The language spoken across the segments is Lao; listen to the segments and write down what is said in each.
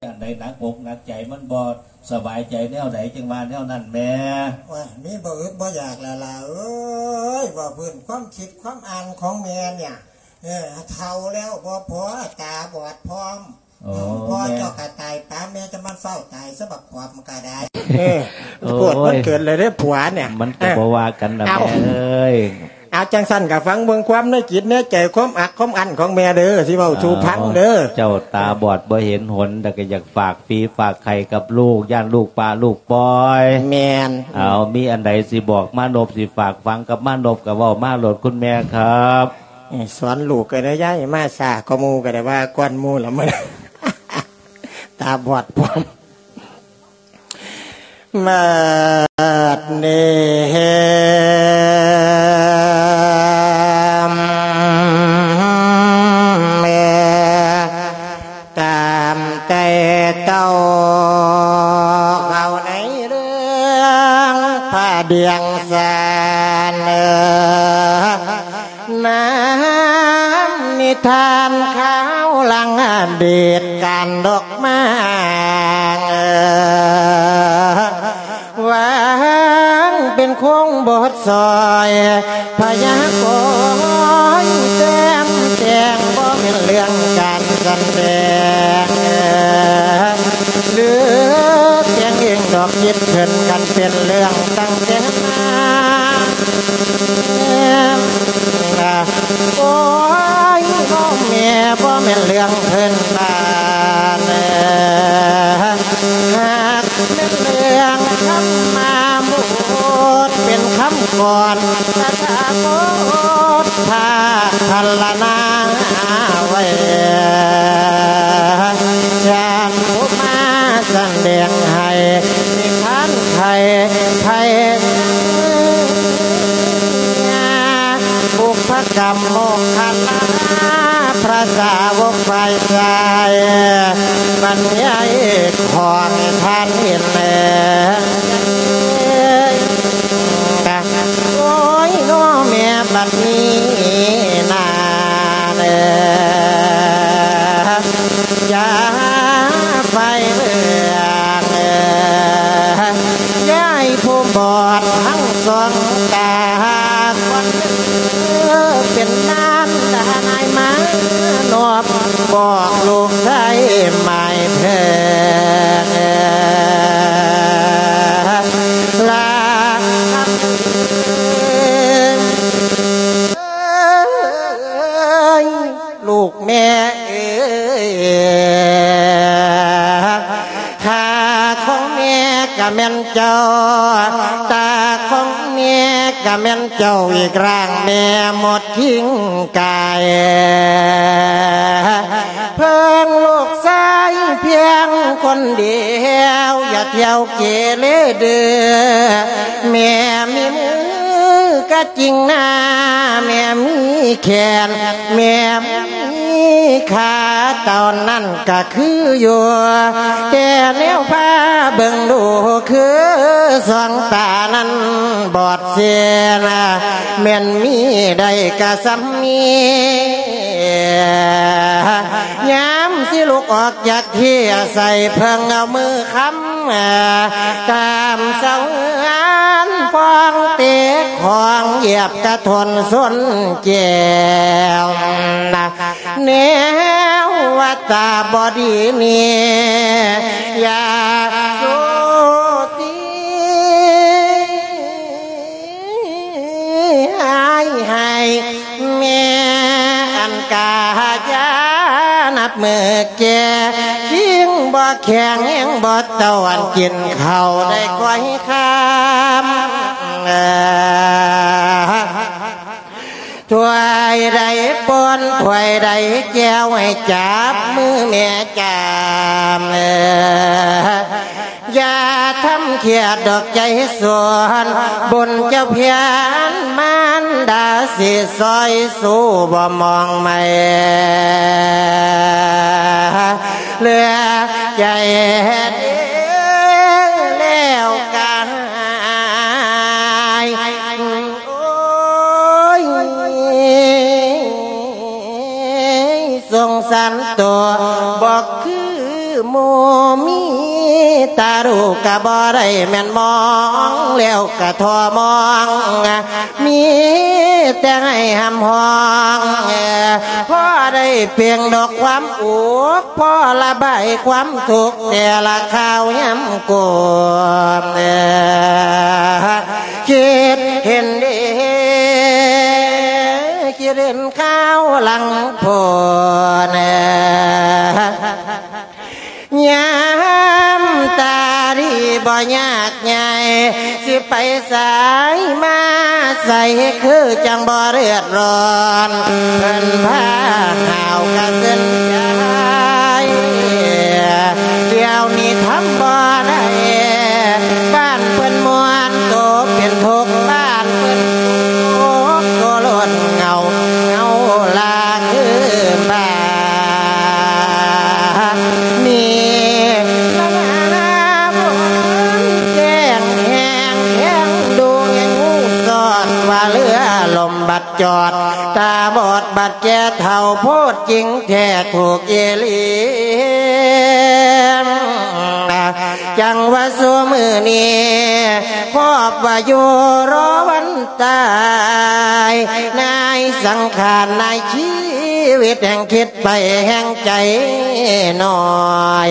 ອັນໃດໜັກອົກໜັກໃຈ ມັນບໍ່ສະບາຍໃຈແນວໃດ ຈຶ່ງວ່າແນວນັ້ນແໝ່. ໂອ້ຍ ມີບໍ່ອຶດບໍ່ຢາກລະຫຼ້າເອີຍ ເວົ້າພື້ນຄວາມຄິດຄວາມອ່ານຂອງແມ່ນີ້ ເອີ ເຖົ້າແລ້ວບໍ່ພໍ ຕາບອດພ້ອມ. ໂອ້ ອືມ ພໍ່ ແມ່ ເຈົ້າກໍຕາຍປານແມ່ ຈະມັນຟ້າວຕາຍຊະ ບັກປອມກໍໄດ້. ເອີ ໂອ້ຍ ໂພດມັນເກີດເລີຍເດ້ຜົວນີ້ ມັນກໍ ເອີ ບໍ່ວ່າກັນນະ ເອົ້າ ແມ່ເອີຍ. ເອົາ ຈັ່ງຊັ້ນກໍຟັງເບິ່ງຄວາມໃນຈິດໃນໃຈ ຄວາມອັກຄວາມອັ້ນຂອງແມ່ເດີ ຊິເວົ້າສູ່ຟັງເດີ. ເຈົ້າຕາບອດບໍ່ເຫັນຫົນ ແຕ່ກໍຢາກຝາກຝີຝາກໄຂ່ກັບລູກ ຢ້ານລູກປະລູກປ່ອຍ. ແມ່ນ. ເອົາ ມີອັນໃດຊິບອກມານົບ ຊິຝາກຝັງກັບມານົບ ກໍເວົ້າມາໂລດ ຄຸນແມ່ຄັບ. ເອີ ສອນລູກກໍໄດ້ ຍ້າຍມາຊ້າກວ່າໝູ່ ກໍໄດ້ວ່າກ່ອນໝູ່ລະມື້ ຕາບອດພ້ອມ. ບັດນີ້ແມ່ ຕາມໃຈເຕົ້າ ເຂົ້າໃນເລື່ອງພະດຽງສານ ນຳນິທານຄາວຫຼັງອະດີດ ການດອກມາງ ວາງເປັນໂຄງບົດຊອຍ ພະຍາກອນແຕ້ມແຕ່ງ ບໍ່ແມ່ນເລື່ອງການສະແດງ ຫຼືແຕ່ງເອງດອກ ຄິດຂຶ້ນກັນເປັນເລື່ອງຕັ້ງແຕ່ມາ. ໂອ້ຍ ນ້ອງແມ່ ບໍ່ແມ່ນເລື່ອງພື້ນບ້ານ ຫາກແມ່ນເລື່ອງທຳມະບົດ ເປັນຄຳກອນຕະຖາຄົດພາກພັນລະນາໄວ້ ຢ້ານຜູ້ມາສະແດງໃຫ້ ນິທານໄທ ໄທ ບຸບພະກຳໂມກຂະລາ ພະສາວົກຝ່າຍຊາຍ ບັນຍາຍຂອງທ່ານເຫັນແລ ໂອ້ຍ ນ້ອງແມ່ ບັດນີ້ນາເອີຍ ຢ່າໄປເລື່ອງ ຍາຍຜູ້ບອດທັງສອງຕາ ຄວັນເອີ ເປັນນານດານາຍມານອບ ບອກລູກຊາຍໝາຍເພິ່ນ ລາກັບ ເອີຍ ລູກແມ່ເອີຍ ຂາຂອງແມ່ກະແມ່ນເຈົ້າ ຕາຂອງແມ່ກະແມ່ນເຈົ້າ ອີກຮ່າງແມ່ໝົດຄິງກາຍ ເພິ່ງລູກຊາຍພຽງຄົນດຽວ ຢ່າທ່ຽວເກເລເດີ ແມ່ມີມືກະຈິງນາ ແມ່ມີແຂນ ແມ່ມີຂາ ຕອນນັ້ນກະຄືຢູ່ ແຕ່ແນວພາເບິ່ງດູ ຄືສອງຕານັ້ນບອດເສຍນາ ແມ່ນມີໄດ້ກະສ່ຳນີ້ ຍາມຊິລຸກອອກຈາກທີ່ ອາໄສເພິ່ງເອົາມືຄ້ຳ ຕາມສະເຫືອນຟອງເຕະຂອງ ຢຽບກະທົນຊົນແຈວ ແນວວ່າຕາບໍ່ດີນີ້ ຢ່າສູ້ຕີ ໃຫ້ ໃຫ້ແມ່ອັນກາຢາ ນັບມື້ແກ່ ຄິງບໍ່ແຂງແຮງບໍ່ເຕົາ ອັນກິນເຂົ້າໄດ້ກ່ອຍຄຳ ຖ້ວຍໃດປ້ອນ ຖ້ວຍໃດແຈວ ໃຫ້ຈັບມືແມ່ຈາມ ຢ່າທຳຄຽດດອກໃຈສວນ ບຸນເຈົ້າພຽນມານດາ ຊິຊ່ອຍສູ້ບໍ່ມອງໄໝ້ ເຫຼືອໃຈແລ້ວກາຍ ໂອ້ຍ ສົງສານໂຕບໍ່ຄື ໝູ່ມີຕາລູກກະບໍ່ໄດ້ແມ່ນມອງ ແລ້ວກະທໍ່ມອງ ມີແຕ່ໃຫ້ຮ່ຳຮ້ອງ ພໍໄດ້ເປັ່ງດອກຄວາມອຸກ ພໍລະບາຍຄວາມທຸກ ແຕ່ລະຄາວຍາມໂກນ ຄິດເຫັນເດ ຄິດເຫັນຄາວຫຼັງໂພນ ຍາມຕາດີບໍ່ຍາກໃຫຍ່ ຊິໄປໃສມາໃສ ຄືຈັ່ງບໍ່ເດືອດຮ້ອນ ເພິ່ນພາຫາວກະເສິນໃຈ ດຽວນີ້ທຳບໍ່ໄດ້ ບ້ານເພິ່ນມ່ວນໂຕເປັນທຸກ ບ້ານເພິ່ນທຸກໂຕລົ້ນເຫງົາ ເຫງົາລາຄືບ້ານນີ້ ລະນານາບົນແຈ້ງແຮງແຂງດູແຮງຮູ້ສອດ ວ່າເຮືອລົມບັດ ຈອດ ຕາບອດບັດແກ່ເຖົ້າໂພດຈິງແທ້ທຸກອີຫຼີ ຈັ່ງວ່າຊຸມື້ນີ້ ພອບວ່າຢູ່ລໍວັນຕາຍ ນາຍສັງຂານນາຍຊີວິດ ແຮ່ງຄິດໄປແຮ່ງໃຈໜ້ອຍ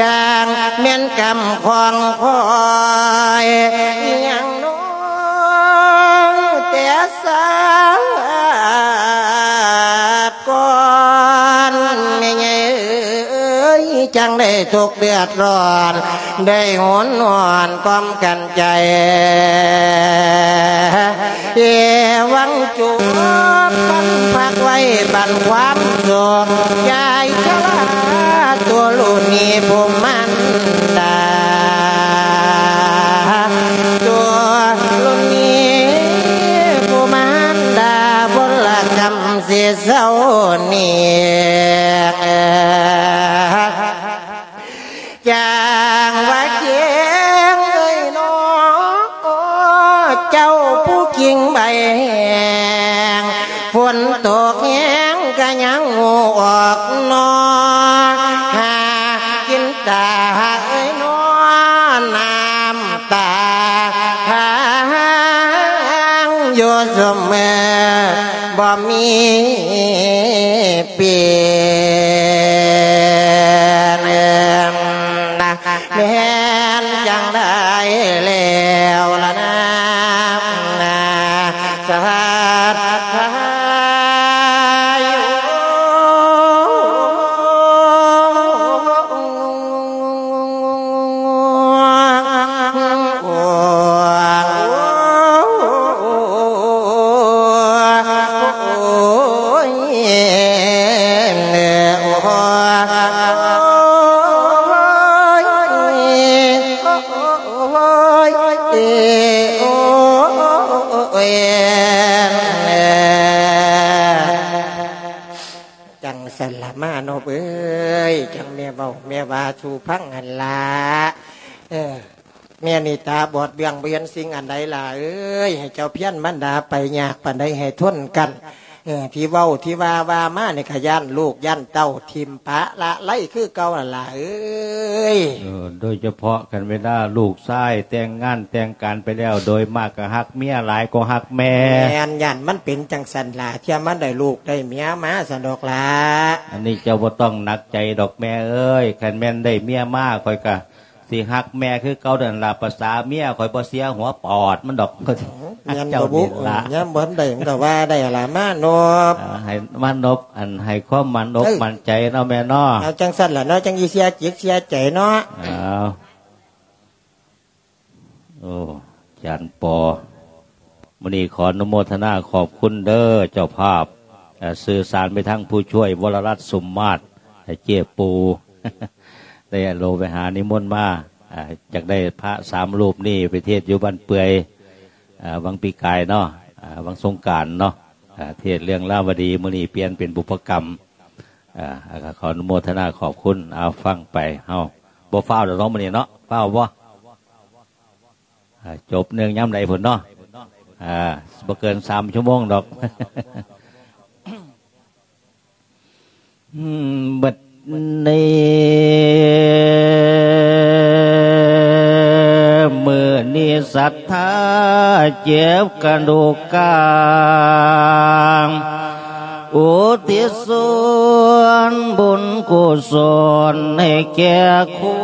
ຈັ່ງແມ່ນກຳຂອງຂ້ອຍ ຍັງ ນ້ອງແຕ່ຊາດກ່ອນ ແມ່ໃຫຍ່ເອີຍ ຈັ່ງໄດ້ທຸກເດືອດຮ້ອນ ໄດ້ຫົນຫອນຄວາມກັນໃຈ ເອວັງ ຈູບກັນພັກໄວ້ບັນຄວາມສຸກ ຍາຍຊະລາຕົວລຸນນີ້ຜູ້ມານດາ ຕົວລຸນນີ້ຜູ້ມານດາ ບົນລະກຳຊິເຊົານີ້ ຈັ່ງວ່າແຈ້ງເອີຍໜໍ ເຈົ້າຜູ້ກິ່ງໃບແຫ້ງ ຝົນຕົກແຮງກະຍັງຫູອອກໜໍ ຫາກິນຕາເອີຍໜໍ ນ້ຳຕາຫາງຢູ່ຊຸມມື້ ບໍ່ມີປ່ຽນນະ ແມ່ນຈັ່ງໃດແລ້ວລະນາ ສະຫາດຊາຍ ໂອ້ຍ ໂອ້ຍ ໂອ້ຍ ໂອ້ຍ ໂອ້ຍ ຈັ່ງຊັ້ນລະມານົບເອີຍ ຈັ່ງແມ່ເວົ້າແມ່ວ່າສູ່ຟັງຫັ້ນລະ ເອີ ແມ່ນີ້ຕາບອດເບື້ອງ ບໍ່ເຫັນສິ່ງອັນໃດຫຼ້າເອີຍ ໃຫ້ເຈົ້າພຽນມານດາໄປຍາກປານໃດໃຫ້ທົນກັນ ເອີ ທີ່ເວົ້າທີ່ວ່າ ວ່າມານີ້ກະຢ້ານລູກຢ້ານເຕົ້າຖິ້ມປະລະໄລຄືເກົ່າຫັ້ນຫຼ້າເອີຍ. ເອີ ໂດຍສະເພາະຄັນເວລາລູກຊາຍແຕ່ງງານແຕ່ງການໄປແລ້ວ ໂດຍມາກກະຮັກເມຍຫຼາຍກວ່າຮັກແມ່. ແມ່ນ ຢ້ານມັນເປັນຈັ່ງຊັ້ນຫຼ້າ ເທື່ອມັນໄດ້ລູກໄດ້ເມຍມາຊັ້ນດອກຫຼ້າ. ອັນນີ້ເຈົ້າບໍ່ຕ້ອງໜັກໃຈດອກແມ່ເອີຍ ຄັນແມ່ນໄດ້ເມຍມາ ຂ້ອຍກະ ຊິຮັກແມ່ຄືເກົ່ານັ້ນລະ ປະສາເມຍຂ້ອຍບໍ່ເສຍຫົວປອດມັນດອກ. ແມ່ນບໍ່ບຸ? ເຈົ້ານີ້ລະ ຍາມບໍ່ທັນໄດ້ມັນກໍວ່າໄດ້ລະມານົບ ເອີ ໃຫ້ມານົບ ອັນໃຫ້ຄວາມໝັ້ນອົກໝັ້ນໃຈເນາະແມ່ເນາະ. ເອົາ ຈັ່ງຊັ້ນລະເນາະ ຈັ່ງຊິເສຍຈິດເສຍໃຈເນາະ. ເອົາ ໂອ້ ອາຈານປໍ ມື້ນີ້ຂໍອະນຸໂມທະນາຂອບຄຸນເດີເຈົ້າພາບ ເອີ ສື່ສານໄປທາງຜູ້ຊ່ວຍ ວໍລະລັດ ສົມມາດ ເຈ້ປູ ໄດ້ໂລໄປຫານິມົນມາ ເອີ ຢາກໄດ້ພະສາມຮູບນີ້ໄປເທດຢູ່ບ້ານເປືອຍ ເອີ ວັງປີກາຍເນາະ ເອີ ວັງສົງການເນາະ ເອີ ເທດເລື່ອງລາວະດີ ມື້ນີ້ປ່ຽນເປັນບຸບພະກຳ ເອີ ກໍຂໍອະນຸໂມທະນາຂອບຄຸນ. ເອົາ ຟັງໄປ ເຮົາບໍ່ຟ້າວດອກເນາະມື້ນີ້ເນາະ ຟ້າວບໍ່? ອ່າ ຈົບເນື່ອງຍາມໃດພຸ້ນເນາະ ອ່າ ບໍ່ເກີນສາມຊົ່ວໂມງດອກ. ອືມ ເບິດ ມື້ນີ້ສັດທາເຈັບກະດູກກາງ ອຸທິດສ່ວນບຸນກຸສົນໃຫ້ແກ່ຄົ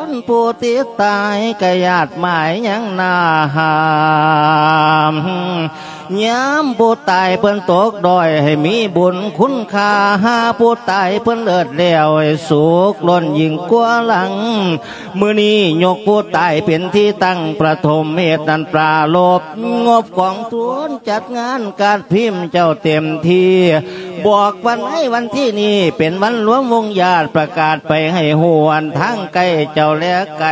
ນຜູ້ທີ່ຕາຍ ກະຍາດໝາຍຍັງໜ້າຫ້າມ. ຍາມຜູ້ຕາຍເພິ່ນຕົກດ້ອຍ ໃຫ້ມີບຸນຄຸນຄ່າ, ຫາຜູ້ຕາຍເພິ່ນເລີດແລ້ວ ໃຫ້ສຸກລົ້ນຍິ່ງກວ່າຫຼັງ. ມື້ນີ້ຍົກຜູ້ຕາຍເປັນທີ່ຕັ້ງປະຖົມເຫດນັ້ນປາລົບ ງົບກອງທຶນຈັດງານກາດພິມເຈົ້າເຕັມທີ່. ບອກວັນໃຫ້ວັນທີນີ້ເປັນວັນລວມວົງຍາດ ປະກາດໄປໃຫ້ຮູ້ອັນທາງໃກ້ເຈົ້າແລະໄກ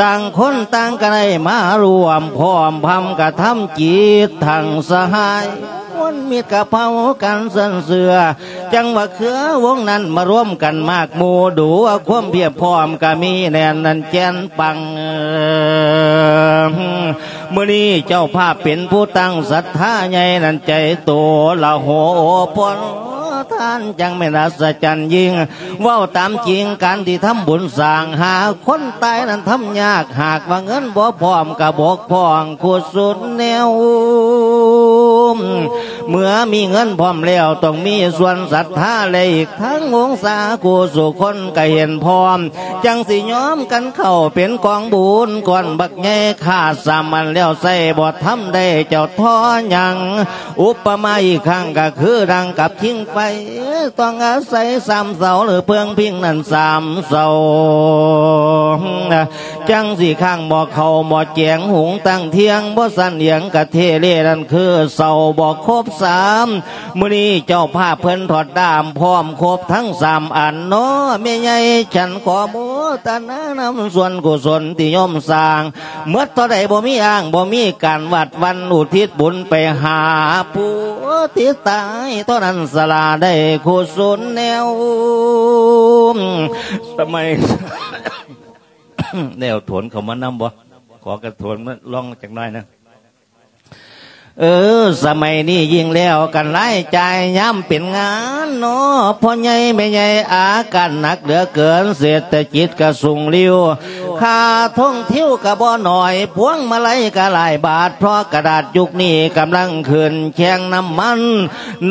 ຕ່າງຄົນຕ່າງກໍໄດ້ມາຮ່ວມພ້ອມພຳກະທຳຈິດທັງສະຫາຍ ມວນມິດກະເພົາກັນເຊິ່ງເຊື່ອ ຈັ່ງວ່າເຄືອວົງນັ້ນມາລວມກັນມາກໝູ່ ດູວ່າຄວາມພຽບພ້ອມກະມີແໜ້ນແໜ້ນແກ່ນປັງ. ມື້ນີ້ເຈົ້າພາບເປັນຜູ້ຕັ້ງສັດທາໃຫຍ່ນັ້ນ ໃຈໂຕລະໂຫ ໂອພອນທານຈັ່ງແມ່ນອັດສະຈັນຍິ່ງ. ເວົ້າຕາມຈິງ ການທີ່ທຳບຸນສ້າງຫາຄົນຕາຍນັ້ນທຳຍາກ ຫາກວ່າເງິນບໍ່ພ້ອມກະບົກຜ່ອງຄຸສົນແນວ. ເມື່ອມີເງິນພ້ອມແລ້ວ ຕ້ອງມີສ່ວນສັດທາ ແລະ ອີກທັງວົງສາຄູ່ສູ່ຄົນກະເຫັນພ້ອມ ຈັ່ງຊິຍອມກັນເຂົ້າເປັນກອງບຸນກ້ອນບັກໃຫຍ່ ຂາດສາມອັນແລ້ວໃຊ້ບໍ່ທຳໄດ້ເຈົ້າທໍຍັງ. ອຸປະມາອີກຄັ້ງກະຄືດັ່ງກັບຜິງໄຟ ຕ້ອງອາໄສສາມເສົາ ຫຼື ເພິ່ງພິງນັ້ນສາມເສົາ ຈັ່ງຊິຄ້າງໝໍ້ເຂົ້າໝໍ້ແກງ ຫຸງຕັ້ງທຽງບໍ່ສັນຫຍັງກະເທເລ ນັ້ນຄືເສົາບໍ່ຄົບສາມ. ມື້ນີ້ເຈົ້າພາບເພິ່ນຖອດດ້າມພ້ອມຄົບທັງສາມອັນເນາະ ແມ່ໃຫຍ່ ສັນຂໍໂມທະນານຳສ່ວນກຸສົນທີ່ໂຍມສ້າງ ໝົດເທົ່າໃດບໍ່ມີອ້າງ ບໍ່ມີການວັດວັນ ອຸທິດບຸນໄປຫາຜູ້ທີ່ຕາຍ ເທົ່ານັ້ນສະຫຼາໄດ້ກຸສົນແນວ. ສະໄໝ ແນວໂຖນເຂົ້າມານຳບໍ່? ຂໍກະໂຖນມາລອງຈັກໜ້ອຍນະ. ເອີ ສະໄໝນີ້ຍິ່ງແລ້ວກັນລາຍຈ່າຍຍາມເປັນງານເນາະ ພໍ່ໃຫຍ່ແມ່ໃຫຍ່ອາການໜັກເຫຼືອເກີນ ເສດຖະກິດກະສູງລິ້ວ ຄ່າທ່ອງທິວກະບໍ່ໜ້ອຍ ພວງມາໄລກະຫຼາຍບາດ ເພາະກະດາດຍຸກນີ້ກຳລັງຂຶ້ນແຂ່ງນ້ຳມັນ.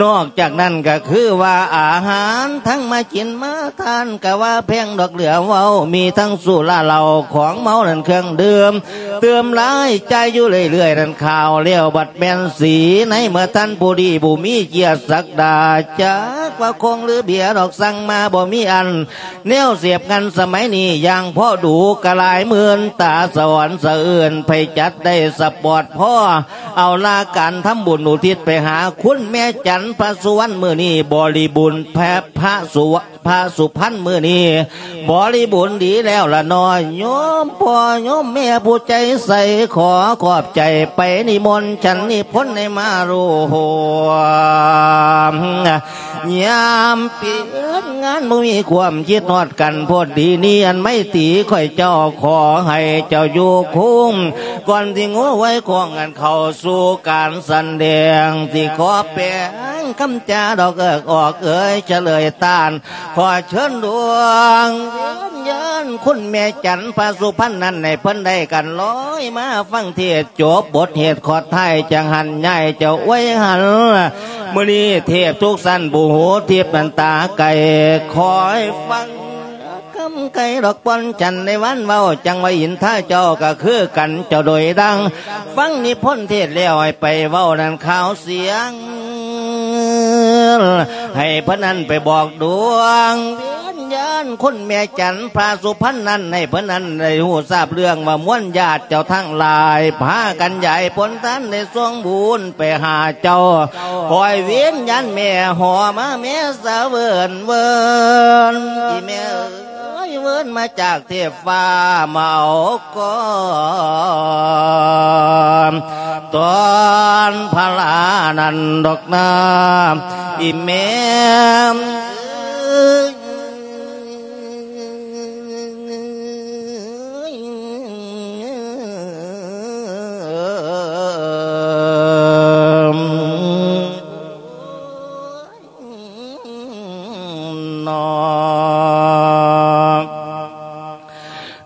ນອກຈາກນັ້ນກະຄືວ່າອາຫານທັງມາກິນມາທານ ກະວ່າແພງດອກເຫຼືອເວົ້າ ມີທັງສຸລາເຫຼົ້າຂອງເມົານັ້ນເຄື່ອງດື່ມ ຕື່ມລາຍຈ່າຍຢູ່ເລື້ອຍໆນັ້ນ ຂ່າວແລ້ວບັດແມ່ນສີໃນ ເມື່ອທ່ານຜູ້ດີຜູ້ມີກຽດສັກດາ ຈັກວ່າຄົງຫຼືເບຍດອກ ສັ່ງມາບໍ່ມີອັນ ແນວເສບງັນສະໄໝນີ້ຢ່າງພໍດູ ກະຫຼາຍໝື່ນຕາສະອອນສະເອື້ອນ ໃຜຈັດໄດ້ສະປອດ ພໍເອົາລາການທຳບຸນອຸທິດໄປຫາຄຸນແມ່ຈັນພະສຸວັນ ມື້ນີ້ບໍລິບູນແພະພະສຸວະ ພະສຸພັນ ມື້ນີ້ບໍລິບູນດີແລ້ວລະເນາະ ໂຍມພໍ່ໂຍມແມ່ຜູ້ໃຈໃສ ຂໍຂອບໃຈໄປນິມົນ ສັນນິພົນໃຫ້ມາຮ່ວມ ຍາມປິດງານບໍ່ມີຄວາມຄິດຮອດກັນ ໂພດດີນີ້ອັນໄມຕີຂ້ອຍເຈົ້າ ຂໍໃຫ້ເຈົ້າຢູ່ຄົງ ກ່ອນທີ່ງົວໄວ້ຄອງກັນເຂົ້າສູ່ການສະແດງ ທີ່ຂໍແປງຄຳຈາດອກເອິກອອກເອີຍ ສະເຫຼີຍຕ້ານ ຂໍເຊີນດວງວິນຍານຄຸນແມ່ຈັນພະສຸພັນນັ້ນ ໃຫ້ເພິ່ນໄດ້ກັນລອຍມາຟັງເທດ ຈົບບົດເຫດຂອດທ້າຍ ຈັ່ງຫັນຍ້າຍເຈົ້າໄວ້ຫັນ. ມື້ນີ້ເທບທຸກຊັ້ນຜູ້ຫູທິບນັ້ນຕາໄກ ຄອຍຟັງຄຳໄກດອກ ປ່ອນຈັນໃນວັນເວົ້າ ຈັ່ງວ່າອິນທາເຈົ້າກະຄືກັນ ເຈົ້າໂດຍດັ່ງ ຟັງນິພົນເທດແລ້ວ ໃຫ້ໄປເວົ້ານັ້ນຂ່າວສຽງ ໃຫ້ເພິ່ນນັ້ນໄປບອກດວງວິນຍານຄຸນແມ່ຈັນພະສຸພັນນັ້ນ ໃຫ້ເພິ່ນນັ້ນໄດ້ຮູ້ຊາບເລື່ອງວ່າ ມວນຍາດເຈົ້າທັງຫຼາຍ ພາກັນຢາຍຜົນທານໄດ້ສົ່ງບຸນໄປຫາເຈົ້າ ຂໍໃຫ້ວິນຍານແມ່ຫໍມາແມ່ສາເວີນເວີນ ອີແມ່ເອີຍ ເວີນມາຈາກເທບຟ້າມາເອົາ ກໍຕອນພະລານັ້ນດອກນາ ອີແມ່ເອີຍ. ນອກ.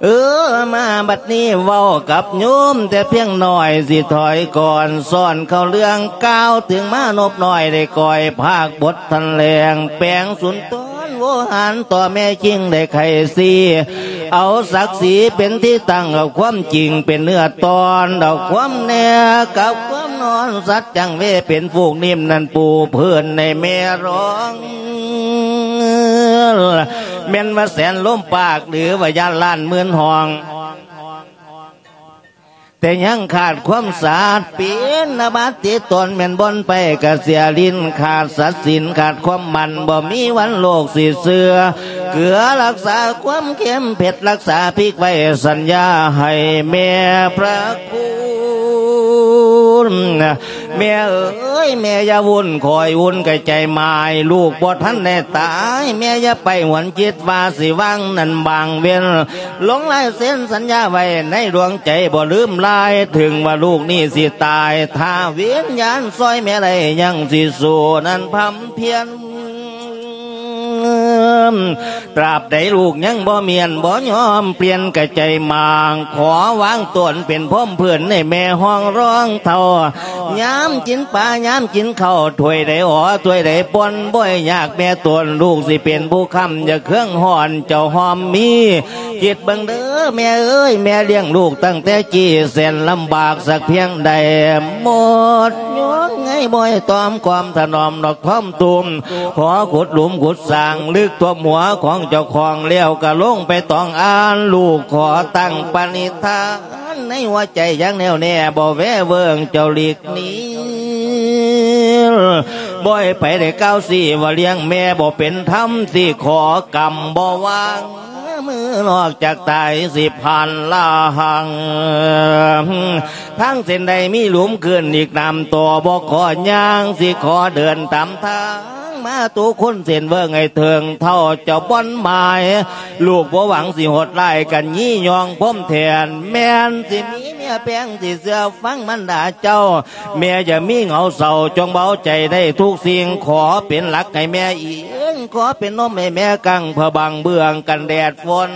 ເອີ ມາບັດນີ້ເວົ້າກັບໂຍມແຕ່ພຽງໜ້ອຍ ຊິຖອຍກ່ອນ ສອນເຂົ້າເລື່ອງ ກ່າວເຖິງມານົບນ້ອຍ ໄດ້ກ້ອຍພາກບົດຖະແຫຼງ ແປງສຸນທອນໂວຫານ ຕໍ່ແມ່ຄິງໄດ້ໄຂສີ ເອົາສັກສີເປັນທີ່ຕັ້ງ ເອົາຄວາມຈິງເປັນເນື້ອຕອນ ເອົາຄວາມແນ່ກັບຄວາມນອນ ສັດຈັງເວເປັນຟູກນິ້ມ ນັ້ນປູພື້ນໃນແມ່ຮ້ອງ ແມ່ນວ່າແສນລົມປາກ ຫຼືວ່າຢ້ານລ້ານໝື່ນຫ້ອງ ແຕ່ຍັງຂາດຄວາມສະອາດ ເປັນອາບັດຕິດຕົນ ແມ່ນບ່ອນໄປກະເສຍຫຼິ້ນ ຂາດສັດສິນ ຂາດຄວາມໝັ້ນ ບໍ່ມີວັນໂລກຊິເຊື່ອ ເກືອຮັກສາຄວາມເຄັມ ເຜັດຮັກສາພິກໄວ້ ສັນຍາໃຫ້ແມ່ພະຄຸນ. ແມ່ເອີຍ ແມ່ຢ່າວຸ່ນ ຂໍໃຫ້ອຸ່ນກະໃຈໝາຍ ລູກບໍ່ທັນໄດ້ຕາຍ ແມ່ຢ່າໄປຫວນຄິດວ່າຊິວາງນັ້ນບາງເວັນ ລົງລາຍເຊັນສັນຍາໄວ້ໃນດວງໃຈ ບໍ່ລືມລາຍ ເຖິງວ່າລູກນີ້ຊິຕາຍ ຖ້າວິນຍານຊ່ອຍແມ່ໄດ້ ຍັງຊິສູ້ນັ້ນພຳພຽນ. ຕາບໃດລູກຍັງບໍ່ມ້ຽນ ບໍ່ຍອມປ່ຽນກະໃຈໝາງ ຂໍວາງຕົນເປັນພົມພື້ນໃຫ້ແມ່ຮອງຮອງເທົ້າ ຍາມກິນປາ ຍາມກິນເຂົ້າ ຖ້ວຍໃດອໍ ຖ້ວຍໃດປ່ອນ ບໍ່ໃຫ້ຍາກແມ່ຕົນ ລູກຊິເປັນຜູ້ຄ້ຳ ຢ່າເຄືອງຮ້ອນ ເຈົ້າຫອມມີ ຄິດເບິ່ງເດີແມ່ເອີຍ ແມ່ລ້ຽງລູກຕັ້ງແຕ່ກີ້ ແສນລຳບາກສັກພຽງໃດ ໝົດຍົກໃຫ້ບໍ່ໃຫ້ຕອມກອມຖະໜອມດອກ ຖ່ອມທຸ່ມ ຂໍຂຸດຫຼຸມຂຸດສ້າງ ລຶກຖ້ວມຫົວຂອງເຈົ້າຂອງ ແລ້ວກະລົງໄປຕອງອ່ານ ລູກຂໍຕັ້ງປະນິທານ ໃນຫົວໃຈຢ່າງແນ່ວແນ່ ບໍ່ແວເວີງເຈົ້າຫຼີກໜີ ບໍ່ໃຫ້ໃຜໄດ້ກ່າວຊີ້ວ່າລ້ຽງແມ່ບໍ່ເປັນທຳ ຊິຂໍກຳບໍ່ວາງ ມື້ນອກຈາກຕາຍຊິຜ່ານລາງ ທາງເສັ້ນໃດມີຫຼຸມຂຶ້ນອີກ ນ້ຳຕໍ່ບໍ່ຂໍຍ່າງ ຊິຂໍເດີນຕາມທາງ ມາຕຸຄຸນເສັ້ນເວີ້ງໃຫ້ເຖິງເທົ່າເຈົ້າບ່ອນໝາຍ ລູກບໍ່ຫວັງຊິໂຫດຮ້າຍກັນ ຢີ່ຍ່ອງພົມແທນ ແມ່ນຊິມີເມຍແພງ ຊິເຊື່ອຟັງມັນດາເຈົ້າ ແມ່ຢ່າມີເຫງົາເສົ້າ ຈົ່ງເບົາໃຈໄດ້ທຸກສິ່ງ ຂໍເປັນຫຼັກໃຫ້ແມ່ອີງ ຂໍເປັນຮົ່ມໃຫ້ແມ່ກັ້ງ ເພື່ອບັງເບື້ອງກັນແດດຝົນ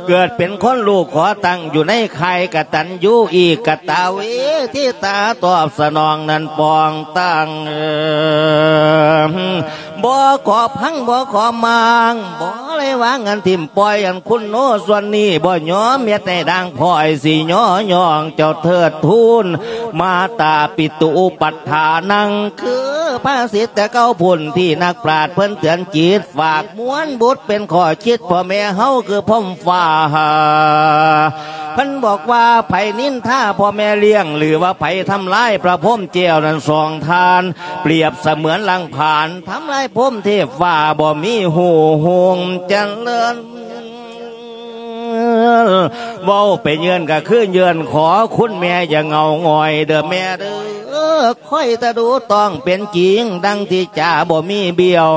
ເກີດເປັນຄົນລູກຂໍຕັ້ງ ຢູ່ໃນຄ້າຍກະຕັນຍູອີກກະຕາເວ ທີ່ຕາຕອບສະໜອງນັ້ນປອງຕັ້ງ ບໍ່ຂໍພັງ ບໍ່ຂໍມາງ ບໍ່ໄດ້ວາງອັນຖິ້ມປ່ອຍ ອັນຄຸນໂນສ່ວນນີ້ ບໍ່ຍອມເຮັດໃຫ້ດ່າງພ້ອຍ ຊິຍໍຍ້ອງເຈົ້າເທີດທູນ ມາຕາປິຕຸອຸປັດຖານັງ ຄືພາສິດແຕ່ເກົ່າພຸ້ນ ທີ່ນັກປາດເພິ່ນເຕືອນຈິດ ຝາກມວນບຸດເປັນຂໍ້ຄິດ ພໍ່ແມ່ເຮົາຄືພົມຟ້າ ເພິ່ນບອກວ່າ ໃຜນິນທາພໍ່ແມ່ລ້ຽງ ຫຼືວ່າໃຜທຳລາຍພະພົມແກ້ວນັ້ນ ສອງທ່ານ ປຽບສະເໝືອນລັງຜານ ທຳລາຍພົມເທບຟ້າ ບໍ່ມີຮູ້ຮຸ່ງຈະເລີນ ເວົ້າໄປເຍີ້ນກະຄືເຍີ້ນ ຂໍຄຸນແມ່ຢ່າເຫງົາຫງອຍເດີແມ່ເດີ ຄອຍຕະດູຕ້ອງເປັນຈິງ ດັ່ງທີ່ຈາບໍ່ມີບຽວ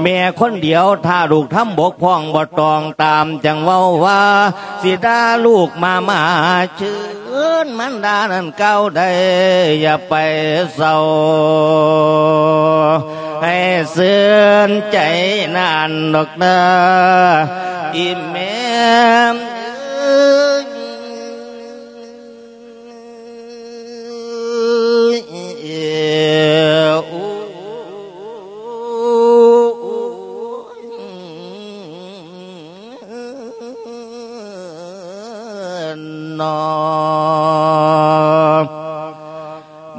ແມ່ຄົນດຽວ ຖ້າລູກທຳບົກຜ່ອງບໍ່ຕ້ອງຕາມ ຈັ່ງເວົ້າວ່າ ຊິດ່າລູກມາມາເຊີນ ມັນດ່ານັ້ນກ່າວໄດ້ ຢ່າໄປເສົ້າ ໃຫ້ເຊີນໃຈນານດອກເດີ ອີແມ່ເອີຍ.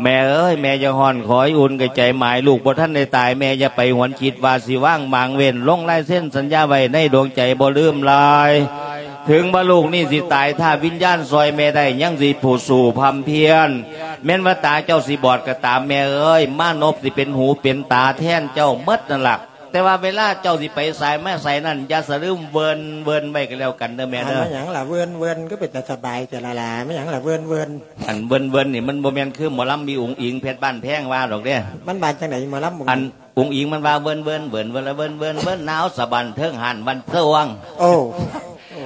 ແມ່ເອີຍ ແມ່ຢ່າຮ້ອນ ຂໍໃຫ້ອຸ່ນກະໃຈໝາຍ ລູກບໍ່ທັນໄດ້ຕາຍ ແມ່ຢ່າໄປຫວນຄິດວ່າຊິວາງໝາງເວັ້ນ ລົງລາຍເຊັນສັນຍາໄວ້ໃນດວງໃຈ ບໍ່ລືມລາຍ ເຖິງວ່າລູກນີ້ຊິຕາຍ ຖ້າວິນຍານຊ່ອຍແມ່ໄດ້ ຍັງຊິຜູ້ສູ້ພຳພຽນ ແມ່ນວ່າຕາເຈົ້າຊິບອດກະຕາມ ແມ່ເອີຍ ມານົບຊິເປັນຫູເປັນຕາແທນເຈົ້າໝົດນັ້ນລະ ແຕ່ວ່າເວລາເຈົ້າຊິໄປໃສມາໃສນັ້ນ ຢ່າສະລືມເວີນເວີນໄວ້ກະແລ້ວກັນເດີແມ່ເດີ. ແມ່ນຫຍັງລະເວີນເວີນ ຄືເປັນຕາສະບາຍແທ້ລະຫຼາ ແມ່ນຫຍັງລະເວີນເວີນ. ອັນເວີນເວີນນີ້ ມັນບໍ່ແມ່ນຄືໝໍລຳອີ່ອຸງອິງ ເພັດບ້ານແພງວ່າດອກເດ້. ມັນວ່າຈັ່ງໃດໝໍລຳ? ອັນອຸງອິງມັນວ່າເວີນເວີນ ເວີນເວີນລະເວີນເວີນ ເວີນໜາວສະບັນເທິງຫານວັນເທີງ. ໂອ້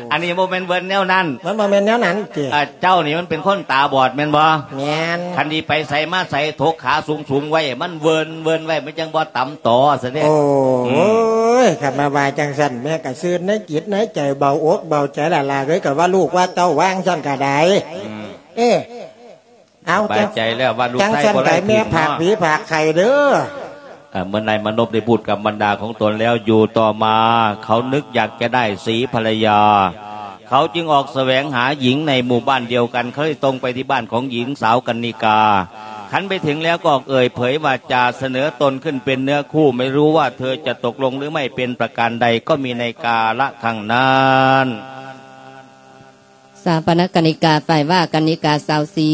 ໂອ້ ອັນນີ້ບໍ່ແມ່ນເວີນແນວນັ້ນ ມັນບໍ່ແມ່ນແນວນັ້ນຕິ? ອ່າ ເຈົ້ານີ້ມັນເປັນຄົນຕາບອດແມ່ນບໍ່? ແມ່ນ. ຄັນຊິໄປໃສມາໃສ ຖົກຂາສູງໆໄວ້ ມັນເວີນໆໄວ້ ມັນຈັ່ງບໍ່ຕຳຕໍຊັ້ນເດ້. ໂອ້ ອືມ ໂອ້ຍ ຄັນມາວ່າຈັ່ງຊັ້ນ ແມ່ກໍຊື່ນໃນຈິດໃນໃຈ ເບົາອົກເບົາໃຈລະຫຼ້າເອີຍ ກໍວ່າລູກວ່າເຕົ້າວ່າຈັ່ງຊັ້ນກໍໄດ້. ອືມ ເອີ ເອົາ ສະບາຍໃຈແລ້ວວ່າລູກ ຈັ່ງ ໄສ້ ຊັ້ນ ບໍ່ໄດ້ ກໍໃຫ້ແມ່ ຖິ້ມເນາະ ຝາກຜີຝາກໄຂ່ເດີ້. ເອີ ເມື່ອນາຍມານົບໄດ້ພູດກັບບັນດາຂອງຕົນແລ້ວ ຢູ່ຕໍ່ມາເຂົານຶກຢາກຈະໄດ້ສີພັນລະຍາ ເຂົາຈຶ່ງອອກສະແຫວງຫາຍິງໃນໝູ່ບ້ານດຽວກັນ ເຂົາໄດ້ຕົງໄປທີ່ບ້ານຂອງຍິງສາວກັນນິກາ ຄັນໄປເຖິງແລ້ວກໍອອກເອີ່ຍເຜີຍວາຈາສະເໜີຕົນຂຶ້ນເປັນເນື້ອຄູ່ ໄມ່ຮູ້ວ່າເທີຈະຕົກລົງຫຼືໄມ່ເປັນປະການໃດ ກໍມີໃນກາລະຄັ້ງນັ້ນ. ສາປະນະກັນນິກາ ຝ່າຍວ່າກັນນິກາສາວສີ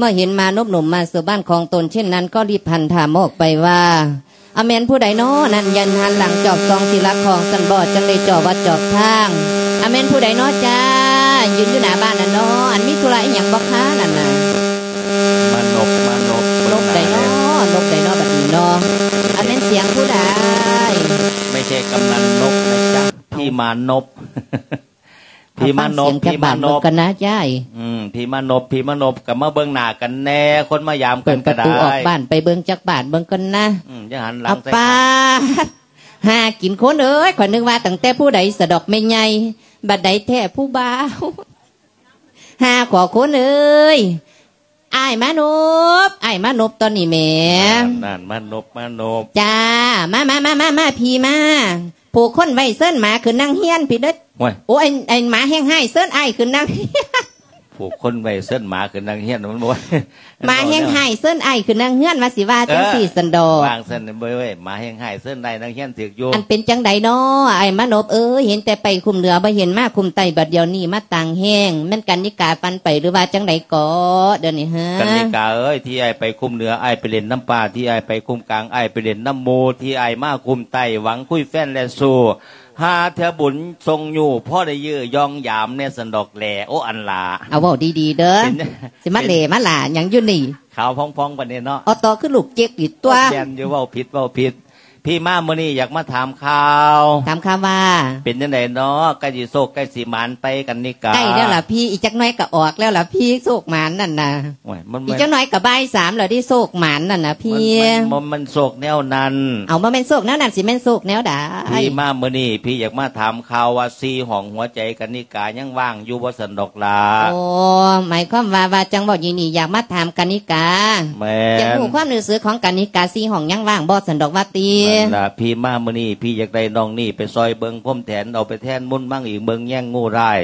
ເມື່ອເຫັນມານົບໜຸ່ມມາສູ່ບ້ານຂອງຕົນເຊັ່ນນັ້ນ ກໍລີບຫັນຖາມອອກໄປວ່າ ອາ ແມ່ນຜູ້ໃດນໍນັ້ນ ຢ້ານຫັນຫຼັງຈອບສ່ອງຊິລັກຂອງຊັ້ນບໍ ຈັ່ງໄດ້ຈອບວັດຈອບທາງ ອາ ແມ່ນຜູ້ໃດນໍຈ້າ ຢືນຢູ່ໜ້າບ້ານນັ້ນນໍ ອັນມີທຸລະອີ່ຫຍັງບໍຄານັ້ນນະ? ມານົບ ມານົບ ນົບໃດນໍ ນົບໃດນໍບັດນີ້ນໍ ອາ ແມ່ນສຽງຜູ້ໃດ? ໄມ່ໃຊ່ກຳນັນນົບນະຈ໊ະ ພີ່ມານົບ. ພີ່ມານົບ ພີ່ມານົບ ກັນນະຍາຍ ອືມ ພີ່ມານົບ ພີ່ມານົບ ກໍມາເບິ່ງໜ້າກັນແດ່ ຄົນມາຢາມກັນກໍໄດ້ ເປີດປະຕູອອກບ້ານໄປເບິ່ງຈັກບາດເບິ່ງກ່ອນນະ ອືມ ຢ່າຫັນຫຼັງໃສ່ກັນ ຫາກິນຄົນເອີຍ ຂ້ອຍນຶກວ່າຕັ້ງແຕ່ຜູ້ໃດສະດອກແມ່ໃຫຍ່ ບັດໃດແທ້ຜູ້ບ່າວ ຫາຂໍຄົນເອີຍ ອ້າຍມານົບ ອ້າຍມານົບຕອນນີ້ແໝ່ ນັ້ນ ມານົບ ມານົບ ຈ້າ ມາ ມາ ມາ ມາ ມາ ພີ່ມາ ຜູກຄົນໄວ້ເຊີນໝາຂຶ້ນນັ່ງຮຽນພີ້ເດີ້ ໂອ້ຍ ໂອ້ ໄອ້ ໄອ້ໝາແຮງຮ້າຍ ເຊີນອ້າຍຂຶ້ນນັ່ງຮຽນ ຜູກຄົນໄວ້ເຊີນໝາຂຶ້ນນັ່ງຮຽນ ມັນບໍ່ ໝາແຮງຮ້າຍ ເຊີນອ້າຍຂຶ້ນນັ່ງຮຽນ ວ່າຊິວ່າຈັ່ງຊີ້ ເອີ ຊັ້ນດອກ ວ່າງຊັ້ນເວີ້ຍ ໝາແຮງຮ້າຍ ເຊີນອ້າຍນັ່ງຮຽນຖືກຢູ່ ອັນເປັນຈັ່ງໃດນໍ ອ້າຍມານົບເອີຍ ເຫັນແຕ່ໄປຄຸ້ມເໜືອ ບໍ່ເຫັນມາຄຸ້ມໃຕ້ ບັດດຽວນີ້ມາຕາງແຮງ ແມ່ນກັນນິກາຝັນໄປ ຫຼືວ່າຈັ່ງໃດເກາະ ດຽວນີ້ເຮີ ກັນນິກາເອີຍ ທີ່ອ້າຍໄປຄຸ້ມເໜືອ ອ້າຍໄປຫຼິ້ນນຳປ່າ ທີ່ອ້າຍໄປຄຸ້ມກາງ ອ້າຍໄປຫຼິ້ນນຳໝູ່ ທີ່ອ້າຍມາຄຸ້ມໃຕ້ ຫວັງຄຸຍແຟນແລະຊູ້ ຫາເທື່ອບຸນສົ່ງຍູ້ ພໍໄດ້ຢື້ຢອງຢາມແດ່ຊັ້ນດອກແຫຼ ໂອ ອັນຫຼ້າ ເອົາເວົ້າດີໆເດີ້ ເປັນ ຊິມາແຫຼມາຫຼ້າຫຍັງຢູ່ນີ້ ຂາວຜ່ອງໆປານນີ້ເນາະ ເອົາຕໍ່ຄືລູກເຈັກອີກຕົວະ ແມ່ນຢູ່ ເວົ້າຜິດ ເວົ້າຜິດ ພີ່ມາມື້ນີ້ຢາກມາຖາມຂ່າວ ຖາມຂ່າວວ່າ ເປັນຈັ່ງໃດເນາະ ໃກ້ຊິໂຊກໃກ້ຊິໝານໄປກັນນິກາ ໃກ້ແລ້ວລະພີ່ ອີກຈັກໜ້ອຍກໍອອກແລ້ວລະພີ່ ໂຊກໝານນັ້ນນະ ໂອ້ຍ ມັນ ອີກຈັກໜ້ອຍກໍບ່າຍສາມແລ້ວເດ້ ໂຊກໝານນັ້ນນະພີ່ ມັນ ມັນ ມັນ ມັນໂຊກແນວນັ້ນ ເອົາ ບໍ່ແມ່ນໂຊກແນວນັ້ນ ຊິແມ່ນໂຊກແນວໃດ? ພີ່ມາມື້ນີ້ ພີ່ຢາກມາຖາມຂ່າວວ່າ ສີ່ຫ້ອງຫົວໃຈກັນນິກາຍັງວ່າງຢູ່ບໍ່ຊັ້ນດອກຫຼ້າ? ໂອ້ ໝາຍຄວາມວ່າ ວ່າຈັ່ງເວົ້າຢູ່ນີ້ ຢາກມາຖາມກັນນິກາ ແມ່ນ ຢາກຮູ້ຄວາມຮູ້ສຶກຂອງກັນນິກາ ສີ່ຫ້ອງຍັງວ່າງບໍ່ຊັ້ນດອກວ່າຕິ? ນັ້ນລະ ພີ່ມາມື້ນີ້ ພີ່ຢາກໄດ້ນ້ອງນີ້ໄປຊ່ອຍເບິ່ງພົມແທນ ເອົາໄປແທນມຸນມັງອີກ ເບິ່ງແຍງງູຮ້າຍ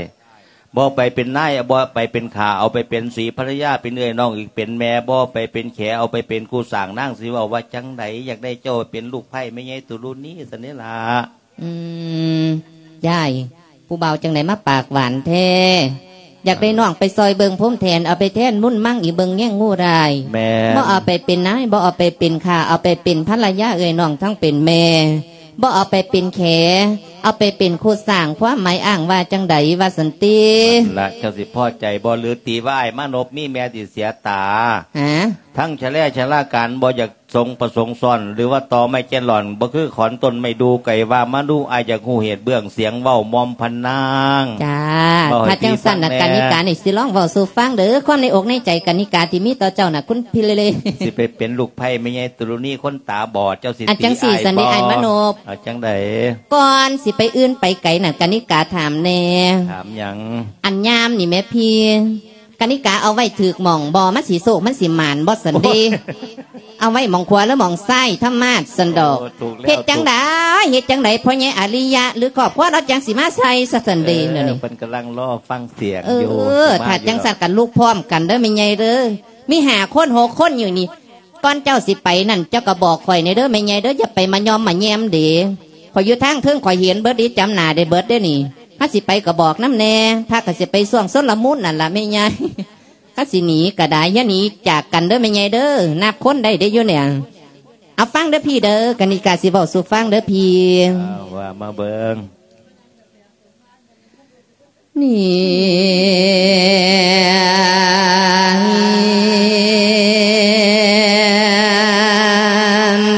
ບໍ່ໄປເປັນນາຍ ບໍ່ໄປເປັນຂ້າ ເອົາໄປເປັນສີພັນລະຍາ ເປັນເອື້ອຍນ້ອງອີກ ເປັນແມ່ ບໍ່ໄປເປັນແຂ ເອົາໄປເປັນຄູ່ສ້າງນາງ ຊິເວົ້າວ່າຈັ່ງໃດ ຢາກໄດ້ເຈົ້າເປັນລູກໃພ້ແມ່ໃຫຍ່ຕຸລຸນີຊັ້ນເດ້ລະ. ອືມ ຍາຍ ຜູ້ບ່າວຈັ່ງໃດມາປາກຫວານແທ້ ຢາກໄດ້ນ້ອງໄປຊ່ອຍເບິ່ງພົມແທນ ເອົາໄປແທນມຸນມັງອີກ ເບິ່ງແຍງງູຮ້າຍ ແມ່ນ ບໍ່ເອົາໄປເປັນນາຍ ບໍ່ເອົາໄປເປັນຂ້າ ເອົາໄປເປັນພັນລະຍາເອື້ອຍນ້ອງທັງເປັນແມ່ ບໍ່ເອົາໄປເປັນແຂ ເອົາໄປເປັນຄູ່ສ້າງ ຄວາມໝາຍອ້າງວ່າຈັ່ງໃດ ວ່າຊັ້ນຕິ? ນັ້ນລະ ເຈົ້າຊິພໍໃຈບໍ່ ຫຼືຕີວ່າອ້າຍມານົບມີແມ່ທີ່ເສຍຕາ? ຫາ? ທັງຊະແລຊະລາການ ບໍ່ຢາກສົງປະສົງຊ້ອນ ຫຼືວ່າຕໍ່ໄມ້ແກ່ນຫຼອນ ບໍ່ຄືຂອນຕົ້ນໄມ້ດູ່ ໄກ່ວ່າມາດູ ອ້າຍຢາກຮູ້ເຫດເບື້ອງ ສຽງເວົ້າມອມພະນາງ. ຈ້າ ຖ້າຈັ່ງຊັ້ນນະ ກະນິການີ້ຊິລອງເວົ້າສູ່ຟັງເດີ້ ຄວາມໃນອົກໃນໃຈກະນິກາທີ່ມີຕໍ່ເຈົ້ານະ ຄຸນພິເລເລ ຊິໄປເປັນລູກໃພ້ແມ່ໃຫຍ່ຕຸລຸນີຄົນຕາບອດ ເຈົ້າຊິ ອັນຈັ່ງຊີ້ ຕີອ້າຍ ຊັ້ນເດ ບໍ່? ອ້າຍມານົບ ເອົາຈັ່ງໃດ? ກ່ອນຊິໄປອື່ນໄປໄກນັ້ນ ກະນິກາຖາມແດ່ ຖາມຫຍັງ? ອັນຍາມນີ້ແໝ່ພີ່ ກະນິກາເອົາໄວ້ຖືກໝ່ອງບໍ່? ມັນຊິໂຊກມັນຊິໝານບໍ່ຊັ້ນເດ? ໂອ້ຍ ເອົາໄວ້ໝ່ອງຂວາ ຫຼື ໝ່ອງຊ້າຍທຳມາດຊັ້ນດອກ. ໂອ້ ຖືກແລ້ວ ເຮັດຈັ່ງໃດ ເຮັດຈັ່ງໃດ ພໍ່ໃຫຍ່ອາລິຍະ ຫຼື ຄອບຄົວລາວຈັ່ງຊິມາໃສ່ຊະຊັ້ນເດ? ເອີ ດຽວນີ້ ເພິ່ນກຳລັງລໍຟັງສຽງ ເອີ ຢູ່ ຖ້າຈັ່ງຊັ້ນກະລຸກພ້ອມກັນເດີ້ແມ່ໃຫຍ່ເດີ້ ມີຫ້າຄົນຫົກຄົນຢູ່ນີ້. ກ່ອນເຈົ້າຊິໄປນັ້ນ ເຈົ້າກໍບອກຂ້ອຍແດ່ເດີ້ແມ່ໃຫຍ່ເດີ້ ຢ່າໄປມາຍ້ອມມາແຍມເດ້. ຂ້ອຍຢູ່ທາງເທິງ ຂ້ອຍເຫັນເບິດເດ້ ຈຳໜ້າໄດ້ເບິດເດ້ນີ້. ຄັນຊິໄປກໍບອກນຳແດ່ ພາກັນຊິໄປຊ່ວງຊົນລະມຸນນັ້ນລະແມ່ໃຫຍ່. ຄັນຊິໜີກໍໄດ້ ຢ່າໜີຈາກກັນເດີ້ແມ່ໃຫຍ່ເດີ້ ນັບຄົນໄດ້ເດ້ຢູ່ນີ້. ເອົາ ຟັງເດີ້ພີ່ເດີ້ ກະນິກາຊິເວົ້າສູ່ຟັງເດີ້ພີ່. ເອົາ ວ່າມາເບິ່ງ. ນີ້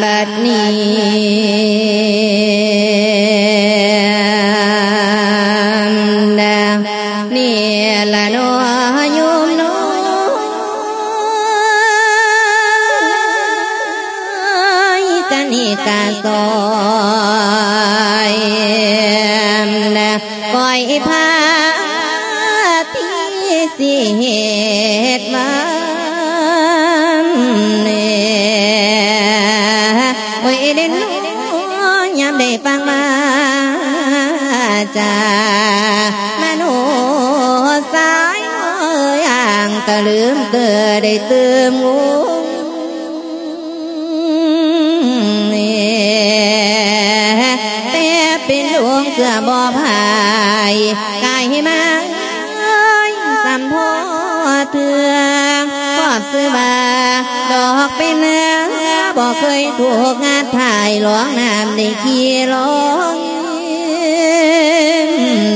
ບັດນີ້ ກະຊອຍ ກ້ອຍພາທີ່ຊິເຮັດວານ ໂອ້ຍ ເດັ່ນຍາມໄດ້ຟັງວາຈາ ມະໂນສາຍເອີຍ ອ່າງຕະລຶມເຕີໄດ້ຕື່ມງຸ່ມ ແຕ່ເປັນດວງເສືອບໍ່ພາຍ ກາຍມາເອີຍ ສ່ຳພໍເທື່ອ ຄອບຊື່ວ່າ ດອກເປັນເຮືອ ບໍ່ເຄີຍຖືກງັດຖ່າຍ ລອງນ້ຳໄດ້ຂີ່ລອງ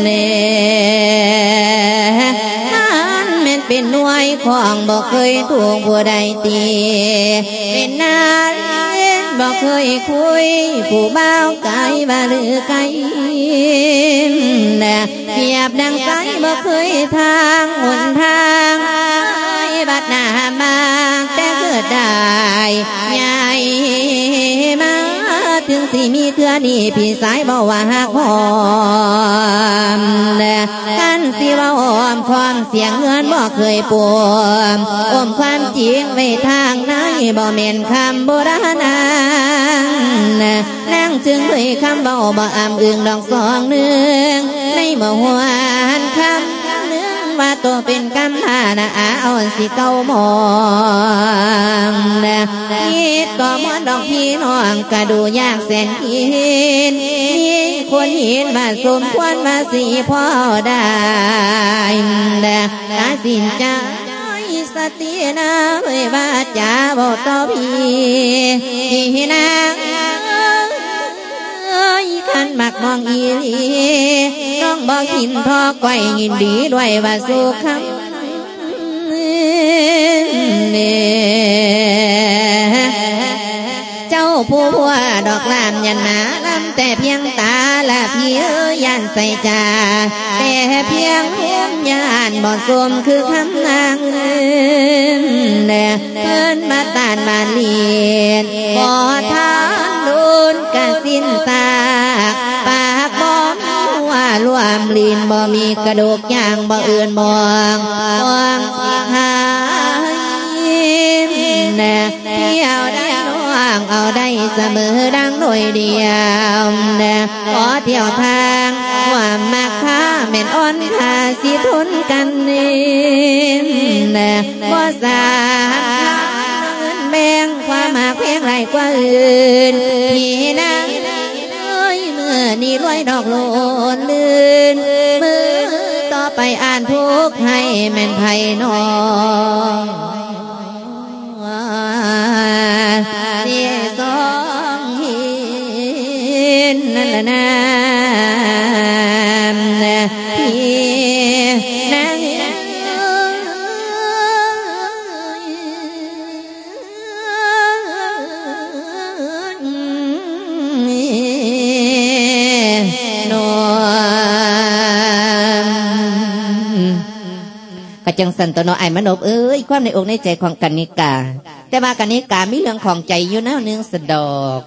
ແນ່ ຄັນແມ່ນເປັນໜ່ວຍຂອງ ບໍ່ເຄີຍຖືກຜູ້ໃດຕີ ເປັນນາລີບໍ່ເຄີຍຄຸຍ ຜູ້ບ່າວກາຍວ່າລືໄກ ປຽບດັ່ງໄຊບໍ່ເຄີຍທາງຫົນທາງ ບັດໜ້າມາແຕ່ເກີດໄດ້ໃຫຍ່ມາ ເຖິງຊິມີເທື່ອນີ້ ພີ່ຊາຍເວົ້າວ່າຮັກຫອມ ຄັນຊິເວົ້າອ້ອມຄ້ອມ ສຽງເຮືອນບໍ່ເຄີຍປົມ ອົມຄວາມຈິງໄວ້ທາງໃນ ບໍ່ແມ່ນຄຳບູລານນາງ ນາງຈຶ່ງເຜີຍຄຳເວົ້າບໍ່ອ້ຳອຶງດອກສອງໜຶ່ງ ໃນເມື່ອຫວນຄຳໜຶ່ງວ່າໂຕເປັນກຳພານະອາອ່ອນຊິເກົ່າໝອງ ຄິດກໍມ່ວນດອກພີ່ນ້ອງກະດູຢາກແສນກິນ ມີຄົນເຫັນວ່າສົມຄວນວ່າຊິພໍໄດ້ ຕັດສິນໃຈ ສະຕິນາເອີຍ ວາຈາເວົ້າຕໍ່ພີ່ ພີ່ນາງເອີຍ ຄັນມັກມອງອີ່ຫຼີ ນ້ອງບໍ່ຫິນທໍ້ກ້ອຍ ຍິນດີດ້ວຍວ່າສຸຂຳເນ ເຈົ້າຜູ້ພົວດອກລາມ ຢ້ານມາລຳແຕ່ພຽງຕາລະ ພີ່ເອີຍ ຢ້ານໃສ່ຈາ ແຕ່ພຽງຫົວຢ້ານບໍ່ສົມຄືຄຳນາງ ເພິ່ນມາຕ້ານມາລີດ ບໍ່ທັນໂດນກະສິ້ນຊາກ ປາກບໍ່ມີຫົວລວມ ລີ້ນບໍ່ມີກະດູກ ຍ່າງບໍ່ເອື້ອນມອງ ມອງຊິຫາຍ ທ່ຽວໄດ້ນ້ອງເອົາໄດ້ສະເໝີດັ່ງໜ່ວຍດຽວ ຂໍທ່ຽວທາງຮ່ວມມັກຂ້າແມ່ນອ່ອນຄ່າຊິທົນກັນ ບໍ່ສາມາດເງິນແບ່ງຄວາມຮັກແພງຫຼາຍກວ່າອື່ນ ພີ່ນາງເອີຍ ມື້ນີ້ລວຍດອກໂລນລື່ນ ມື້ຕໍ່ໄປອາດທຸກໃຫ້ແມ່ນໃຜນ້ອງ ທີ່ສອງເຫັນນັ້ນລະນາ ທີ່ນາງເອີຍ ນ້ອງ ກະຈັ່ງຊັ້ນຕົວະເນາະ ອ້າຍມະນົບເອີຍ ຄວາມໃນອົກໃນໃຈຂອງກະນິກາ ແຕ່ວ່າກະນິກາມີເລື່ອງຂ້ອງໃຈຢູ່ແນວໜຶ່ງຊັ້ນດອກ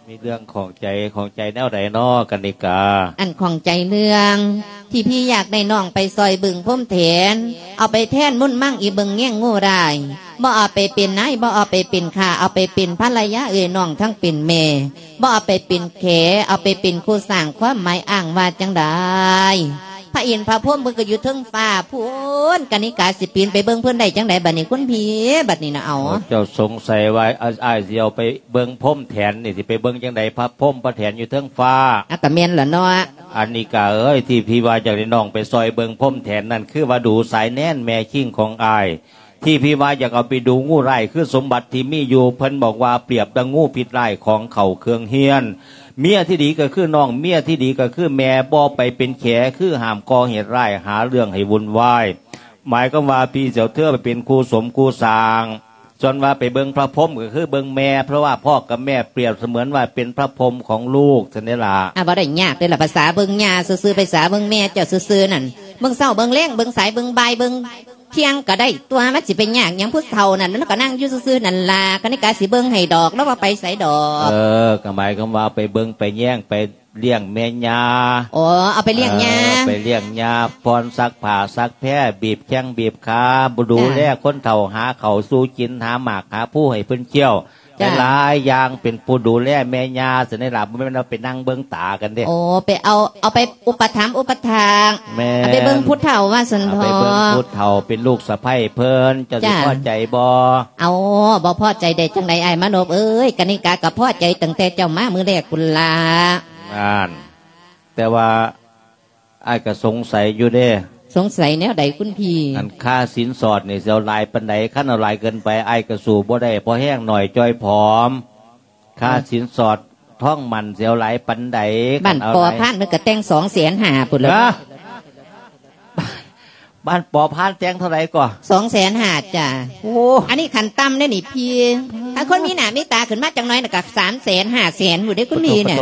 ມີເລື່ອງຂ້ອງໃຈ ຂ້ອງໃຈແນວໃດນໍກະນິກາ? ອັນຂ້ອງໃຈເລື່ອງທີ່ພີ່ຢາກໄດ້ນ້ອງໄປຊ່ອຍເບິ່ງພົມແທນ ເອົາໄປແທນມຸນມັງອີເບິ່ງແຍງງູຮ້າຍ ບໍ່ເອົາໄປເປັນນາຍ ບໍ່ເອົາໄປເປັນຂ້າ ເອົາໄປເປັນພັນລະຍາເອື້ອຍນ້ອງທັງເປັນແມ່ ບໍ່ເອົາໄປເປັນແຂ ເອົາໄປເປັນຄູ່ສ້າງ ຄວາມໝາຍອ້າງວ່າຈັ່ງໃດ? ພະອິນພະພົມເພິ່ນກໍຢູ່ເທິງຟ້າພຸ້ນ ກະນິກາຊິປີນໄປເບິ່ງເພິ່ນໄດ້ຈັ່ງໃດບັດນີ້ ຄຸນພີ່ ບັດນີ້ນະ ເອົາ ໂອ້ ເຈົ້າສົງໄສວ່າ ອາ ອ້າຍຊິເອົາໄປເບິ່ງພົມແທນນີ້ ຊິໄປເບິ່ງຈັ່ງໃດ ພະພົມພະແທນຢູ່ເທິງຟ້າ? ອາ ກະແມ່ນລະເນາະ ກະນິກາເອີຍ ທີ່ພີ່ວ່າຢາກໃຫ້ນ້ອງໄປຊ່ອຍເບິ່ງພົມແທນນັ້ນ ຄືວ່າດູສາຍແນນແມ່ຄີງຂອງອ້າຍ ທີ່ພີ່ວ່າຢາກເອົາໄປດູງູຮ້າຍ ຄືສົມບັດທີ່ມີຢູ່ ເພິ່ນບອກວ່າປຽບດັ່ງງູພິດຮ້າຍ ຂອງເຂົາເຄື່ອງເຮຍນ ເມຍທີ່ດີກໍຄືນ້ອງ ເມຍທີ່ດີກໍຄືແມ່ ບໍ່ໄປເປັນແຂ ຄືຫ້າມກໍ່ເຫດຮ້າຍ ຫາເລື່ອງໃຫ້ວຸ່ນວາຍ ໝາຍຄວາມວ່າພີ່ຊິເອົາເທື່ອໄປເປັນຄູ່ສົມຄູ່ສ້າງ ສ່ວນວ່າໄປເບິ່ງພະພົມກໍຄືເບິ່ງແມ່ ເພາະວ່າພໍ່ກັບແມ່ປຽບສະເໝືອນວ່າເປັນພະພົມຂອງລູກຊັ້ນເດລະ ອາ ບໍ່ໄດ້ຍາກເດລະ ພາສາເບິ່ງຍ່າຊື່ໆ ພາສາເບິ່ງແມ່ເຈົ້າຊື່ໆນັ້ນ ເບິ່ງເຊົ້າເບິ່ງແລງ ເບິ່ງສາຍເບິ່ງບ່າຍ ເບິ່ງ ທ່ຽງກໍໄດ້ຕົວະ ມັນຊິໄປຍາກຫຍັງ ຜູ້ເຖົ້ານັ້ນ ລາວກໍນັ່ງຢູ່ຊື່ໆນັ້ນລະ ກະນິກາຊິເບິ່ງໃຫ້ດອກ ລາວບໍ່ໄປໃສດອກ. ເອີ ກໍໝາຍຄວາມວ່າໄປເບິ່ງໄປແຍງ ໄປລ້ຽງແມ່ຍ່າ. ອໍ ເອົາໄປລ້ຽງຍ່າ. ເອີ ໄປລ້ຽງຍ່າ ຜ່ອນ ຊັກຜ້າຊັກແພ ບີບແຂ້ງບີບຂາ ບໍ່ດູແລ ຈ້າ ຄົນເຖົ້າ ຫາເຂົ້າສູ່ກິນ ຫາໝາກຫາພູໃຫ້ເພິ່ນຄ້ຽວ. ຫຼາຍໆຢ່າງ ເປັນຜູ້ດູແລແມ່ຍ່າຊັ້ນນີ້ລະ ບໍ່ແມ່ນວ່າໄປນັ່ງເບິ່ງຕາກັນເດ້. ໂອ້ ໄປເອົາ ເອົາໄປອຸປະຖຳອຸປະຖາກ ແມ່ນ ເອົາໄປເບິ່ງຜູ້ເຖົ້າວ່າຊັ້ນເຖາະ ເອົາໄປເບິ່ງຜູ້ເຖົ້າ ເປັນລູກສະໃພ້ເພິ່ນ ເຈົ້າຊິພໍໃຈບໍ່? ເອົາ ບໍ່ພໍໃຈໄດ້ຈັ່ງໃດອ້າຍມານົບເອີຍ ກະນິກາກໍພໍໃຈຕັ້ງແຕ່ເຈົ້າມາມື້ແລກພຸ້ນລະ. ນັ້ນ ແຕ່ວ່າ ອ້າຍກໍສົງໄສຢູ່ເດ້. ສົງໄສແນວໃດຄຸນພີ່? ອັນຄ່າສິນສອດນີ້ຊິເອົາຫຼາຍປານໃດ? ຄັນເອົາຫຼາຍເກີນໄປ ອ້າຍກໍສູ້ບໍ່ໄດ້ ພໍແຮງໜ້ອຍຈ່ອຍຜອມ. ຄ່າສິນສອດທອງໝັ້ນຊິເອົາຫຼາຍປານໃດ? ບ້ານປໍພານເພິ່ນກໍແຕ່ງສອງແສນຫ້າພຸ້ນແຫຼະ. ບ້ານປໍພານແຕ່ງເທົ່າໃດກໍ? ສອງແສນຫ້າຈ້າ. ໂອ້ ອັນນີ້ຂັ້ນຕ່ຳເດ້ນີ້ພີ່. ຖ້າຄົນມີໜ້າມີຕາຂຶ້ນມາຈັກໜ້ອຍນະ ກໍສາມແສນ ຫ້າແສນພຸ້ນເດ້ຄຸນພີ່ນະ.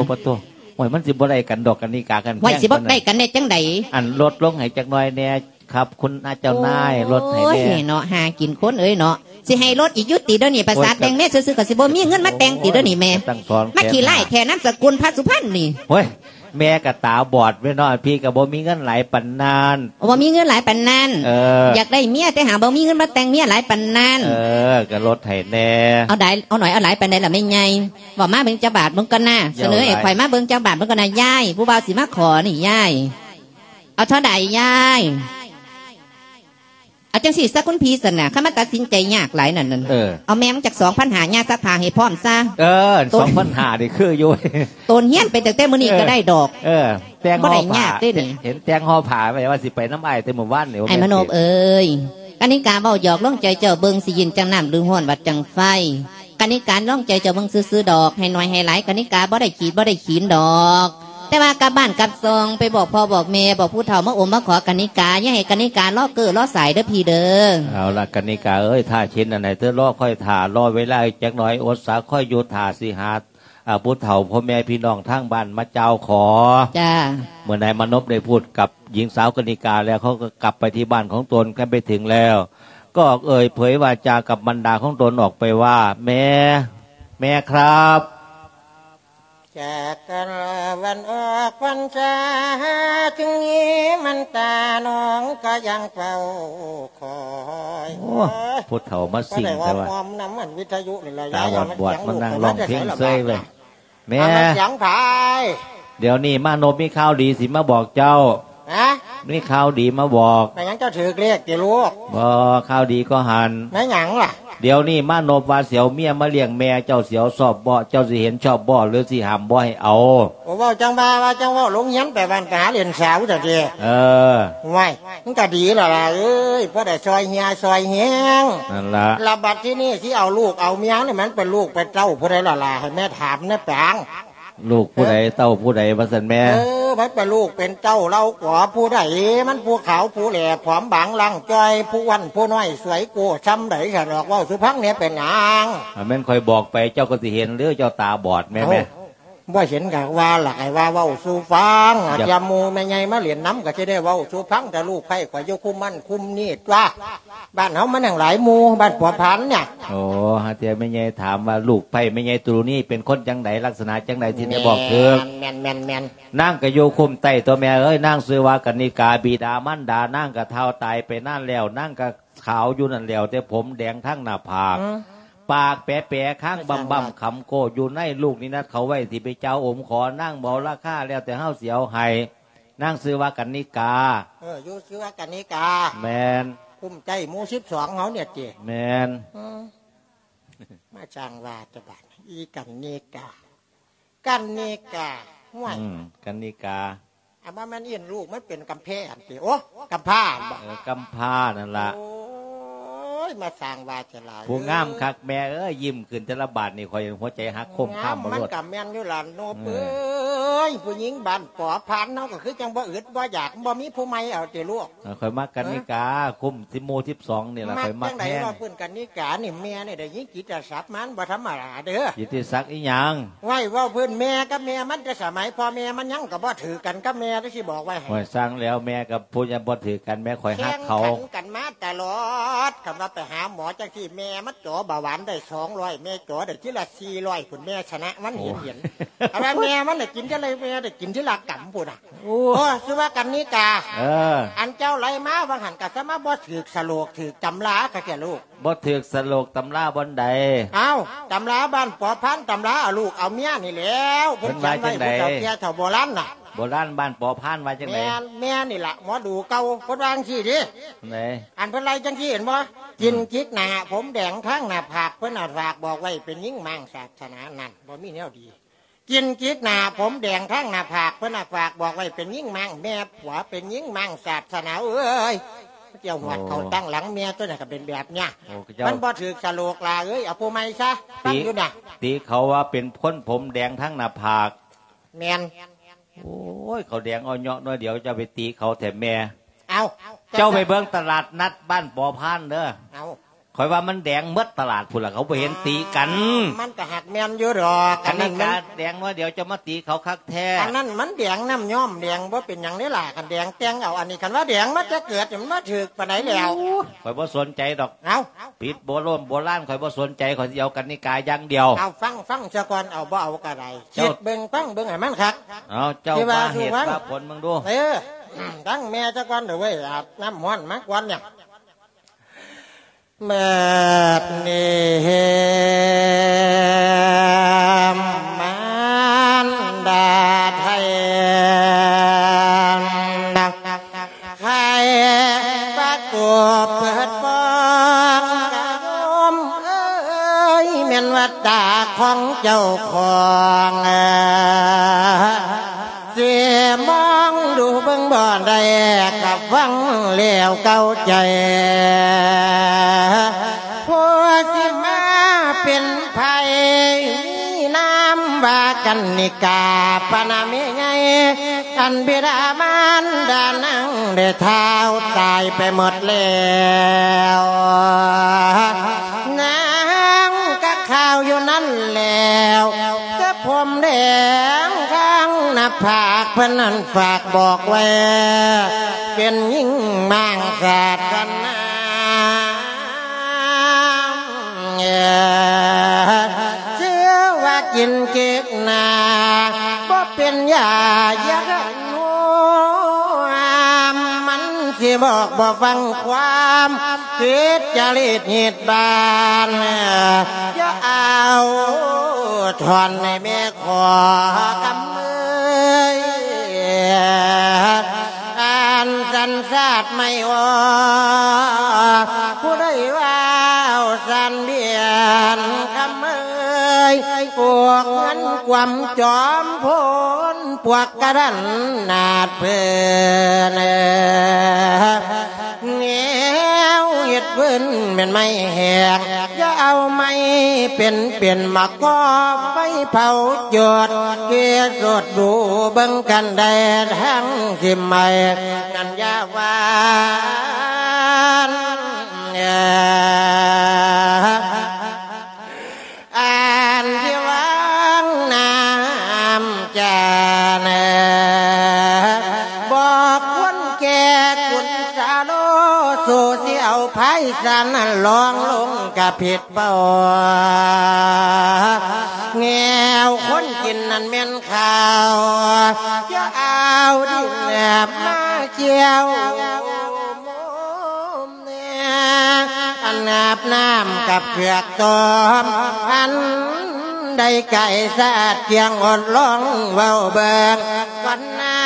ໂອ້ຍ ມັນຊິບໍ່ໄດ້ກັນດອກ ກະນິກາ ຄັນ ໂອ້ຍ ຊິບໍ່ໄດ້ກັນໄດ້ຈັ່ງໃດ? ອັນ ລົດລົງໃຫ້ຈັກໜ້ອຍແດ່ຄັບ ຄຸນອາເຈົ້ານາຍ ໂອ້ຍ ລົດໃຫ້ແດ່ເນາະ. ຫາກິນຄົນເອີຍເນາະ ຊິໃຫ້ລົດອີກຢູ່ຕິດຽວນີ້? ປະສາດແຕ່ງເມຊື່ໆ ກໍຊິບໍ່ມີເງິນມາແຕ່ງຕິດຽວນີ້ແມ່. ມາຂີ້ຮ້າຍແທ້ ນາມສະກຸນພະສຸພັນນີ້. ໂອ້ຍ ແມ່ກໍຕາບອດແມ່ເນາະ ພີ່ກໍບໍ່ມີເງິນຫຼາຍປານນັ້ນ. ບໍ່ມີເງິນຫຼາຍປານນັ້ນ. ເອີ ຢາກໄດ້ເມຍ ແຕ່ຫາບໍ່ມີເງິນມາແຕ່ງເມຍຫຼາຍປານນັ້ນ. ເອີ ກໍລົດໃຫ້ແດ່. ເອົາໄດ້ ເອົາໜ້ອຍເອົາຫຼາຍປານໃດລະແມ່ໃຫຍ່? ເວົ້າມາເບິ່ງຈັກບາດເບິ່ງກ່ອນນາ. ສະເໜີໃຫ້ຂ້ອຍມາເບິ່ງຈັກບາດເບິ່ງກ່ອນນາຍາຍ. ຜູ້ບ່າວຊິມາຂໍນີ້ຍາຍ ເອົາເທົ່າໃດຍາຍ? ເອົາຈັ່ງຊີ້ຊະຄຸນພີ່ຊັ້ນນະ ຄັນມັນຕັດສິນໃຈຍາກຫຼາຍນັ້ນ ເອີ ເອົາແມ່ມັນຈັກສອງພັນຫ້າ ຍາຊັກຜ້າໃຫ້ພ້ອມຊະ. ເອີ ສອງພັນຫ້ານີ້ຄືຢູ່. ໂຕນຮຽນໄປຕັ້ງແຕ່ມື້ນີ້ກໍໄດ້ດອກ. ເອີ ແຕ່ງຫໍ່ຜ້າ ເຫັນແຕ່ງຫໍ່ຜ້າໄວ້ວ່າຊິໄປນຳອ້າຍແຕ່ມື້ວານນີ້. ອ້າຍມະໂນບເອີຍ ກະນິກາເວົ້າຫຍອກລອງໃຈເຈົ້າເບິ່ງ ຊິເຢັນຈັ່ງນ້ຳ ຫຼືຮ້ອນຫວັດຈັ່ງໄຟ. ກະນິກາລອງໃຈເຈົ້າເບິ່ງຊື່ໆດອກ ໃຫ້ໜ້ອຍໃຫ້ຫຼາຍ ກະນິກາບໍ່ໄດ້ຂີດບໍ່ໄດ້ຂີນດອກ. ແຕ່ວ່າກັບບ້ານກັບຊ່ອງ ໄປບອກພໍ່ບອກແມ່ ບອກຜູ້ເຖົ້າມາໂອມມາຂໍກະນິກາ ຢ່າໃຫ້ກະນິກາລໍເກີລໍສາຍເດີພີ່ເດີ. ເອົາລະ ກະນິກາເອີຍ ຖ້າເຊັ່ນນັ້ນໃຫ້ເທີລໍ ຄ່ອຍຖ້າ ລໍເວລາອີກຈັກໜ້ອຍ ອົດສາ ຄ່ອຍຢູ່ຖ້າ ຊິຫາ ອາ ຜູ້ເຖົ້າ ພໍ່ແມ່ພີ່ນ້ອງທາງບ້ານມາກ່າວຂໍ. ຈ້າ. ເມື່ອນາຍມານົບໄດ້ພູດກັບ ຍິງສາວກະນິກາແລ້ວ ເຂົາກໍກັບໄປທີ່ບ້ານຂອງຕົນ. ຄັນໄປເຖິງແລ້ວ ກໍເອີ່ຍເຜີຍວາຈາກັບບັນດາຂອງຕົນອອກໄປວ່າ ແມ່ ແມ່ຄັບ ຈາກກັນລະວັນອອກພັນສາ ຈຶ່ງມີມັນຕາ ນ້ອງກໍຍັງເຝົ້າຄອຍ. ໂອ້ ຜູ້ເຖົ້າມາຊິງແທ້ວ່າ ຕາບອດໆ ມານັ່ງຮ້ອງເພງເຊີຍເວີຍ. ແມ່ ດຽວນີ້ມານົບມີຂ່າວດີຊິມາບອກເຈົ້າ. ຮະ? ມີຂ່າວດີມາບອກ. ແມ່ນຫຍັງ ເຈົ້າຖືກເລກຕິລູກ? ບໍ່ ຂ່າວດີກໍຫັ້ນ. ແມ່ນຫຍັງລະ? ດຽວນີ້ມານົບວ່າຊິເອົາເມຍມາລ້ຽງແມ່ເຈົ້າ ຊິເອົາຊອບບໍ່? ເຈົ້າຊິເຫັນຊອບບໍ່ ຫຼືຊິຫ້າມບໍ່ໃຫ້ເອົາ? ໂອ້ ເວົ້າຈັ່ງວ່າ ວ່າຈັ່ງເວົ້າ ລົງຮຽນໄປບ້ານໄປຫາຫຼິ້ນສາວຊະຕິ. ເອີ ໂອ້ຍ ມັນກໍດີແລ້ວລະເອີຍ ພໍໄດ້ຊ່ອຍເຫື່ອຊ່ອຍແຮງ. ນັ້ນລະ ລະບັດທີນີ້ຊິເອົາລູກເອົາເມຍນີ້ ມັນເປັນລູກເປັນເຕົ້າຜູ້ໃດລະລະ ໃຫ້ແມ່ຖາມແດ່ປາງ. ລູກຜູ້ໃດ ເອີ ເຕົ້າຜູ້ໃດວ່າຊັ້ນແມ່? ເອີ ມັນເປັນລູກເປັນເຕົ້າເຫຼົ່າກໍຜູ້ໃດ? ມັນຜູ້ຂາວຜູ້ແຫຼຜອມບາງລ່າງຈ່ອຍ ຜູ້ອ້ວນຜູ້ນ້ອຍສວຍໂກ້ຊ່ຳໃດຊັ້ນດອກ ເວົ້າສູ່ຟັງແດ່ເປັນຫຍັງ? ຖ້າແມ່ນຂ້ອຍບອກໄປ ເຈົ້າກໍຊິເຫັນ ຫຼືເຈົ້າຕາບອດແມ່? ເອົ້າ ແມ່ ບໍ່ເຫັນກໍວ່າລະ ໃຫ້ວ່າເວົ້າສູ່ຟັງ. ອາດຈະໝູ່ແມ່ໃຫຍ່ມາຫຼິ້ນນຳກໍຊິໄດ້ເວົ້າສູ່ຟັງ ແຕ່ລູກໃພ້ຂ້ອຍຢູ່ຄຸມນັ້ນຄຸມນີ້ຕົວະ. ບ້ານເຮົາມັນຫຍັງຫຼາຍໝູ່ ບ້ານປົວພັນນີ້. ໂອ້ ຫາແຕ່ແມ່ໃຫຍ່ຖາມວ່າລູກໃພ້ແມ່ໃຫຍ່ໂຕນີ້ເປັນຄົນຈັ່ງໃດ ລັກສະນະຈັ່ງໃດ ຊິໄດ້ບອກຖືກ. ແມ່ນໆໆໆ ນາງກໍຢູ່ຄຸ້ມໃຕ້ຕົວະແມ່ເອີຍ ນາງຊື່ວ່າກະນິກາ ບິດາມານດານາງກໍເຖົ້າຕາຍໄປນານແລ້ວ ນາງກໍຂາວຢູ່ນັ້ນແລ້ວ ແຕ່ຜົມແດງທັງໜ້າຜາກ ອືມ ປາກແປໆ ຄາງບຳໆ ຄຳໂກ້ຢູ່ໃນ ລູກນິນັດເຂົາໄວ້ ຊິໄປເຈົ້າອົມຂໍ ນາງບໍ່ລາຄາ ແລ້ວແຕ່ເຮົາຊິເອົາໃຫ້. ນາງຊື່ວ່າກັນນິກາ. ເອີ ຢູ່ຊື່ວ່າກັນນິກາ. ແມ່ນ. ຄຸ້ມໃຈໝູ່ສິບສອງເຮົານີ້ຕິ? ແມ່ນ. ອືມ ມາຊ່າງວ່າແຕ່ບາດ ອີກັນນິກາ ກັນນິກາ. ຫ້ວຍ ອືມ ກັນນິກາ ອາ ບໍ່ແມ່ນອີ່ນ ລູກມັນເປັນກຳແພຫັ້ນຕິ? ໂອ້ ກຳພ້າຫັ້ນບໍ? ເອີ ກຳພ້ານັ້ນລະ. ໂອ້ຍ ມາສ້າງວ່າຈະຫຼາຍ ຜູ້ງາມຄັກແມ່ເອີຍ ຍິ້ມຂຶ້ນແຕ່ລະບາດນີ້ ຂ້ອຍຫົວໃຈຫັກໂຄມຄາມ ງາມ ບໍ່ ມັນ ໂລດ ກໍແມ່ນຢູ່ລະໂນບ ເອີ ເອີ. ເອີຍ ຜູ້ຍິງບ້ານປໍພານເຮົາກໍຄືຈັ່ງບໍ່ອຶດບໍ່ຢາກ ບໍ່ມີຜູ້ໃໝ່ເອົາຕິລູກ? ເອີ ຂ້ອຍມັກກັນນິກາ ເອີ ຄຸ້ມສິໝູ່ສິບສອງນີ້ລະ ຂ້ອຍມັກແຮງ. ມັກຈັ່ງໃດວ່າເພິ່ນກັນນິການີ້ ແມ່ນີ້ໄດ້ຍິງກິດຕະສັກ ມັນບໍ່ທຳມະດາເດີ້. ກິດຕິສັກອີຫຍັງ? ໄວ້ເວົ້າພື້ນແມ່ກັບແມ່ມັນ ແຕ່ສະໄໝພໍ່ແມ່ມັນຍັງກໍບໍ່ຖືກກັນກັບແມ່ ແຕ່ຊິບອກໄວ້ໃຫ້. ໂອ້ຍ ຊ່າງແລ້ວ ແມ່ກັບຜູ້ຍັງບໍ່ຖືກກັນ ແມ່ຂ້ອຍຮັກເຂົາ ແຂ່ງຂັນກັນມາຕະຫຼອດ. ຄັນວ່າໄປຫາໝໍຈັ່ງຊີ້ ແມ່ມັນ ຈໍເບົາຫວານໄດ້ສອງຮ້ອຍ ແມ່ຈໍໄດ້ທີລະສີ່ຮ້ອຍພຸ້ນ ແມ່ຊະນະມັນ ໂອ້ ເຫັນໆ. ອັນວ່າແມ່ມັນໄດ້ກິນເທື່ອລະ ແມ່ໄດ້ກິນທີລະກຳພຸ້ນນະ. ໂອ້ ໂອ້ ຊື່ວ່າກັນນິກາ ເອີ ອັນເຈົ້າໄລ່ມາວ່າຫັ້ນ ກະສະມາບໍ່ຖືກສະໂລກຖືກຕຳລາຄັກແທ້ລູກ. ບໍ່ຖືກສະໂລກຕຳລາບ່ອນໃດ? ເອົ້າ ຕຳລາບ້ານປໍພານ ຕຳລາເອົາລູກເອົາເມຍນີ້ແຫຼ້ວ ເພິ່ນຂຽນໄວ້ ເພິ່ນວ່າຈັ່ງໃດ? ຜູ້ເຖົ້າແກ່ເຖົ້າໂບລານນະ. ໂບລານບ້ານປໍພານວ່າຈັ່ງໃດ? ແມ່ນ ແມ່ນີ້ລະ ໝໍດູເກົ່າ ເພິ່ນວ່າຈັ່ງຊີ້ເດ້. ໃດ? ອັນເພິ່ນໄລ່ຈັ່ງຊີ້ເຫັນບໍ່? ອືມ ກິນຈິກໜ້າ ຜົມແດງທາງໜ້າຜາກ ເພິ່ນນະຝາກບອກໄວ້ເປັນຍິງມ້າງສາດສະໜານັ້ນ ບໍ່ມີແນວດີ. ກິນຈິກໜ້າ ຜົມແດງທາງໜ້າຜາກ ເພິ່ນນະຝາກບອກໄວ້ເປັນຍິງມ້າງ ແມ່ຜົວເປັນຍິງມ້າງສາດສະໜາເອີຍ. ເຈົ້າຫວດເຂົ້າ ໂອ້ ຕັ້ງຫຼັງເມຍຕົວນັ້ນກໍເປັນແບບເນີ້ຍ. ໂອ້ ເຈົ້າ ມັນບໍ່ຖືກສະໂລກຫຼ້າເອີຍ ເອົາຜູ້ໃໝ່ຊະ. ຕິ ຟັງຢູ່ນະ ຕິເຂົາວ່າເປັນຄົນຜົມແດງທາງໜ້າຜາກ. ແມ່ນ. ໂອ້ຍ ເຂົາແດງເອົາເຍາະໜ້ອຍດຽວ ເຈົ້າໄປຕິເຂົາແທ້ແມ່. ເອົ້າ ເຈົ້າໄປເບິ່ງຕະຫຼາດນັດບ້ານປໍພານເດີ. ເອົ້າ ຂ້ອຍວ່າມັນແດງໝົດຕະຫຼາດພຸ້ນລະ ເຂົາບໍ່ເຫັນຕິກັນ. ມັນກໍຫາກແມ່ນຢູ່ດອກ ອັນນີ້ ອັນນັ້ນມັນ ກາແດງໜ້ອຍດຽວ ເຈົ້າມາຕິເຂົາຄັກແທ້. ອັນນັ້ນມັນແດງນ້ຳຍ້ອມແດງ ບໍ່ເປັນຫຍັງເດ້ລະ ຄັນແດງແຕ່ງເອົາ. ອັນນີ້ຄັນວ່າແດງມາແຕ່ເກີດ ມັນມາຖືກປານໃດແລ້ວ? ໂອ້ຍ ຂ້ອຍບໍ່ສົນໃຈດອກ. ເອົ້າ ຜິດໂບໂລມໂບລານ ຂ້ອຍບໍ່ສົນໃຈ ຂ້ອຍຊິເອົາກັນນິກາຢ່າງດຽວ. ເອົາ ຟັງ ຟັງຊະກ່ອນ ເອົາບໍ່ເອົາກໍໄດ້ ເຈົ້າ ຄິດເບິ່ງ ຟັງເບິ່ງໃຫ້ມັນຄັກ. ເອົາ ເຈົ້າວ່າເຫດວ່າຜົນເບິ່ງດູ. ເອີ ຟັງແມ່ຊະກ່ອນເດີເວີຍ ອາບນ້ຳຮ້ອນມາກ່ອນນີ້. ບັດນີ້ມານດາໄທ ໄຂປະຕູເປີດປ່ອງ ກະໂຍມເອີຍ ແມ່ນວ່າຕາຂອງເຈົ້າຂອງ ຊິມອງດູເບິ່ງບໍ່ໄດ້ ກະຟັງແລ້ວເກົ້າໃຈ ຜູ້ຊິມາເປັນໃຜ ມີນາມວ່າກັນນິກາ ປະນາມແມ່ໃຫຍ່ ອັນບິດາມານດານາງໄດ້ທ້າວຕາຍໄປໝົດແລ້ວ ນາງກະຂ່າວຢູ່ນັ້ນແລ້ວ ກະຜົມແດງທາງໜ້າຜາກ ເພິ່ນນັ້ນຝາກບອກໄວ້ ເປັນຍິງມ້າງສາດສະໜາ ເອີ ເຊື່ອວ່າກິນເກກໜ້າ ບໍ່ເປັນຢາຢານວມ ມັນຊິບອກບໍ່ຟັງຄວາມ ຜິດຈະລິດຮີດບານ ຢ່າເອົາທ່ອນໃຫ້ແມ່ຂໍຄຳເອີຍ ອັນສັນຊາດໄມ້ອ່ອນ ຜູ້ໃດວ່າເອົາສັນບຽນຄຳເອີຍ ພວກເງິນກວມຈອມໂພນ ພວກກະດັນໜາດເພິ່ນ ແນວເຮັດເພິ່ນແມ່ນໄມ້ແຫ້ງ ຢ່າເອົາໄມ້ເປັນໆ ມາກໍ່ໄຟເຜົາຈຸດ ເກສົດດູເບິ່ງກັນໄດ້ທັງສິບໄມ້ ນັ້ນຢ່າວ່າອັນ ອັນທີ່ວາງນ້ຳຈານ ບອກຄົນແກ່ກຸນສາໂລ ສູ້ຊິເອົາພາຍສານນັ້ນລອງລົງກະຜິດເປົ້າ ແນວຄົນກິນນັ້ນແມ່ນເຂົ້າ ຈະເອົາດິນແນບມາກ່ຽວ ອັນອາບນ້ຳກັບເຜືອກຕ້ອມ ອັນໃດໄກ່ສະອາດກຽງ ອົດລອງເວົ້າເບິ່ງກ່ອນນາ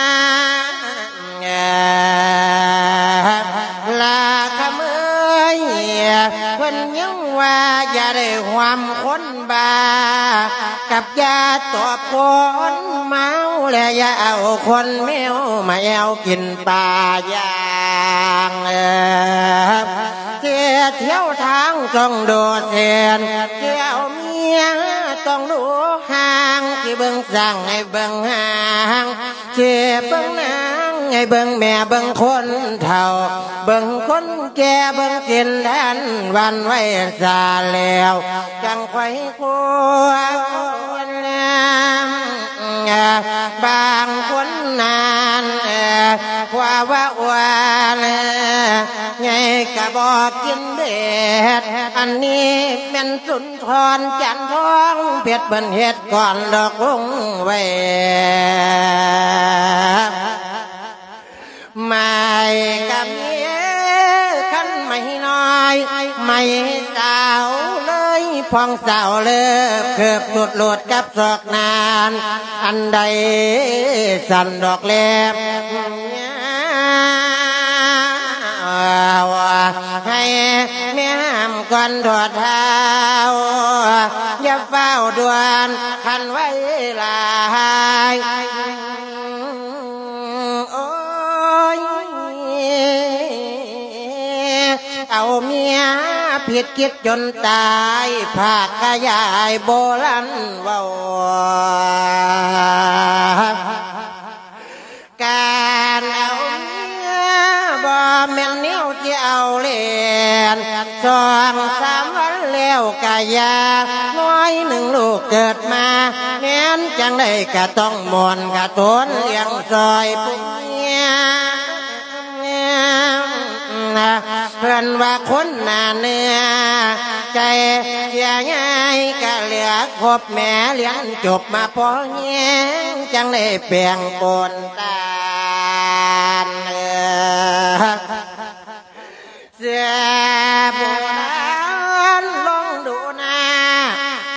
ລາຄຳເອີຍ ເພິ່ນຍັງວ່າຢ່າໄດ້ຮ່ວມຄົນບ້າ ກັບຢ່າຕອບຄົນເມົາ ແລະຢ່າເອົາຄົນແມວມາແອວກິນ ປາຢ່າງ ເສດຖຽວທາງຕ້ອງໂດດເສັ້ນ ສຽວເມຍ ຕ້ອງດູຮ່າງ ຊິເບິ່ງຊ່າງໃຫ້ເບິ່ງຮ່າງ ຊິເບິ່ງນາງໃຫ້ເບິ່ງແມ່ ເບິ່ງຄົນເຖົ້າ ເບິ່ງຄົນແກ່ ເບິ່ງສິນແດນວັນໄວ້ຊາແລ້ວ ຈັ່ງຄ່ອຍຄົວນ ບາງຄົນນັ້ນ ຄວາວ່າອ້ວນ ໃຫຍ່ກະບໍ່ກິນເບັດ ອັນນີ້ແມ່ນສຸນ ທອນຈັນທອງເພັດ ເພິ່ນເຮັດກ່ອນດອກລົງໄວ້ ໄມ້ກະມີຄັນໄມ້ນ້ອຍ ໄມ້ສາວເລີຍ ພອງສາວເລີບ ເກີບຫຼຸດໂລດກັບສອກນານ ອັນໃດສັ່ນດອກແລບ ໃຫ້ແມ່ຫ້າມກ່ອນທໍ່ເຖົ້າ ຢ່າຟ້າວດ່ວນຄັນໄວຫຼາຍ ໂອ້ຍ ເອົາເມຍຜິດຄິດຈົນຕາຍ ພາກຂະຫຍາຍໂບລານເວົ້າ ການເອົາເມຍບໍ່ແມ່ນແນວທີ່ເອົາຫຼິ້ນ ສອງສາມວັນແລ້ວກະຢ່າ ນ້ອຍໜຶ່ງລູກເກີດມາ ແມ່ນຈັ່ງໃດກະຕ້ອງມ່ອນກະທົນ ລ້ຽງຊ່ອຍຜູ້ເມຍ ເພິ່ນວ່າຄົນໜ້າເນື້ອໃຈ ເສຍຍາຍກະເຫຼືອຄົບແມ່ ລຽນຈົບມາພໍແຮງ ຈັ່ງໄດ້ແປງປົນຕານ ເອີ ເສືອໂບລານລອງດູໜ້າ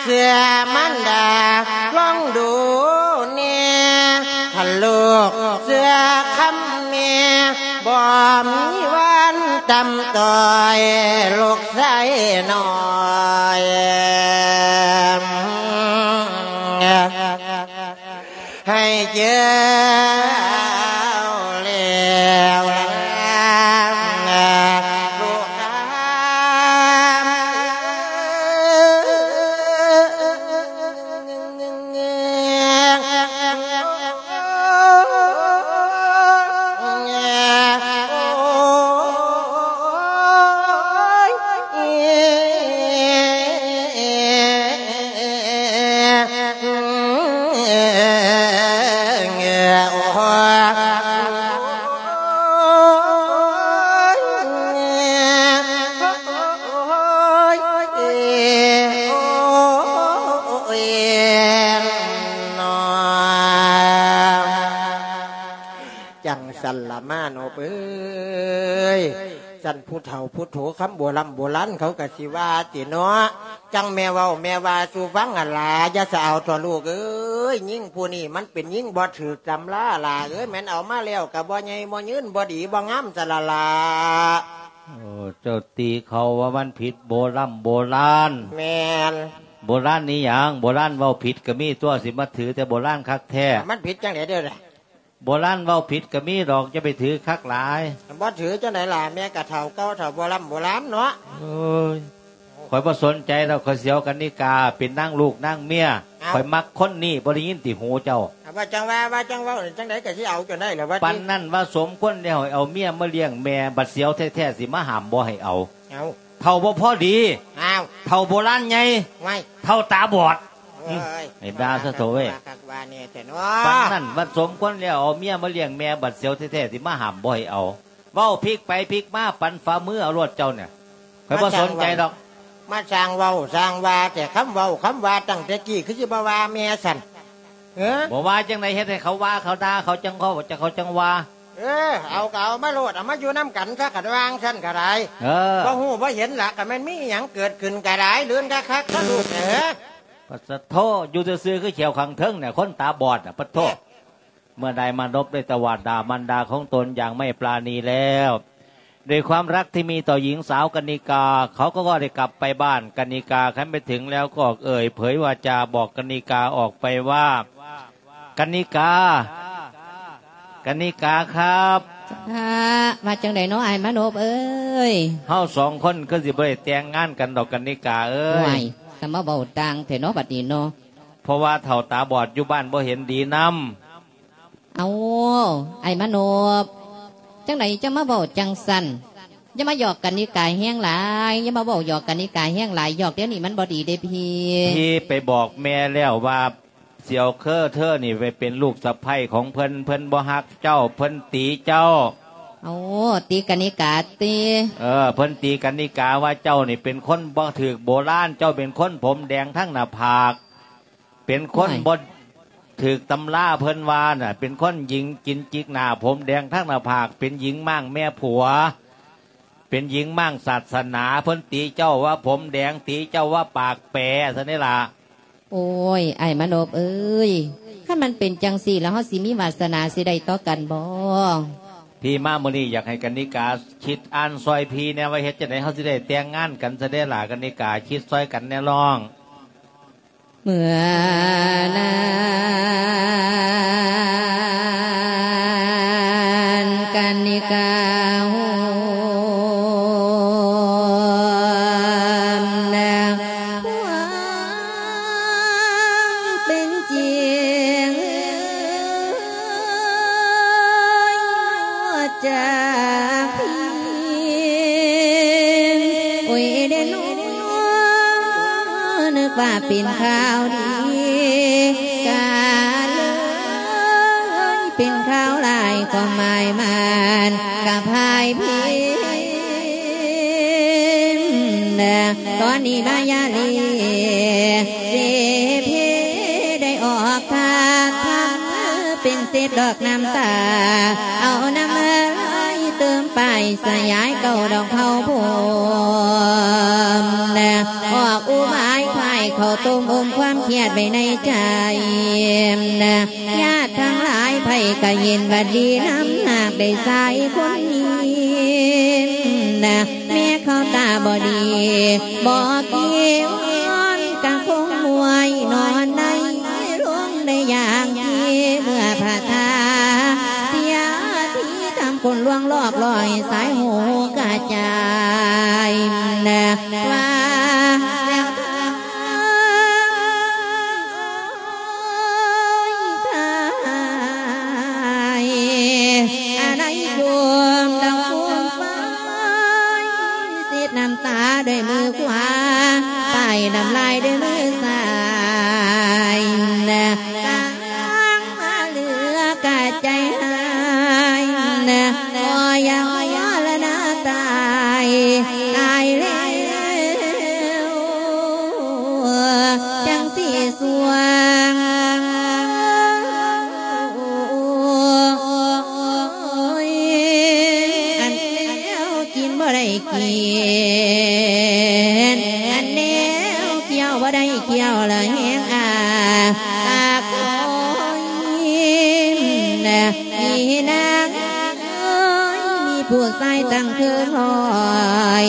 ເສືອມານດາລອງດູແນ່ ຄັນລູກເຊື່ອຄຳແມ່ ບໍ່ມີວັນຕ່ຳຕ້ອຍ ລູກຊາຍນ້ອຍ ໃຫ້ເຈີແລ້ວ ລູກຈັ່ງຊັ້ນລະມາໂນບເອີຍ ຊັ້ນຜູ້ເຖົ້າຜູ້ໂຖຄຳໂບລຳໂບລານເຂົາກະຊິວ່າຕິເນາະ ຈັ່ງແມ່ເວົ້າແມ່ວ່າສູ່ຟັງຫັ້ນລະ ຢ່າສະເອົາເຖາະລູກເອີຍ ຍິງຜູ້ນີ້ມັນເປັນຍິງບໍ່ຖືກຕຳລາຫຼ້າເອີຍ ແມ່ນເອົາມາແລ້ວກະບໍ່ໃຫຍ່ບໍ່ຍືນ ບໍ່ດີບໍ່ງາມຊັ້ນລະລະ. ໂອ້ ເຈົ້າຕິເຂົາວ່າມັນຜິດໂບລຳໂບລານ. ແມ່ນ. ໂບລານອີ່ຫຍັງ? ໂບລານເວົ້າຜິດກະມີຕົວະ ຊິມາຖືແຕ່ໂບລານຄັກແທ້. ມັນຜິດຈັ່ງໃດເດີລະ? ໂບລານເວົ້າຜິດກະມີດອກ ຢ່າໄປຖືຄັກຫຼາຍ. ບໍ່ຖືຈັ່ງໃດລະ ແມ່ກະເຖົ້າເກົ່າເຖົ້າໂບລຳໂບລານເນາະ. ໂອ້ຍ ຂ້ອຍບໍ່ສົນໃຈດອກ ຂ້ອຍຊິເອົາກະນິກາເປັນນາງລູກນາງເມຍ. ເອົ້າ ຂ້ອຍມັກຄົນນີ້ ບໍ່ໄດ້ຍິນຕິຫູເຈົ້າ? ວ່າຈັ່ງວ່າ ວ່າຈັ່ງເວົ້າ ຈັ່ງໃດກະຊິເອົາຈົນໄດ້ລະວ່າຕິ. ປານນັ້ນວ່າສົມຄວນແລ້ວ ໃຫ້ເອົາເມຍມາລ້ຽງແມ່ ບັດຊິເອົາແທ້ໆ ຊິມາຫ້າມບໍ່ໃຫ້ເອົາ. ເອົ້າ ເຖົ້າບໍ່ພໍດີ. ອ້າວ ເຖົ້າໂບລານໃຫຍ່. ໄວ້ ເຖົ້າຕາບອດ. ໂອ້ຍ ອືມ ໃຫ້ດ່າຊະໂຖເວີຍ ວ່າຄັກວ່າແນ່ແທ້ເນາະ. ປານນັ້ນວ່າສົມຄວນແລ້ວ ເອົາເມຍມາລ້ຽງແມ່ ບັດຊິເອົາແທ້ໆ ຊິມາຫ້າມບໍ່ໃຫ້ເອົາ. ເວົ້າພິກໄປພິກມາ ປັນຝ່າມືເອົາໂລດເຈົ້ານີ້ ຂ້ອຍບໍ່ສົນໃຈດອກ. ມາສ້າງເວົ້າສ້າງວ່າແຕ່ ຄຳເວົ້າຄຳວ່າຕັ້ງແຕ່ກີ້ ຄືຊິບໍ່ວ່າແມ່ຊັ້ນ? ເອີ ບໍ່ວ່າຈັ່ງໃດ ເຮັດໃຫ້ເຂົາວ່າ ເຂົາດ່າ ເຂົາຈັ່ງເວົ້າ ເຂົາຈັ່ງວ່າ. ເອີ ເອົາກະເອົາມາໂລດ ເອົາມາຢູ່ນຳກັນຊະ ກະວ່າຈັ່ງຊັ້ນກະໄດ້. ເອີ ບໍ່ຮູ້ບໍ່ເຫັນລະ ກະແມ່ນມີອີ່ຫຍັງເກີດຂຶ້ນກະໄດ້ ລື່ນຄັກໆ ຊະລູກເອີຍ. ປະສະໂທ ຢູ່ຊື່ໆ ຄືແຂວຂ້າງເທິງນີ້ ຄົນຕາບອດນະ ປະໂທ. ເມື່ອได้มานพได้ตวาดด่ามารดาของตนอย่างไม่ปราณีแล้ว ด้วยความรักที่มีต่อหญิงสาวกนิกา เขาก็ได้กลับไปบ้านกนิกา ครั้นไปถึงแล้วก็เอ่ยเผยวาจาบอกกนิกาออกไปว่า กนิกา กนิกาครับ ว่าจั่งใด๋เนาะ อ้ายมานพเอ้ย เฮาสองคนคือสิบ่ได้แต่งงานกันดอกกนิกาเอ้ย ว้าย ກໍມາເວົ້າຕ່າງແທ້ເນາະບັດນີ້ເນາະ. ເພາະວ່າເຖົ້າຕາບອດຢູ່ບ້ານບໍ່ເຫັນດີນຳ. ເອົາ ອ້າຍມະນົບ ຈັ່ງໃດຈະມາເວົ້າຈັ່ງຊັ້ນ? ຢ່າມາຫຍອກກັນນິກາແຮງຫຼາຍ, ຢ່າມາເວົ້າຫຍອກກັນນິກາແຮງຫຼາຍ, ຫຍອກແນວນີ້ມັນບໍ່ດີເດ້ພີ່. ພີ່ໄປບອກແມ່ແລ້ວວ່າ ສຽວເຄີເທີນີ້ໄປເປັນລູກສະໃພ້ຂອງເພິ່ນ, ເພິ່ນບໍ່ຮັກເຈົ້າ, ເພິ່ນຕີເຈົ້າ. ໂອ້ ຕີກັນນິກາຕິ? ເອີ ເພິ່ນຕີກັນນິກາວ່າເຈົ້ານີ້ເປັນຄົນບໍ່ຖືກໂບລານ, ເຈົ້າເປັນຄົນຜົມແດງທັງໜ້າຜາກ, ເປັນຄົນ ໂອ້ຍ ບໍ່ຖືກຕຳລາ ເພິ່ນວ່ານະ, ເປັນຄົນຍິງກິນຈິກໜ້າ ຜົມແດງທັງໜ້າຜາກ, ເປັນຍິງມ້າງແມ່ຜົວ, ເປັນຍິງມ້າງສາສະໜາ, ເພິ່ນຕີເຈົ້າວ່າຜົມແດງ, ຕີເຈົ້າວ່າປາກແປ ຊັ້ນເດ້ລະ. ໂອ້ຍ ອ້າຍມະນົບເອີຍ, ຄັນມັນເປັນຈັ່ງຊີ້ແລ້ວ ເຮົາຊິມີວາສະໜາຊິໄດ້ຕໍ່ກັນບໍ່? ພີ່ມາມື້ນີ້ ຢາກໃຫ້ກັນນິກາຄິດອ່ານຊ່ອຍພີ່ແດ່ວ່າ ເຮັດຈັ່ງໃດເຮົາຊິໄດ້ແຕ່ງງານກັນຊະເດ້ຫຼ້າ. ກັນນິກາ ຄິດຊ່ອຍກັນແດ່ນ້ອງ. ເມື່ອນັ້ນກັນນິກາໂຮມນາງ ຄວາມເປັນຈິງ ຈາກພີ້ ໂອ້ຍເດ້ນ້ອ ນຶກວ່າເປັນຂ່າວດີ ກະເລີຍເປັນຂ່າວຮ້າຍ ຄວາມໝາຍມັນກະພ່າຍພິນ. ຕອນນີ້ມາຍາລີ ເສເພ ໄດ້ອອກທາດທຳ ເປັນເສດດອກນ້ຳຕາ ເອົານ້ຳລາຍເຕີມປາຍ ສະຫຍາຍເກົ້າດອກເຜົາພົມ ອອກອຸບາຍພາຍເຂົ້າຕົ້ມອົມຄວາມຄຽດໄວ້ໃນໃຈ. ຍາດທັງຫຼາຍໃຜກະເຫັນວ່າດີນຳ ຫາກໄດ້ຊາຍຄົນນີ້ ແມ່ເຂົາຕາບໍ່ດີ ບໍ່ກີວອນກະຄົງມວຍ ນອນໃນໂລງໄດ້ຢ່າງດີ ເມື່ອພະທາດເສຍທີທຳຄົນລວງລອກລອຍ ສາຍຫູກະຈາຍວ່າແລ້ວ ອາໄລໂຍມດຳໂຄມໄຟ ເຊັດນ້ຳຕາດ້ວຍມືຂວາ ປ້າຍນ້ຳລາຍດ້ວຍມືຊ້າຍ ກາງມາເຫຼືອກະໃຈຫາຍ ກໍຢ່າວລະນາຕາຍ ຕາຍແລ້ວ ຈັ່ງຊິສ່ວງ ອັນແນວກິນບໍ່ໄດ້ກິນ ອັນແນວຄ້ຽວບໍ່ໄດ້ຄ້ຽວ ລະແຮງອາປາກຄອຍ ນີ້ນາງ ເອີຍ ມີຜູ້ຊາຍຕັ້ງເຄີງຮ້ອຍ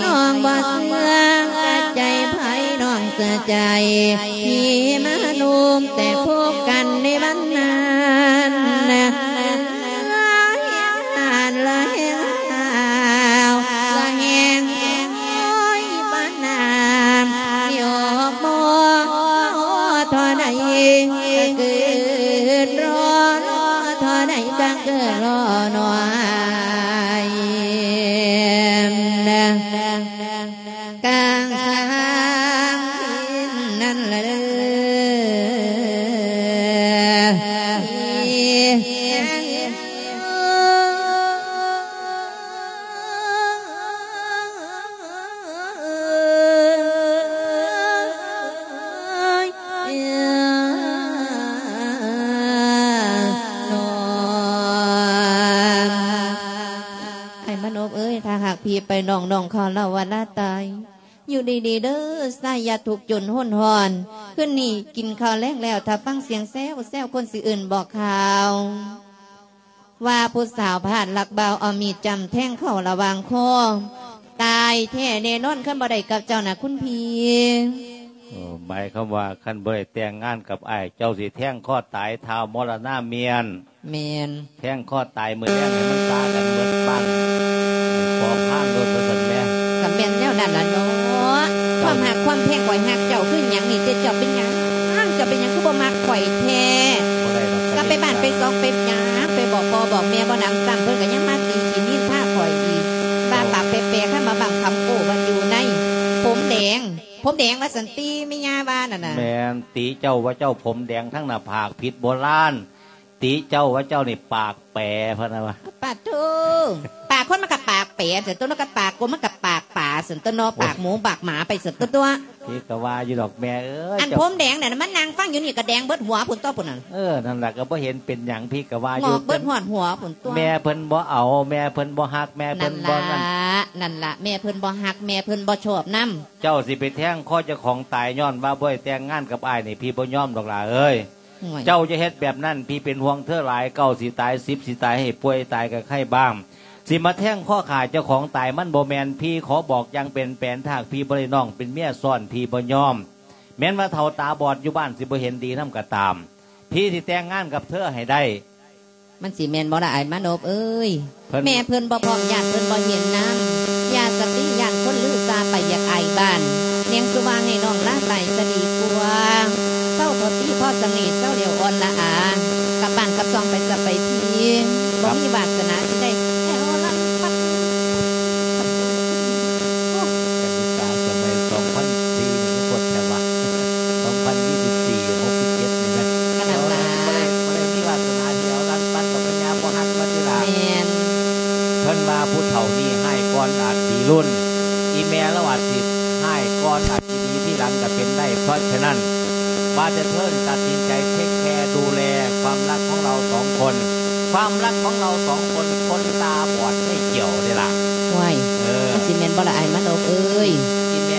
ນ້ອງບໍ່ເຊື່ອ ກະໃຈໃຜນ້ອງເຊື່ອໃຈ ທີ່ມານຸ່ມແຕ່ພົບກັນໃນວັນນັ້ນ ລະແຮງຮ້ອນ ລະແຮງຫ້າວ ລະແຮງໂອຍປານນ້ຳ ຍອກບໍ່ທໍ່ໃດ ກະເກີດລໍລໍທໍ່ໃດ ກະເກີດລໍໜວຍ ກາງສາງພິນນັ້ນລະເດີ. ອ້າຍມະນົບເອີຍ ຖ້າຫາກພີ່ໄປ ນ້ອງໆເຂົາລາວວ່າລາຕາຍ ຢູ່ດີໆເດີ ຊາຍ ຢ່າທຸກຈົນຮົນຮ້ອນ. ຄືນນີ້ກິນເຂົ້າແລງແລ້ວ ຖ້າຟັງສຽງແຊວໆ ຄົນຊິເອີ້ນບອກຂ່າວ ວ່າຜູ້ສາວພາດລັກບ່າວ ເອົາມີດຈ້ຳແທງເຂົ້າລະຫວ່າງຄໍ ຕາຍແທ້ແນ່ນອນ ຄັນບໍ່ໄດ້ກັບເຈົ້ານະຄຸນພີ່. ໂອ້ ໝາຍຄວາມວ່າຄັນບໍ່ໄດ້ແຕ່ງງານກັບອ້າຍ ເຈົ້າຊິແທງຄໍຕາຍທ້າວມໍລະນາມຽນ. ແມ່ນ. ແທງຄໍຕາຍມື້ແລງໃຫ້ມັນຊາກັນເບິດບ້ານ ປອກພານໂລດວ່າຊັ້ນແໝ. ກະແມ່ນແນວນັ້ນລະເນາະ ຄວາມຮັກຄວາມແພງ ຂ້ອຍຮັກເຈົ້າ ເຈົ້າເປັນຫຍັງ? ເຈົ້າເປັນຫຍັງຄືບໍ່ມັກຂ້ອຍແທ້? ບໍ່ໄດ້ດອກ ກັບໄປບ້ານໄປຊ່ອງໄປຫຍັງ ໄປບອກພໍ່ບອກແມ່ບໍ່ໜຳຊ້ຳ ເພິ່ນກໍຍັງມາຕີຂີ້ນິນທາຂ້ອຍອີກ ວ່າປາກແປກໆ ຄັນມາບັ້ງຄຳໂອ້ ວ່າຢູ່ໃນຜົມແດງ ຜົມແດງວ່າຊັ້ນຕິ ແມ່ຍ່າວ່ານັ້ນນະ. ແມ່ນ ຕິເຈົ້າວ່າເຈົ້າຜົມແດງທັງໜ້າຜາກ ຜິດໂບລານ. ຕິເຈົ້າວ່າເຈົ້ານີ້ປາກແປ ເພິ່ນວ່າ. ປາດໂທ້ ປາກຄົນມັນກໍປາກແປຊັ້ນຕົວະ ມັນກໍປາກກົມ ມັນກໍປາກປາຊັ້ນຕົວະເນາະ ໂອ້ຍ ປາກໝູປາກໝາໄປຊັ້ນຕົວະ. ພີ່ກໍວ່າຢູ່ດອກແມ່ເອີຍ ອັນ ເຈົ້າ ຜົມແດງນັ້ນ ມັນນັ່ງຟັງຢູ່ນີ້ກໍແດງເບິດຫົວພຸ້ນຕົວະ ພຸ້ນນັ້ນ. ເອີ ນັ້ນລະ ກໍບໍ່ເຫັນເປັນຫຍັງ ພີ່ກໍວ່າຢູ່ ງອກເບິດຮອດຫົວພຸ້ນຕົວະ. ແມ່ເພິ່ນບໍ່ເອົາ ແມ່ເພິ່ນບໍ່ຮັກ ແມ່ເພິ່ນບໍ່ນັ້ນ. ນັ້ນລະ ນັ້ນລະ ແມ່ເພິ່ນບໍ່ຮັກ ແມ່ເພິ່ນບໍ່ຊອບນຳ. ເຈົ້າຊິໄປແທງຄໍເຈົ້າຂອງຕາຍ ຍ້ອນວ່າບໍ່ໄດ້ແຕ່ງງານກັບອ້າຍນີ້ ພີ່ບໍ່ຍອມດອກຫຼ້າເອີຍ. ໂອ້ຍ ເຈົ້າຢ່າເຮັດແບບນັ້ນ ພີ່ເປັນຫ່ວງເທີຫຼາຍ ເກົ້າຊິຕາຍ ສິບຊິຕາຍ ໃຫ້ປ່ວຍຕາຍກໍໄຄບ້າງ ຊິມາແທງຄໍຂ້າເຈົ້າຂອງຕາຍ ມັນບໍ່ແມ່ນ. ພີ່ຂໍບອກຢ່າງເປັນແປນ ຖ້າຫາກພີ່ບໍ່ໄດ້ນ້ອງເປັນເມຍຊ້ອນ ພີ່ບໍ່ຍອມ. ແມ່ນວ່າເຖົ້າຕາບອດຢູ່ບ້ານຊິບໍ່ເຫັນດີນຳກໍຕາມ ພີ່ຊິແຕ່ງງານກັບເທີໃຫ້ໄດ້. ມັນຊິແມ່ນບໍ່ລະອ້າຍມານົບເອີຍ? ເພິ່ນ ແມ່ເພິ່ນບໍ່ພ້ອມ ຢ້ານເພິ່ນບໍ່ເຫັນນຳ ຢ່າສະຕິ ຢ້ານຄົນລືຊາໄປຢາກອາຍບ້ານ ແນງສຸວ່າໃຫ້ນ້ອງລາໄປສະດີກວ່າ ເຊົາເຖາະຕິພໍສະເຫງ້ ເຊົາແລ້ວອ່ອນລະອາ ກັບບ້ານກັບຊ່ອງໄປສະໄປທີ ບໍ່ມີວາສະໜາຊິໄດ້ແອວລັດປັດ. ກະນິກາສະໄໝສອງພັນສີ່ນີ້ໂພດແທ້ວະ ສອງພັນຊາວສີ່ ຫົກສິບເຈັດນີ້ນະ ກະນັ້ນລະ ບໍ່ໄດ້ ບໍ່ໄດ້ມີວາສະໜາທີ່ເອົາລັດປັດດອກ ພະຍາບໍ່ຮັກວ່າຕິລະ. ແມ່ນ ເພິ່ນວ່າຜູ້ເຖົ້ານີ້ຮ້າຍກ່ອນອາດດີລຸນ ອີ່ແມ່ລາວອາດຊິຮ້າຍກ່ອນອາດຊິດີທີຫຼັງກະເປັນໄດ້. ເພາະສະນັ້ນ ວ່າແຕ່ເທີຕັດສິນໃຈເທກແຄດູແລຄວາມຮັກຂອງເຮົາສອງຄົນ ຄວາມຮັກຂອງເຮົາສອງຄົນ ຄົນຕາບອດໄຟກ່ຽວເດ້ລະ. ໂອ້ຍ ເອີ ມັນຊິແມ່ນບໍ່ລະອ້າຍມານົບເອີຍ?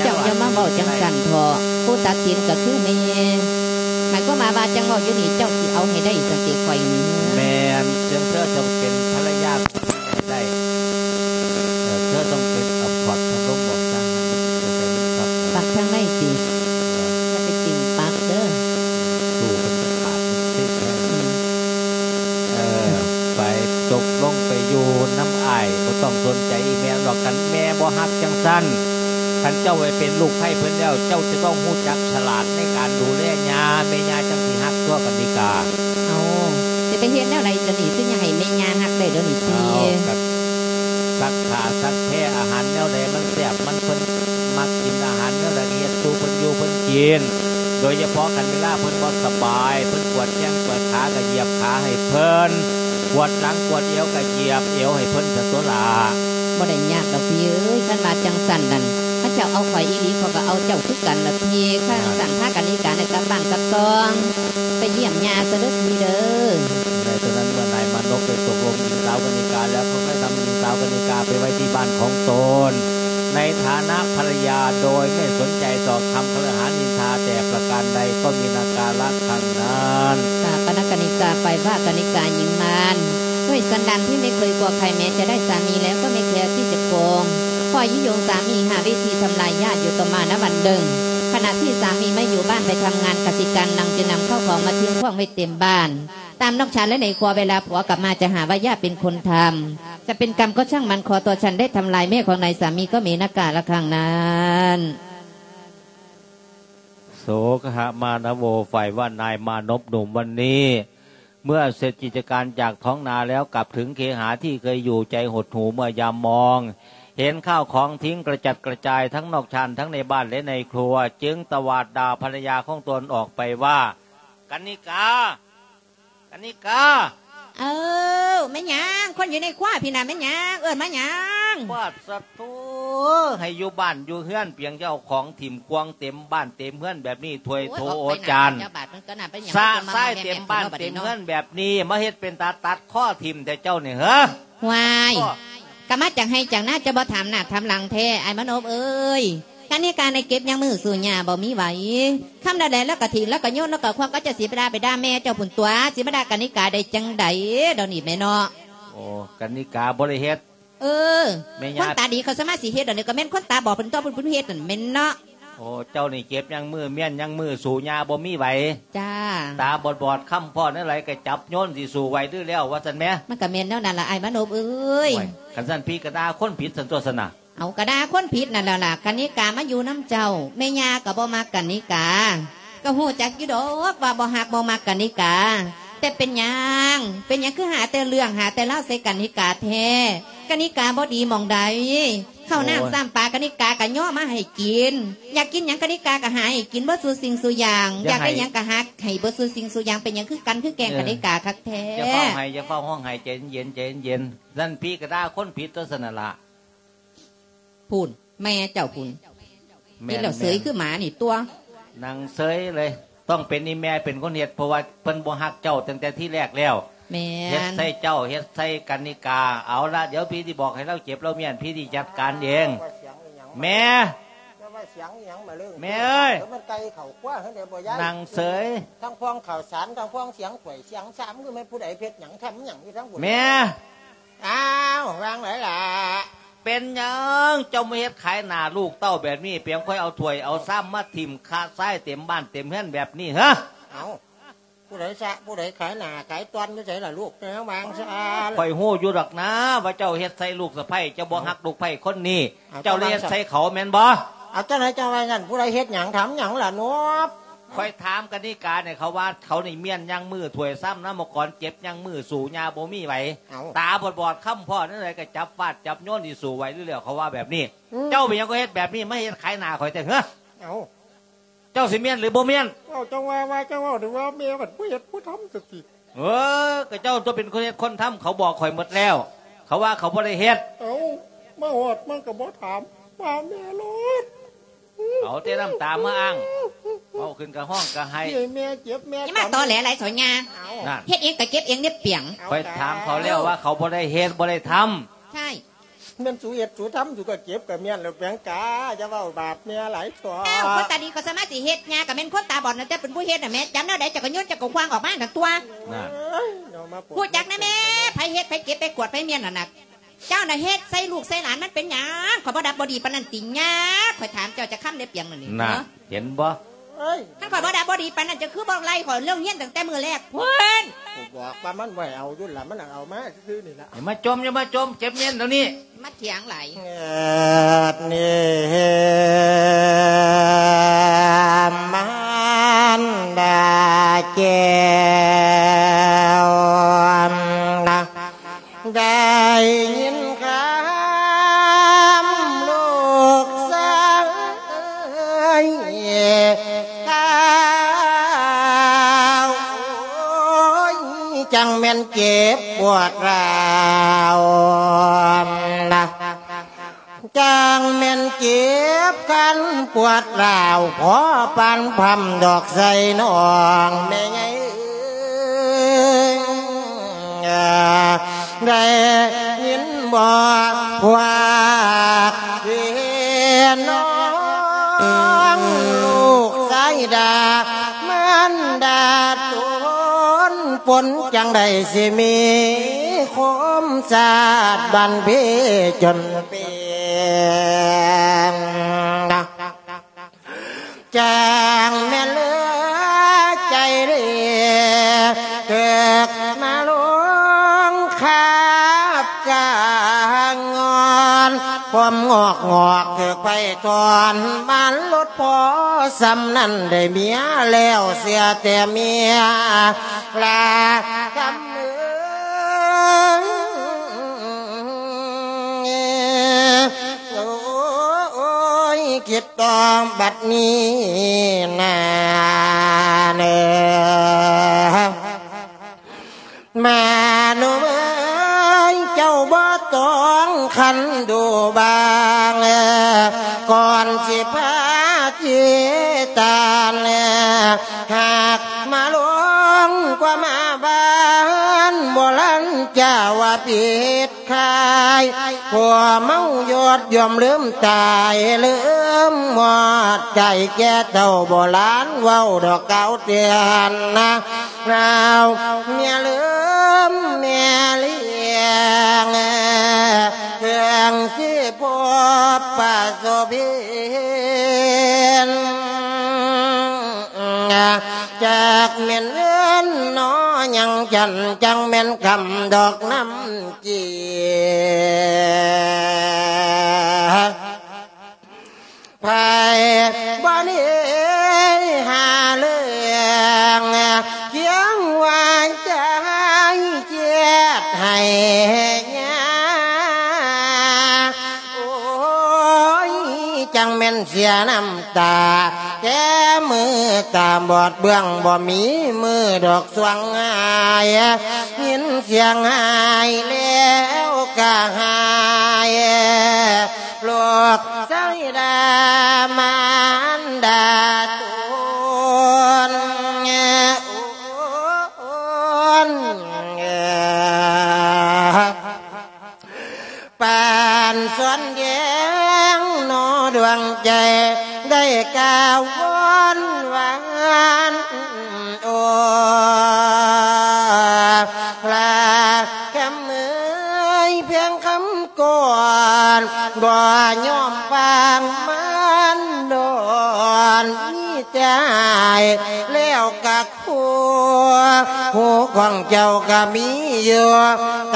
ເຈົ້າຢ່າມາເວົ້າຈັ່ງຊັ້ນເຖາະ ຜູ້ຕັດສິນກໍຄືແມ່. ໝາຍຄວາມວ່າ ວ່າຈັ່ງເວົ້າຢູ່ນີ້ ເຈົ້າຊິເອົາໃຫ້ໄດ້ຊັ້ນຕິຂ້ອຍນີ້? ແມ່ນ ເຖິງເທີຈະເປັນພັນລະຍາໄດ້ ເອີ ເທີຕ້ອງເປັນ ເອົາຂອດທາງລົມອອກຊະ ໃຫ້ມັນຕົກໃຫ້ມັນພັກ ປັກທາງໃນຕິ ເອີ ຢ່າໄປຕິ່ງປັກເດີ ສູ້ເພິ່ນຂາດເພິ່ນຕິດແທ້. ອືມ ເອີ ໄປຕົກລົງໄປຢູ່ນຳອ້າຍ ບໍ່ຕ້ອງສົນໃຈອີ່ແມ່ດອກ. ຄັນແມ່ບໍ່ຮັກຈັ່ງຊັ້ນ ຄັນເຈົ້າໄປເປັນລູກໃພ້ເພິ່ນແລ້ວ ເຈົ້າຈະຕ້ອງຮູ້ຈັກສະຫຼາດໃນການດູແລຍ່າ ແມ່ຍ່າຈັ່ງຊິຮັກຕົວະ ກະນິກາ. ເອົາ ຊິໄປເຮັດແນວໃດຊະນີ້ ຄືຍັງໃຫ້ແມ່ຍ່າຮັກໄດ້ດຽວນີ້ຕິ? ເອົາ ກະສັກຜ້າສັກແພ ອາຫານແນວໃດມັນແຊບ ມັນ ເພິ່ນມັກກິນອາຫານແນວໃດ ກະເຮັດສູ່ເພິ່ນຢູ່ເພິ່ນກິນ. ໂດຍສະເພາະຄັນເວລາເພິ່ນບໍ່ສະບາຍ ເພິ່ນປວດແຂ້ງປວດຂາ ກະຢຽບຂາໃຫ້ເພິ່ນ ປວດຫຼັງປວດເອວກະຢຽບເອວໃຫ້ເພິ່ນຊະຕົວະຫຼ້າ. ບໍ່ໄດ້ຍາກດອກພີ່ເອີຍ ຄັນວ່າຈັ່ງຊັ້ນນັ້ນ ຄັນເຈົ້າເອົາຂ້ອຍອີ່ຫຼີ ຂ້ອຍກໍເອົາເຈົ້າຄືກັນລະພີ່. ຄັນຊັ້ນ ພາກັນອີການກັບບ້ານກັບຊ່ອງ ໄປຢ້ຽມຍ່າຊະເດີພີ່ເດີ. ໃນຕອນນັ້ນ ເມື່ອນາຍມານົບໄດ້ຕົກລົງຍິງສາວກະນິກາແລ້ວ ເຂົາກໍນຳຍິງສາວກະນິກາໄປໄວ້ທີ່ບ້ານຂອງຕົນ ໃນຖານະພັນລະຍາ ໂດຍໄມ່ສົນໃຈຕໍ່ຄຳຄະເລຫານິນທາແຕ່ປະການໃດ ກໍມີນາກາລະຄັ້ງນັ້ນ. ສະປະນະກະນິກາ ຝ່າຍພະກະນິກາຍິງມານ ດ້ວຍສັນດານທີ່ໄມ່ເຄີຍກົວໃຄ ແມ້ຈະໄດ້ສາມີແລ້ວກໍໄມ່ແຄທີ່ຈະຄອງ ຄອຍຍຸຍົງສາມີຫາວິທີທຳລາຍຍາດຢູ່ຕໍ່ມານະວັນໜຶ່ງ ຂະນະທີ່ສາມີໄມ່ຢູ່ບ້ານໄປທຳງານກະສິກຳ ນາງຈຶ່ງນຳເຂົ້າຂອງມາທຽງຂວ້າງໄວ້ເຕັມບ້ານ. ຕາມນອກຊານ ແລະ ໃນຄົວ ເວລາຜົວກັບມາຈະຫາວ່າຍ່າເປັນຄົນທຳ ຈະເປັນກຳກໍຊ່າງມັນ ຂໍຕົວສັນໄດ້ທຳລາຍແມ່ຂອງນາຍສາມີກໍມີນາກາລະຄັ້ງນັ້ນ. ໂສຄະຫະມານະໂວ ຝ່າຍວ່ານາຍມານົບໜຸ່ມວັນນີ້ ເມື່ອເສັດກິດຈະການຈາກທ້ອງນາແລ້ວ ກັບເຖິງເຄຫາທີ່ເຄີຍຢູ່ ໃຈຫົດຫູເມື່ອຍາມມອງເຫັນຂ້າວຂອງຖິ້ມກະຈັດກະຈາຍ ທັງນອກຊານ ທັງໃນບ້ານ ແລະ ໃນຄົວ ຈຶ່ງຕະຫວາດດ່າພັນລະຍາຂອງຕົນອອກໄປວ່າ ກະນິກາ! ກະນິກາ! ເອີ ແມ່ນຫຍັງ? ຄົນຢູ່ໃນຄົວພີ້ນະ ແມ່ນຫຍັງ? ເອີ້ນມາຫຍັງ? ປາດສະໂທ ໃຫ້ຢູ່ບ້ານຢູ່ເຮືອນ ປຽງຈະເອົາຂອງຖິ້ມກວາງເຕັມບ້ານເຕັມເຮືອນແບບນີ້ ຖ້ວຍໂຖໂອຈານ ສະຊາຍເຕັມບ້ານເຕັມເຮືອນແບບນີ້ ມາເຮັດເປັນຕາຕັດຄໍຖິ້ມແທ້ເຈົ້ານີ້ເຫີ? ຫວາຍ ກະມາຈາກໄຮ່ຈາກນາ ຈະບໍ່ຖາມໜ້າຖາມຫຼັງແທ້ ອ້າຍມານົບເອີຍ. ກະນິກາໄດ້ເກັບຍັງມື້ສູ່ຍ່າບໍ່ມີໄຫວ ຄຳໃດໆ ລາວກະຖິ້ມ ລາວກະໂຍນ ລາວກະຄວັກ ກໍຈະຊິໄປດ່າ ໄປດ່າແມ່ເຈົ້າພຸ້ນຕົວະ ຊິມາດ່າກະນິກາໄດ້ຈັ່ງໃດ ດຽວນີ້ແມ່ເນາະ. ໂອ້ ກະນິກາບໍ່ໄດ້ເຮັດ. ເອີ ແມ່ຍ່າ ຄົນຕາດີເຂົາສາມາດຊິເຮັດ ດຽວນີ້ກະແມ່ນຄົນຕາບອດເພິ່ນຕົວະ ເພິ່ນເຮັດນັ້ນແມ່ນເນາະ. ໂອ້ ເຈົ້ານີ້ເຈັບຍັງມື້ ແມ່ນຍັງມື້ ສູ້ຍ່າບໍ່ມີໄຫວ. ຈ້າ ຕາບອດໆ ຄຳພໍ້ແນວໃດກະຈັບໂຍນ ຊິສູ້ໄຫວຫຼືແລ້ວ ວ່າຊັ້ນແໝ. ມັນກະແມ່ນແນວນັ້ນລະ ອ້າຍມານົບເອີຍ. ໂອ້ຍ ຄັນຊັ້ນພີ່ກະດ່າຄົນຜິດຊັ້ນຕົວະຊັ້ນນະ. ເອົາ ກະດ່າຄົນຜິດນັ້ນແຫຼະລະ ກະນິກາມາຢູ່ນຳເຈົ້າ ແມ່ຍ່າກະບໍ່ມັກກະນິກາ. ກໍຮູ້ຈັກຢູ່ດອກວ່າບໍ່ຮັກບໍ່ມັກກະນິກາ, ແຕ່ເປັນຫຍັງ ເປັນຫຍັງຄືຫາແຕ່ເລື່ອງ ຫາແຕ່ລາວໃສ່ກະນິກາແທ້? ກະນິກາບໍ່ດີໝ່ອງໃດ? ເຂົ້ານ້ຳ ໂອ້ຍ ຊ້ຳປາ ກະນິກາກໍຍໍມາໃຫ້ກິນ, ຢາກກິນຫຍັງກະນິກາກໍຫາໃຫ້ກິນເບິດສູ່ສິ່ງສູ່ຢ່າງ, ຢາກໄດ້ຫຍັງກໍຫາໃຫ້ເບິດສູ່ສິ່ງສູ່ຢ່າງ. ເປັນຫຍັງຄືກັນຄືແກ່ງ ເອີ ກະນິກາ ຄັກແທ້? ຢ່າເຝົ້າໄຫ້ ຢ່າເຝົ້າຮ້ອງໄຫ້ ໃຈເຢັນໆ ໃຈເຢັນໆ. ນັ້ນຜີກະດ່າຄົນຜິດຕົວຊັ້ນນະລະ. ພຸ້ນ ແມ່ເຈົ້າພຸ້ນ. ແມ່ນ ແມ່ນແລ້ວ ເສີຍຄືໝານີ້ຕົວະ. ນັ່ງເສີຍເລີຍ. ຕ້ອງເປັນອີ່ແມ່ເປັນຄົນເຮັດ ເພາະວ່າເພິ່ນບໍ່ຮັກເຈົ້າຕັ້ງແຕ່ທີແລກແລ້ວ. ແມ່ນ ເຮັດໃສ່ເຈົ້າ ເຮັດໃສ່ກະນິກາ. ເອົາລະ ດຽວພີ່ຊິບອກໃຫ້ລາວເຈັບລາວມ້ຽນ ພີ່ຊິຈັດການເອງ. ແມ່ ແມ່ເອີຍ ມັນໄກ່ເຂົ້າຄົວຫັ້ນເດ້ບໍ່ຍາຍ? ນັ່ງເສີຍ. ທັງພວງເຂົ້າສານ ທັງພວງສຽງຖ້ວຍສຽງຊາມ ຄືແມ່ນຜູ້ໃດເຮັດຫຍັງ ທຳຫຍັງຢູ່ທາງພຸ້ນ? ແມ່ ອ້າວ ວ່າຈັ່ງໃດລະ? ເປັນຫຍັງເຈົ້າມາເຮັດຂາຍໜ້າລູກເຕົ້າແບບນີ້? ເປັນຫຍັງຄ່ອຍເອົາຖ້ວຍເອົາຊາມມາຖິ້ມຄະຊາຍເຕັມບ້ານເຕັມເຮືອນແບບນີ້ ຮະ? ເອົ້າ ຜູ້ໃດຊະ ຜູ້ໃດຂາຍໜ້າຂາຍຕອນຢູ່ໃສລະລູກ? ແມ່ວາງຊະ. ຂ້ອຍຮູ້ຢູ່ດອກນາວ່າເຈົ້າເຮັດໃສ່ລູກສະໃພ້ ເຈົ້າບໍ່ ເອົ້າ ຮັກລູກໃພ້ຄົນນີ້. ເອົ້າ ເຈົ້າເລີຍເຮັດໃສ່ເຂົາແມ່ນບໍ່? ເອົາ ຈັ່ງໃດເຈົ້າວ່າຊັ້ນ? ຜູ້ໃດເຮັດຫຍັງ ທຳຫຍັງລະນົບ? ຂ້ອຍຖາມກະນິການີ້ ເຂົາວ່າເຂົານີ້ມ້ຽນຍັງມື ຖ້ວຍຊາມນຳໝາກອນເຈັບຍັງມື ສູ້ຫຍ້າບໍ່ມີໄຫວ. ເອົ້າ ຕາບອດໆ ຄ້ຳພໍ້ແນວໃດກໍຈັບຟາດຈັບໂຍນ ຊິສູ້ໄຫວຫຼືແລ້ວ ເຂົາວ່າແບບນີ້. ອືມ ເຈົ້າເປັນຫຍັງກໍເຮັດແບບນີ້ ມາເຮັດຂາຍໜ້າຂ້ອຍແທ້ ຮະ? ເອົ້າ ເຈົ້າຊິມ້ຽນຫຼືບໍ່ມ້ຽນ? ເວົ້າຈັ່ງວ່າ ວ່າຈັ່ງເວົ້າ ຖືວ່າແມ່ມັນບໍ່ເຮັດບໍ່ທຳຊັ້ນຕິ. ເອີ ກໍເຈົ້າຕົວເປັນຄົນເຮັດຄົນທຳ ເຂົາບອກຂ້ອຍໝົດແລ້ວ ເຂົາວ່າເຂົາບໍ່ໄດ້ເຮັດ. ເອົ້າ ມາຮອດມັນກໍບໍ່ຖາມວ່າແມ່ໂລດ. ເອົາແຕ່ນ້ຳຕາມາອ້າງ ເວົ້າຂຶ້ນກະຮ້ອງກະໄຫ້. ເອີຍ ແມ່ເຈັບແມ່ ຢ່າມາຕອແຫຼຫຼາຍ ສອນຍາ. ເອົາ ນັ້ນ ເຮັດເອງກະເຈັບເອງເດ້ປຽງ. ເອົາ ຂ້ອຍຖາມເຂົາແລ້ວວ່າເຂົາບໍ່ໄດ້ເຮັດ ບໍ່ໄດ້ທຳ. ໃຊ່ ແມ່ນສູເຮັດສູທຳ ສູກະເຈັບກະມ້ຽນແລ້ວແປງກາ. ຢ່າເວົ້າບາດແມ່ຫຼາຍ ເຖົ້າ ເຖົ້າ ຄົນຕາດີກໍສາມາດຊິເຮັດ ຍ່າກໍແມ່ນຄົນຕາບອດ ແຕ່ເປັນຜູ້ເຮັດນະແມ່. ຈຳແນວໃດ ເຈົ້າກໍໂຍນ ເຈົ້າກໍຄວ້າງອອກມາຫັ້ນຕົວະ. ນັ້ນ ເອົາມາ ຮູ້ຈັກນະແມ່ ໃຜເຮັດ ໃຜເຈັບ ໃຜກວດ ໃຜມ້ຽນຫັ້ນນະ. ເຈົ້ານະເຮັດໃສ່ລູກໃສ່ຫຼານມັນເປັນຫຍັງ? ຂ້ອຍບໍ່ດັບບໍ່ດີປານນັ້ນຕິຍາ? ຂ້ອຍຖາມເຈົ້າຈັກຄຳແດ່ປຽງນັ້ນນີ້. ນະ ເຫັນບໍ່? ເອີຍ ຄັນຂ້ອຍບໍ່ດັບບໍ່ດີປານນັ້ນ ເຈົ້າຄືບໍ່ໄລ່ຂ້ອຍໂລງຮຽນຕັ້ງແຕ່ມື້ແລກພຸ້ນ? ກູບອກວ່າມັນບໍ່ໃຫ້ເອົາຢູ່ລະ ມັນເອົາມາຊື່ໆນີ້ລະ. ຢ່າມາຈົ່ມ ຢ່າມາຈົ່ມ ເຈັບມ້ຽນດຽວນີ້. ມາຖຽງຫຼາຍ ເອີ ນີ້ ມາ ນດາແກ້ວນະ ໄດ້ຍິນຄຳລູກຊາຍກ່າວ ໂອ້ຍ ຈັ່ງແມ່ນເຈັບປວດຮ້າວນະ ຈັ່ງແມ່ນເຈັບຄັນປວດຮ້າວ ພໍປານພຳດອກໃສ່ນ້ອງແມ່ໃຫຍ່ເອີຍ. ໄດ້ຍິນບໍ່ພວກພີ່ນ້ອງ ລູກຊາຍດ່າມານດາຕົນ ປົນຈັ່ງໃດຊິມີຄົມຊາດບັນພີຈົນເປັນ ຈັ່ງແມ່ນເຫຼືອໃຈເດ ເກີດມາລົງຄາບກາງອນ ຄວາມງອກງອກຖືກໄຟຖອນ ມາລົດພໍສ່ຳນັ້ນ ໄດ້ເມຍແລ້ວເສຍແຕ່ເມຍລາຄຳເອີຍ. ໂອ້ຍ ຄິດຕໍ່ບັດນີ້ນາເນີ ມານຸເອີຍ ເຈົ້າບໍ່ຕ້ອງຄັນດູບາງ ກ່ອນຊິພາທີ່ຕານ ຫາກມາລົງກວ່າມາບ້ານ ບໍ່ລັນຈາວ່າຜິດ ຂາຍ ພວກເມົາຢອດຍອມລືມຕາຍ ລືມໝົດໃຈແກ່ເຖົ້າ ບໍ່ຫຼານເວົ້າດອກກ່າວເຕືອນນະ ລາວເມຍລືມແມ່ລ້ຽງ ເຄື່ອງຊິພົບປະສົບເຫັນ ຈັກແມ່ນເຮືອນໜໍຍັງຈັນ ຈັ່ງແມ່ນຄຳດອກນ້ຳ ເກ ໃຜບໍ່ໄດ້ຫາເລີ ເສຍນ້ຳຕາ ແຕ່ມືຕາບອດເບື້ອງ ບໍ່ມີມືດອກສວງຫາຍ ຍິນສຽງຫາຍແລ້ວກະຫາຍ ລູກຊາຍດາມານດາຕົນ ປານສວນແດງໜໍດວງໃຈ ໄດ້ກ່າວວອນຫວານ ໂອ້ ພະຄຳເອີຍ ພຽງຄຳກ່ອນ ບໍ່ຍອມຟັງມັນດອນ ມີແຕ່ອ້າຍແລ້ວກະ ຜູ້ ຫູຂອງເຈົ້າກະມີຢູ່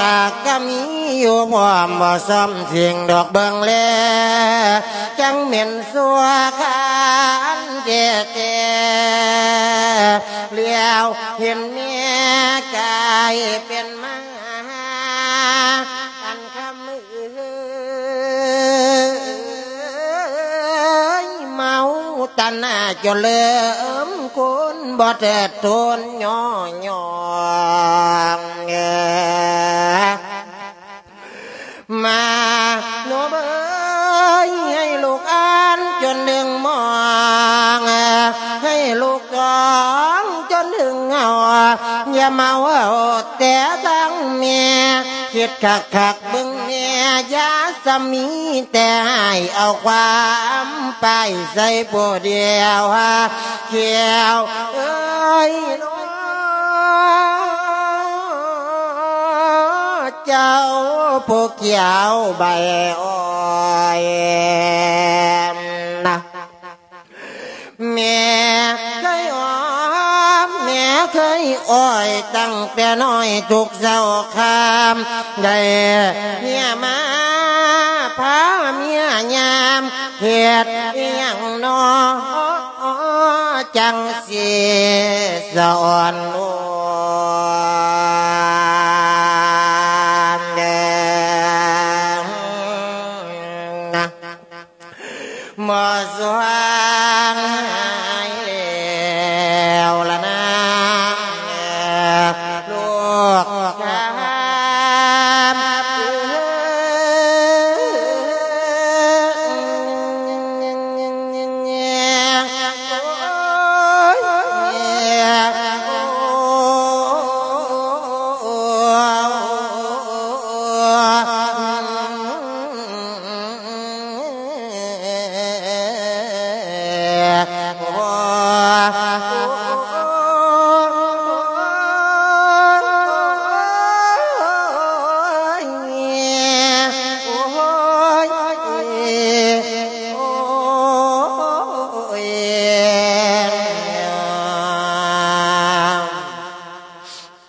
ຕາກະມີຢູ່ ພ້ອມບໍ່ຊອມສິ່ງດອກເບິ່ງແລ ຈັ່ງແມ່ນຊົ່ວຄານແທ້ໆ ແລ້ວເຫັນແມ່ກາຍເປັນມາ ອັນຄຳເອີຍ ເມົາຕັນໜາຈົນເລີມ ຄົນບໍ່ເທີດໂທນຍໍຍ້ອງ ມາໂນບເອີຍ ໃຫ້ລູກອ່ານຈົນເຖິງມອງ ໃຫ້ລູກຕ້ອງຈົນເຖິງເຫງົາ ຢ່າເມົາເອົາແຕ່ທາງແມ່ ຄິດຄັກໆ ເບິ່ງແນ່ ຢ່າສະມີແຕ່ໃຫ້ເອົາຄວາມປ້າຍໃສ່ຜູ້ດຽວ ແກ້ວເອີຍ ເຈົ້າຜູ້ກ່ຽວໃບອ້ອຍ ແມ່ເຄີຍອ້ອມ ແມ່ເຄີຍອ້ອຍ ຕັ້ງແຕ່ນ້ອຍທຸກເຊົ້າຄ່ຳ ໄດ້ເມຍມາພາເມຍຍາມ ເຮັດອີ່ຫຍັງນໍ ຈັ່ງຊິສະອອນໂອນ ບໍ່ສວ່າງຫາຍແລ້ວລະນາ ລູກຈາ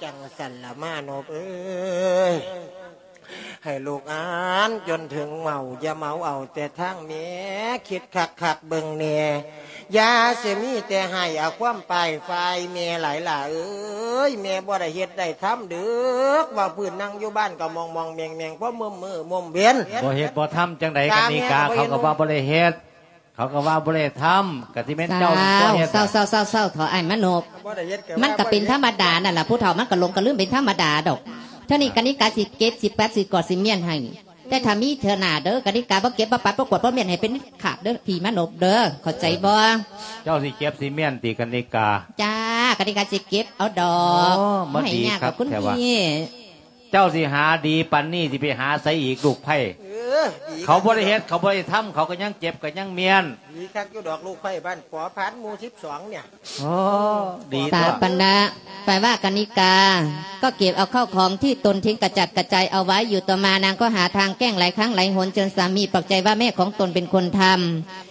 ຈັ່ງຊັ້ນລະມາໂນບເອີຍ ໃຫ້ລູກອ່ານຈົນເຖິງເມົາ ຢ່າເມົາເອົາແຕ່ທາງແມ່ ຄິດຄັກໆເບິ່ງແນ່ ຢ່າຊິມີແຕ່ໃຫ້ເອົາຄວາມປ້າຍຝ່າຍແມ່ຫຼາຍຫຼ້າເອີຍ ແມ່ບໍ່ໄດ້ເຮັດໄດ້ທຳເດີກ ວ່າພື້ນນັ່ງຢູ່ບ້ານກໍມອງໆແມງໆ ພໍມືມື້ມຸມເວັນ ບໍ່ເຮັດບໍ່ທຳຈັ່ງໃດ ກະນິກາ ເຂົາກໍວ່າບໍ່ໄດ້ເຮັດ ເຂົາກໍວ່າບໍ່ໄດ້ທຳ ກະຊິແມ່ນເຈົ້ານີ້ຕົວະເຮັດ ເຊົາໆໆໆ ເຖົ້າອ້າຍມາໂນບ ບໍ່ໄດ້ເຮັດ ມັນກະເປັນທຳມະດານັ້ນລະ ຜູ້ເຖົ້າມັນກະຫຼົງກະລືມເປັນທຳມະດາດອກ ເທື່ອນີ້ກະນິກາຊິເກັບ ຊິປັດ ຊິກວາດ ຊິມ້ຽນໃຫ້ ແຕ່ຖ້າມີເທື່ອໜ້າເດີ ກະນິກາບໍ່ເກັບບໍ່ປັດບໍ່ກວາດບໍ່ມ້ຽນໃຫ້ເປັນຂາດເດີ ພີ່ມາໂນບເດີ ເຂົ້າໃຈບໍ່? ເຈົ້າຊິເກັບຊິມ້ຽນຕິກະນິກາ? ຈ້າ ກະນິກາຊິເກັບເອົາດອກ ໂອ້ ມາດີຄັກແທ້ວ່າ ເຈົ້າຊິຫາດີປານນີ້ ຊິໄປຫາໃສອີກລູກໃພ້? ເອີ ດີ ເຂົາບໍ່ໄດ້ເຮັດ ເຂົາບໍ່ໄດ້ທຳ ເຂົາກໍຍັງເຈັບກໍຍັງມ້ຽນ ດີຄັກຢູ່ດອກລູກໃພ້ບ້ານປໍພານໝູ່ສິບສອງເນຍ ໂອ້ ດີ ສາປະນະ ຝ່າຍວ່າກະນິກາ ກໍເກັບເອົາເຂົ້າຂອງທີ່ຕົນຖິ້ມກະຈັດກະຈາຍເອົາໄວ້ຢູ່ ຕໍ່ມານາງກໍຫາທາງແກ້ງຫຼາຍຄັ້ງຫຼາຍຫົນ ຈົນສາມີປອກໃຈວ່າແມ່ຂອງຕົນເປັນຄົນທຳ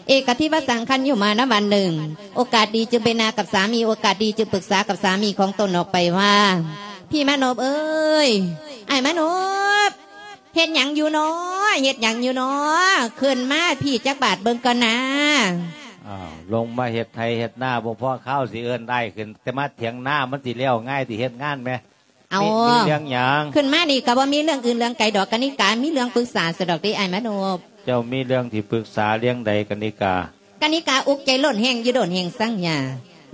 ເອກະທິວະສັງຄັນຢູ່ມານະວັນໜຶ່ງ ໂອກາດດີຈຶ່ງໄປນາກັບສາມີ ໂອກາດດີຈຶ່ງປຶກສາກັບສາມີຂອງຕົນອອກໄປວ່າ ພີ່ມາໂນບເອີຍ ອ້າຍມາໂນບ ເຮັດຫຍັງຢູ່ນໍ ເຮັດຫຍັງຢູ່ນໍ ຂຶ້ນມາພີ້ຈັກບາດເບິ່ງກ່ອນນາ. ອ້າວ ລົງມາເຮັດໄຮ່ເຮັດນາບໍ່ພໍຄາວ ຊິເອີ້ນອ້າຍຂຶ້ນ ແຕ່ມາຖຽງນາ ມັນຊິແລ້ວງ່າຍຕິເຮັດງານແມ? ເອົາ ມີ ມີເລື່ອງຫຍັງ? ຂຶ້ນມານີ້ກໍບໍ່ມີເລື່ອງອື່ນເລື່ອງໄກດອກ ກະນິກາມີເລື່ອງປຶກສາຊະດອກເດ້ ອ້າຍມາໂນບ. ເຈົ້າມີເລື່ອງທີ່ປຶກສາເລື່ອງໃດ ກະນິກາ? ກະນິກາອຸກໃຈລົ້ນແຮງຢູ່ດົນແຮງສັງຍາ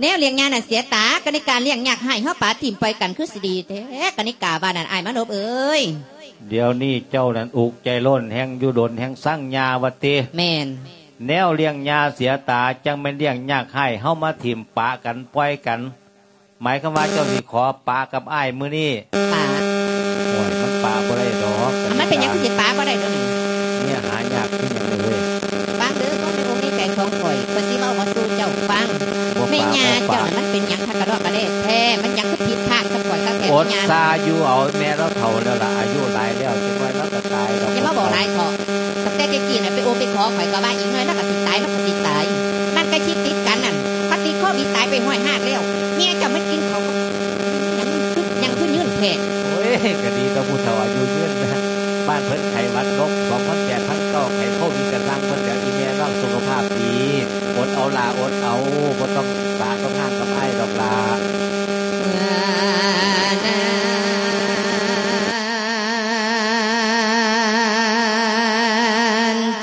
ແນວລ້ຽງຍານັ້ນເສຍຕາ ກະນິກາລ້ຽງຍາກຮ້າຍ ເຮົາປະຖິ້ມປ່ອຍກັນຄືຊິດີແທ້ ກະນິກາວ່ານັ້ນ ອ້າຍມານົບເອີຍ. ດຽວນີ້ເຈົ້ານັ້ນອຸກໃຈລົ້ນແຮງຢູ່ດົນແຮງສັງຍາວ່າຕິ? ແມ່ນ. ແນວລ້ຽງຍາເສຍຕາ ຈັ່ງແມ່ນລ້ຽງຍາກຮ້າຍ ເຮົາມາຖິ້ມປະກັນປ່ອຍກັນ ໝາຍຄວາມວ່າເຈົ້າຊິຂໍປະກັບອ້າຍມື້ນີ້? ປະ. ໂອ້ຍ ມັນປະບໍ່ໄດ້ດອກ. ມັນເປັນຫຍັງຄືຊິປະບໍ່ໄດ້ດອກນີ້? ເມຍຫາຍາກຄືຫຍັງເດ້ເວີຍ. ຟັງເດີ ຄວາມໃນອົກໃນໃຈຂອງຂ້ອຍ ຂ້ອຍຊິເວົ້າມາສູ່ເຈົ້າຟັງ. ແມ່ຍ່າເຈົ້ານັ້ນມັນເປັນຫຍັງຄັກກະດອກກະແດ່ແທ້? ມັນຫຍັງຄືຜິດພາດກັບຂ້ອຍຄັກແທ້? ອົດຊາຢູ່ເອົາ ແມ່ລາວເຖົ້າແລ້ວລະ ອາຍຸຫຼາຍແລ້ວ ຈັກໜ້ອຍລາວກະຕາຍດອກ. ຢ່າມາເວົ້າຫຼາຍເຖາະ. ຕັ້ງແຕ່ແຕ່ກີ້ນະ ໄປໂອໄປຂໍ ຂ້ອຍກະວ່າອີກໜ້ອຍລາວກະຊິຕາຍ ລາວກະຊິຕາຍ. ມັນກະຊິຕິດກັນນັ້ນ ປະຕິດໂຄວິດຕາຍໄປຮ້ອຍຮາກແລ້ວ. ແມ່ເຈົ້າມັນກິນເຂົ້າກັບຫຍັງ ຫຍັງຄືຍືນແທ້? ໂອ້ຍ ກະດີຕໍ່ຜູ້ເຖົ້າອາຍຸຍືນນະ. ບ້ານເພິ່ນໄຂ້ຫວັດນົກ ສອງພັນແປດພັນເກົ້າ ໄຂ້ໂຄວິດກະຊ່າງເພິ່ນແຫຼະ ອີແມ່ນ້ອງສຸຂະພາບດີ. ອົດເອົາຫຼ້າ ອົດເອົາ ບໍ່ຕ້ອງປະຕ້ອງຮ້າງກັບອ້າຍດອກຫຼ້າ.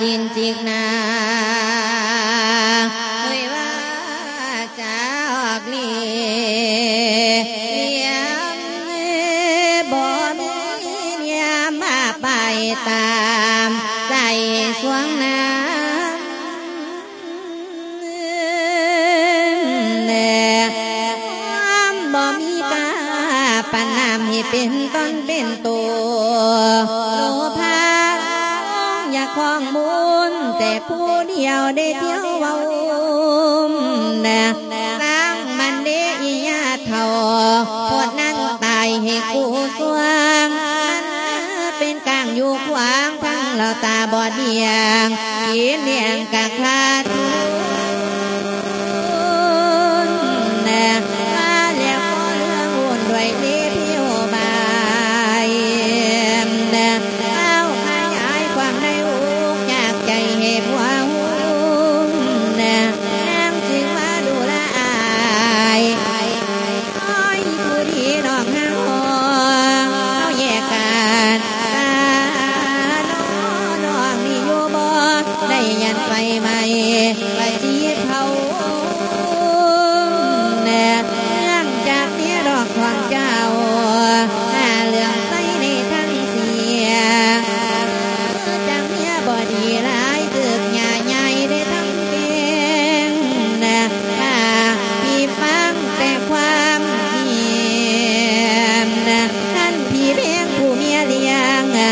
ຈິນຈິກນາ ເອີຍວ່າຈາອອກຫຼີ ລຽມບໍ່ມີນຽມມາໄປຕາມໃຈສວງນາ ຄວາມບໍ່ມີຄ່າປານນ້ຳໃຫ້ເປັນຕົນເປັນໂຕ ໂລພະຢາກຄອງບຸນແຕ່ຜູ້ດຽວໄດ້ທ່ຽວເວົ້າ ຊ່າງມັນເດອີ່ຍ່າເຖົ້າ ໂພດນັ້ນຕາຍໃຫ້ກູສວງ ມັນເປັນກາງຢູ່ຂວາງ ທັງລາວຕາບອດດຽງ ກິນລ້ຽງກະຂາດທຶນ ມາແລ້ວກໍເລື່ອງວຸ່ນດ້ວຍເດຜິວບາຍ ເອົາຂະຫຍາຍຄວາມໃນອົກຢາກໃຈໃຫ້ຜົວຮູ້ ນາງຈຶ່ງມາດູລະອາຍ ໂອ້ຍ ຜູ້ດີນ້ອງເຮົາ ເຮົາແຍກກັນ ຕານ້ອງນີ້ຢູ່ບໍ່ ໄດ້ຢັນໄຟໄໝ້ ໄຟຈີບເຜົາ ເນື່ອງຈາກເມຍດອກຂອງເຈົ້າ ຫາເລື່ອງໃສ່ໃນທັງເສຍ ຈາກເມຍບໍ່ດີຫຼາຍ ຖືກຍ່າໃຫຍ່ໄດ້ທັງແກງ ຖ້າພີ່ຟັງແຕ່ຄວາມຄິດ ນັ້ນພີ່ແພງຜູ້ເມຍລ້ຽງ ລ້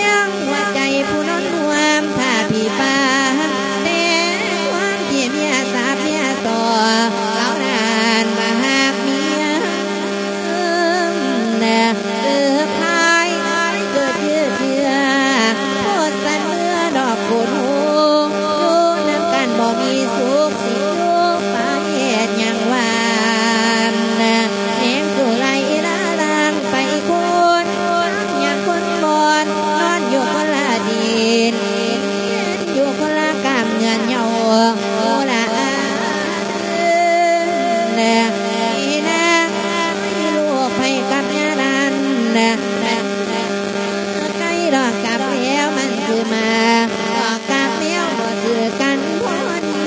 ຽງຫົວໃຈຜູ້ນອນຮ່ວມ ຖ້າພີ່ຟັງແຕ່ຄວາມທີ່ເມຍສາບເມຍສໍ້ ລາວນັ້ນວ່າຮັກເມຍ ເກີດພາຍ ເກີດຍືດເຍືອ ໂພດສັນເມືອດອກໂກນໂຮ ຢູ່ນຳກັນບໍ່ມີສຸກ ຊິຢູ່ໄປເຮັດຫຍັງຫວານ ແນງສຸໄລລາລາງໄປຄົນ ຍັງຄົນບ່ອນ ນອນຢູ່ຄົນລະດິນ ຢູ່ຄົນລະກາມເງືອນເຍົາ ໂອລະອາ ນະ ນະ ລູກໃຜກັບຍານານ ນະ ໃກ້ດອກກັບແລ້ວມັນຄືມາ ດອກກັບແລ້ວບໍ່ຖືກັນພໍດີ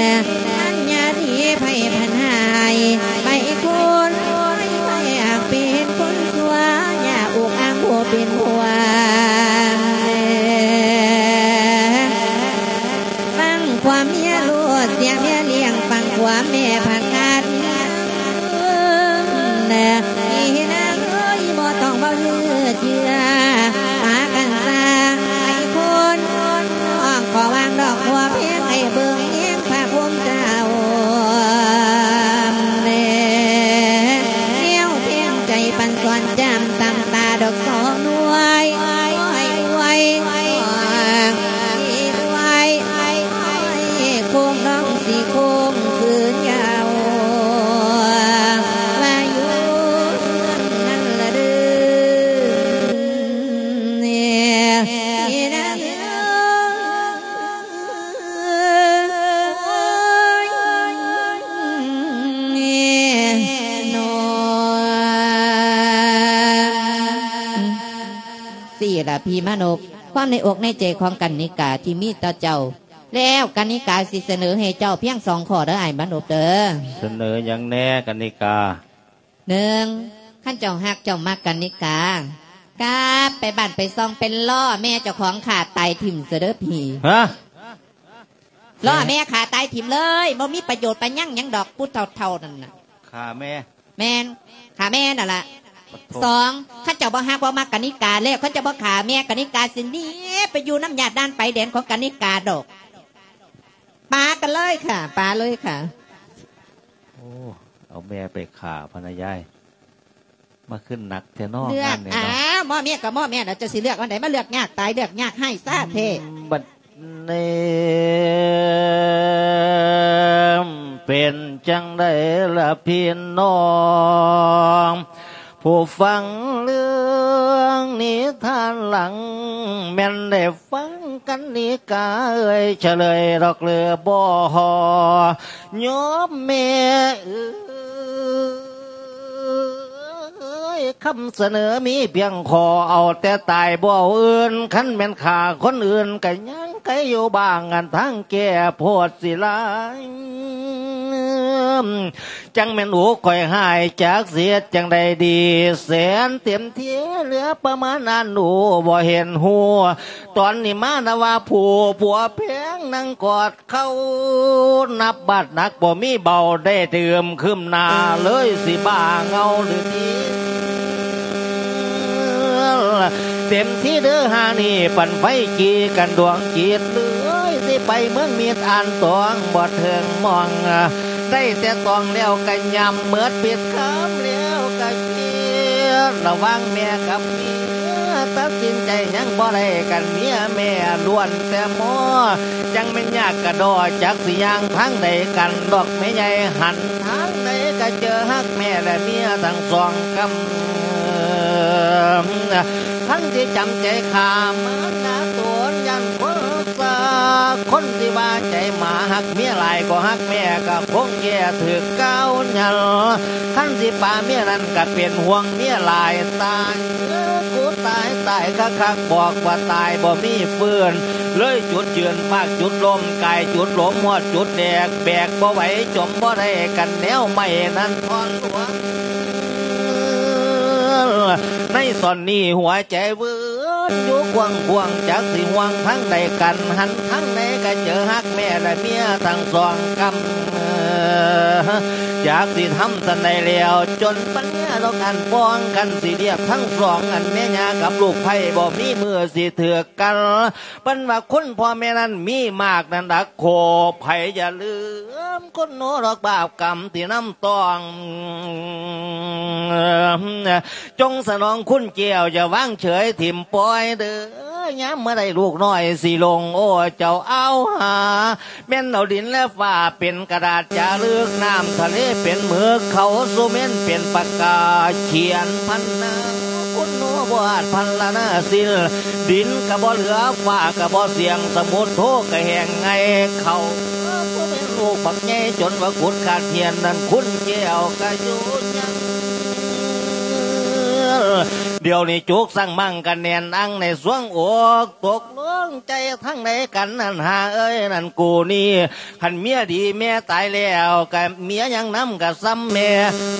ນະ ອັນຍາດີໃຜພັນຫາຍ ໄປຄົນ ໃຜຢາກເປັນຄົນຊົ່ວ ຢ່າອຸກອາງຜູ້ເປັນຜົວ ຟັງຄວາມເມຍໂລດ ເສຍເມຍລ້ຽງ ຟັງຄວາມແມ່ຜັກກາດ ພີ່ນາງເອີຍ ບໍ່ຕ້ອງເວົ້າຍືດເຍືອ ປາກັນຊາໄອ້ຄົນ ນ້ອງຂໍວາງດອກບົວແພງ ໃຫ້ເບິ່ງແຍງພະພູມເຈົ້າ ແນວແທງໃຈປັນສອນຈຳ ຕຳຕາດອກສອງໜ່ວຍ ອວຍ ອວຍ ອວຍ ໂຄງນ້ອງຊິໂຄງຄືນຍາວ ວ່າຢູ່ນັ້ນລະເດີ ນາງເອີຍ ນອນ ຊີ້ລະພີ່ມານົບ ຄວາມໃນອົກໃນໃຈຂອງກັນນິກາທີ່ມີຕໍ່ເຈົ້າ ແລ້ວກະນິກາຊິສະເໜີໃຫ້ເຈົ້າພຽງສອງຂໍ້ເດີອ້າຍມານົບເດີ. ສະເໜີຫຍັງແດ່ກະນິກາ? ໜຶ່ງ ຄັນເຈົ້າຮັກເຈົ້າມັກກະນິກາ ກັບໄປບ້ານໄປຊ່ອງໄປລໍ້ແມ່ເຈົ້າຂອງຂ້າຕາຍຖິ້ມຊະເດີພີ່. ຮະ? ລໍ້ແມ່ຂ້າຕາຍຖິ້ມເລີຍ ບໍ່ມີປະໂຫຍດປະຫຍັງຫຍັງດອກ ຜູ້ເຖົ້າໆນັ້ນນະ. ຂ້າແມ່? ແມ່ນ ຂ້າແມ່ນັ້ນລະ. ປະໂທ ສອງ ຄັນເຈົ້າບໍ່ຮັກບໍ່ມັກກະນິກາແລ້ວ ຄັນເຈົ້າບໍ່ຂ້າແມ່ ກະນິກາຊິໜີໄປຢູ່ນຳຍາດດ່ານໄປແດນຂອງກະນິກາດອກ. ປາກັນເລີຍຄ່ະ ປາເລີຍຄ່ະ. ໂອ້ ເອົາແມ່ໄປຂ້າພະນະຍາຍ. ມາຂຶ້ນໜັກແທ້ເນາະ ເລືອກ ງານນີ້ເນາະ. ອ້າວ ໝໍ້ເມຍກໍໝໍ້ເມຍລະ ເຈົ້າຊິເລືອກອັນໃດ ມາເລືອກຍາກຕາຍ ເລືອກຍາກຮ້າຍຊາແທ້. ອືມ ບັດນີ້ເປັນຈັ່ງໃດລະພີ່ນ້ອງ ຜູ້ຟັງເລື່ອງນິທານຫຼັງ ແມ່ນໄດ້ຟັງກັນນີ້ກະເອີຍ ສະເຫຼີຍດອກເລີບໍ່ ຍອມແມ່ເອີຍ ຄຳສະເໜີມີພຽງຂໍ ເອົາແຕ່ຕາຍບໍ່ເອົາອື່ນ ຄັນແມ່ນຂ້າຄົນອື່ນກະຍັງໄກຢູ່ບ້າງ ອັນທາງແກ້ໂພດຊິຫຼາຍ ຈັ່ງແມ່ນອູຂ້ອຍຮ້າຍ ຈັກຊິເຮັດຈັ່ງໃດດີ ແສນເຕັມທີ່ເຫຼືອປະມານອັນອູບໍ່ເຫັນຮູ້ ຕອນນີ້ມານະວ່າຜູ້ຜົວແພງ ນັ່ງກອດເຂົ່າ ນັບບາດໜັກບໍ່ມີເບົາ ໄດ້ຕື່ມຄຶມໜ້າ ເລີຍຊິບ້າເຫງົາຫຼືຕິ ເຕັມທີ່ເດີຫານີ້ ປັນໄຟຈີ່ກັນດວງຈິດ ເລີຍຊິໄປເມືອງມິດອ່ານຕອງ ບໍ່ເຖິງມອງ ໄດ້ແຕ່ຕອງແລ້ວກະຫຍ້ຳເໝິດ ປິດຄຳແລ້ວກະເຄຍ ລະຫວ່າງແມ່ກັບເມຍ ຕັດສິນໃຈຍັງບໍ່ໄດ້ກັນ ເມຍແມ່ລ້ວນແຕ່ໝໍ ຈັ່ງແມ່ນຍາກກະດໍ ຈັກຊິຍ່າງທາງໃດກັນດອກແມ່ໃຫຍ່ ຫັນທາງໃດກະເຈີຮັກແມ່ແລະເມຍທັງສອງກຳ ຄັນຊິຈຳໃຈຂ້າມານາຕົນ ຢ້ານຄົນສາ ຄົນຊິວ່າໃຈໝາ ຮັກເມຍຫຼາຍກໍຮັກແມ່ ກໍຄົງແກ່ຖືກກ່າວຫຍັນ ຄັນຊິປາເມຍນັ້ນ ກໍເປັນຫ່ວງເມຍຫຼາຍ ຕາຍເອີ ກູຕາຍ ຕາຍຄັກໆ ບອກວ່າຕາຍບໍ່ມີຟື້ນ ເລີຍຈຸດຢືນ ພາກຈຸດລົມ ກາຍຈຸດລົມ ຮອດຈຸດແດກ ແບກບໍ່ໄຫວ ຈົມບໍ່ໄດ້ກັນ ແນວໄມ້ນັ້ນທ່ອນຫຼວງ ໃນຕອນນີ້ຫົວໃຈວືນຢູ່ກວ້າງໆ ຈັກຊິຫ່ວງທາງໃດກັນ ຫັນທາງໃດກະເຈີຮັກແມ່ແລະເມຍທັງສອງກຳ ຈັກຊິທຳສັນໃດແລ້ວ ຈົນປັນຍາດອກອັນປອງກັນ ຊິລຽບທັງສອງອັນແມ່ຍ່າກັບລູກໃພ້ ບໍ່ມີມື້ຊິຖືກກັນ ເພິ່ນວ່າຄຸນພໍ່ແມ່ນັ້ນມີມາກນັ້ນດາກໂຄ ໃຜຢ່າລືມຄຸນໂນດອກບາບກຳທີ່ນຳຕ້ອງ ຈົ່ງສະໜອງຄຸນແກ້ວ ຢ່າວາງເສີຍຖິ້ມປ່ອຍເດີ ຍາມເມື່ອໃດລູກນ້ອຍຊິຫຼົງ ໂອ້ ເຈົ້າເອົາຫາ ແມ່ນເອົາດິນແລະຟ້າເປັນກະດາດຈາລຶກ ນ້ຳທະເລເປັນໝຶກ ເຂົາສຸເມັນເປັນປາກກາ ຂຽນພັນນາ ຄຸນໂນບໍ່ອາດພັນລະນາສິນ ດິນກະບໍ່ເຫຼືອ ຟ້າກະບໍ່ສຽງ ສະໝຸດໂທກະແຫ້ງໄງ່ ເຂົາສຸເມັນລູກບັກໃຫຍ່ ຈົນວ່າຂຸດຂາດຫຽນ ນັ້ນຄຸນແກ້ວກະຢູ່ຍັງ ດຽວນີ້ຈຸກສັງມັງກະແໜ້ນອັງໃນສວງອົກ ຕົກ ລົງໃຈທາງໃດກັນນັ້ນຫາເອີຍ ນັ້ນກູນີ້ ຄັນເມຍດີແມ່ຕາຍແລ້ວ ກະເມຍຍັງນຳກະສ່ຳແມ່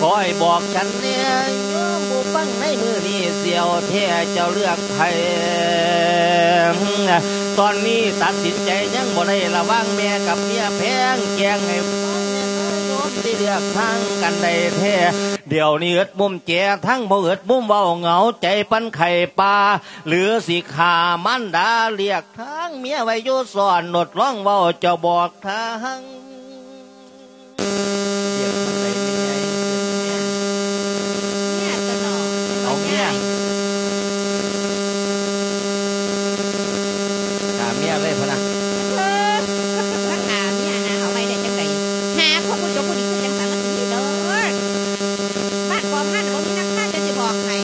ຂໍໃຫ້ບອກສັນແດ່ ໂຍມຜູ້ຟັງໃນມື້ນີ້ ສຽວແທ້ເຈົ້າເລືອກໃຜ ຕອນນີ້ຕັດສິນໃຈຍັງບໍ່ໄດ້ ລະຫວ່າງແມ່ກັບເມຍ ແພງແກງໃຫ້ຟັງແນ່ນາໂຍມ ຊິເລືອກທາງກັນໃດແທ້ ດຽວນີ້ເອິດມຸມແຈທາງ ບໍ່ເອິດມຸມເວົ້າ ເຫງົາໃຈປານໄຂ້ປ່າ ຫຼືຊິຂ້າມານດາ ລຽກທາງເມຍໄວ້ຢູ່ຊ້ອນ ນົດລອງເວົ້າເຈົ້າບອກທາງ ລຽກທາງໃດແມ່ໃຫຍ່ ເມຍຕົວະເນາະ ເອົາເມຍ ຂ້າເມຍເລີຍພຸ້ນນະ ເອີ ມາຂ້າເມຍຫາເອົາໄວ້ໄດ້ຈັ່ງໃດ ຫາຄົນບໍ່ຈົບບໍ່ດີຄືຈັ່ງສັນລະຕິເດີ ບ້ານປອມຫັ້ນບໍ່ມີນັກຂ້າ ຈະຊິບອກໃຫ້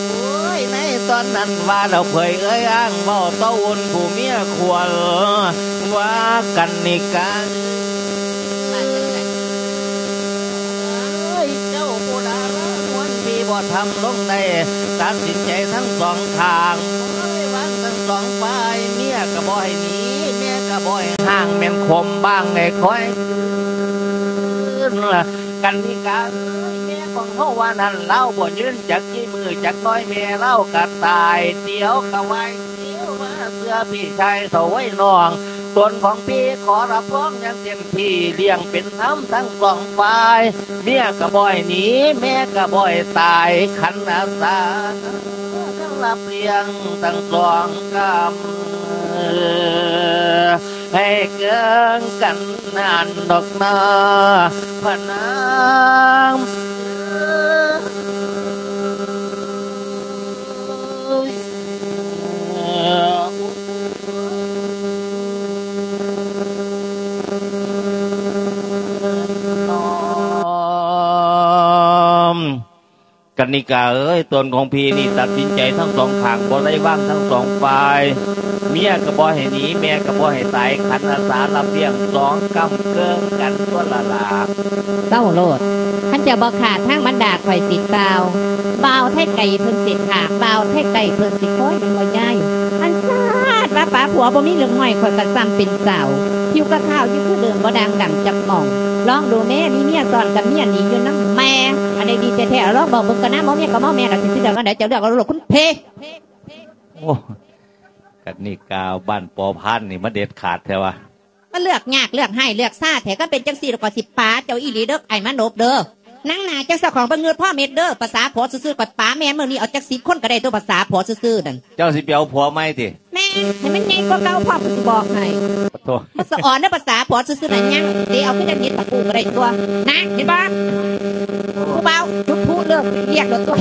ໂອ້ຍ ໃນຕອນນັ້ນວ່າແລ້ວເຜີຍເອີຍອ້າງ ເວົ້າຕໍ່ອຸ່ນຜູ້ເມຍຄວນ ວ່າກັນນິກາ ວ່າຈັ່ງໃດ ເອີຍ ເຈົ້າຜູ້ດາລານວນ ທີ່ບໍ່ທຳລົງໄດ້ ຕັດສິນໃຈທັງສອງຂ້າງ ບໍ່ໄດ້ວາງທັງສອງຝ່າຍ ເມຍກໍບໍ່ໃຫ້ໜີ ແມ່ກໍບໍ່ ຄົມບາງໃຫ້ຄອຍຄືນ. ກັນນິກາເອີຍ ແມ່ຂອງເຮົາວ່ານັ້ນ ລາວບໍ່ຍືນຈັກກີ່ມື້ຈັກໜ້ອຍ ແມ່ລາວກໍຕາຍ ດຽວກໍໄຫວ້ ດຽວວ່າເຊື່ອພີ່ຊາຍເຖົ້າໄວນ້ອງ ຕົນຂອງພີ່ຂໍຮັບຮອງຢ່າງເຕັມທີ່ ລ້ຽງເປັນທຳທັງສອງຝ່າຍ ເມຍກໍບໍ່ໃຫ້ໜີ ແມ່ກໍບໍ່ໃຫ້ຕາຍ ຂັນອາສາ ທັງຮັບລ້ຽງທັງສອງກຳ ໃຫ້ເກີງກັນນັ້ນດອກນາ ພະນາງເອີຍ. ນ້ອມ ກັນນິກາເອີຍ ຕົນຂອງພີ່ນີ້ຕັດສິນໃຈທັງສອງຂ້າງ ບໍ່ໄດ້ວາງທັງສອງຝ່າຍ ເມຍກໍບໍ່ໃຫ້ໜີ ແມ່ກໍບໍ່ໃຫ້ຕາຍ ຂັນອາສາຮັບລ້ຽງສອງກຳ ເກີງກັນຕົວະລະລາ. ເວົ້າໂລດ ຄັນເຈົ້າບໍ່ຂ້າທາງບັນດາຂ້ອຍຊິກ່າວ ບ່າວໄທໄກເພິ່ນຊິຂ້າ ບ່າວໄທໄກເພິ່ນຊິຄອຍ ແມ່ນບໍ່ຍາຍ? ອັນຊາດວ່າປາຜົວບໍ່ມີເລື່ອງຫ້ອຍ ຂ້ອຍກໍຊ້ຳເປັນສາວ ຜິວກໍຂາວຢູ່ຄືເດີມ ບໍ່ດ່າງດຳຈັກໝ່ອງ. ລອງດູແມ້ ມີເມຍຊ້ອນກັບເມຍໜີຢູ່ນຳແມ່ ອັນໃດດີແທ້ໆ ລອງບອກເບິ່ງກ່ອນນະ ເມາແມ່ກໍເມາແມ່ ລະຊິເລືອກອັນໃດ ເຈົ້າເລືອກເອົາໂລດຄຸນເພ. ໂອ້ ກັນນິກາ ບ້ານປໍພານນີ້ມາເດັດຂາດແທ້ວ່າ. ມາເລືອກຍາກເລືອກຮ້າຍເລືອກຊາແທ້ ຄັນເປັນຈັ່ງຊີ້ແລ້ວ ຂ້ອຍຊິປາເຈົ້າອີ່ຫຼີເດີ ອ້າຍມານົບເດີ. ນາງໜ້າຈັກສາຂອງບໍ່ເງີດພໍ່ເມັດເດີ ພາສາຜົວຊື່ໆ ຂ້ອຍປາແມ່ນມື້ນີ້ເອົາຈັກສິບຄົນກໍໄດ້ຕົວະ ພາສາຜົວຊື່ໆນັ້ນ. ເຈົ້າຊິໄປເອົາຜົວໃໝ່ຕິ? ແມ່ນ ໃຫ້ມັນໃຫຍ່ກວ່າເກົ່າພ້ອມ ຂ້ອຍຊິບອກໃຫ້. ໂອ້ໂທ ມັນສະອອນເດີ ພາສາຜົວຊື່ໆນັ້ນ ຍັງເຕະເອົາຄືຈັງເຫັນຕະປູກໍໄດ້ຕົວະ ນະ ເຫັນບໍ່? ຜູ້ບ່າວຈຸດພລຸເລີກວຽກແລ້ວຕົວະ.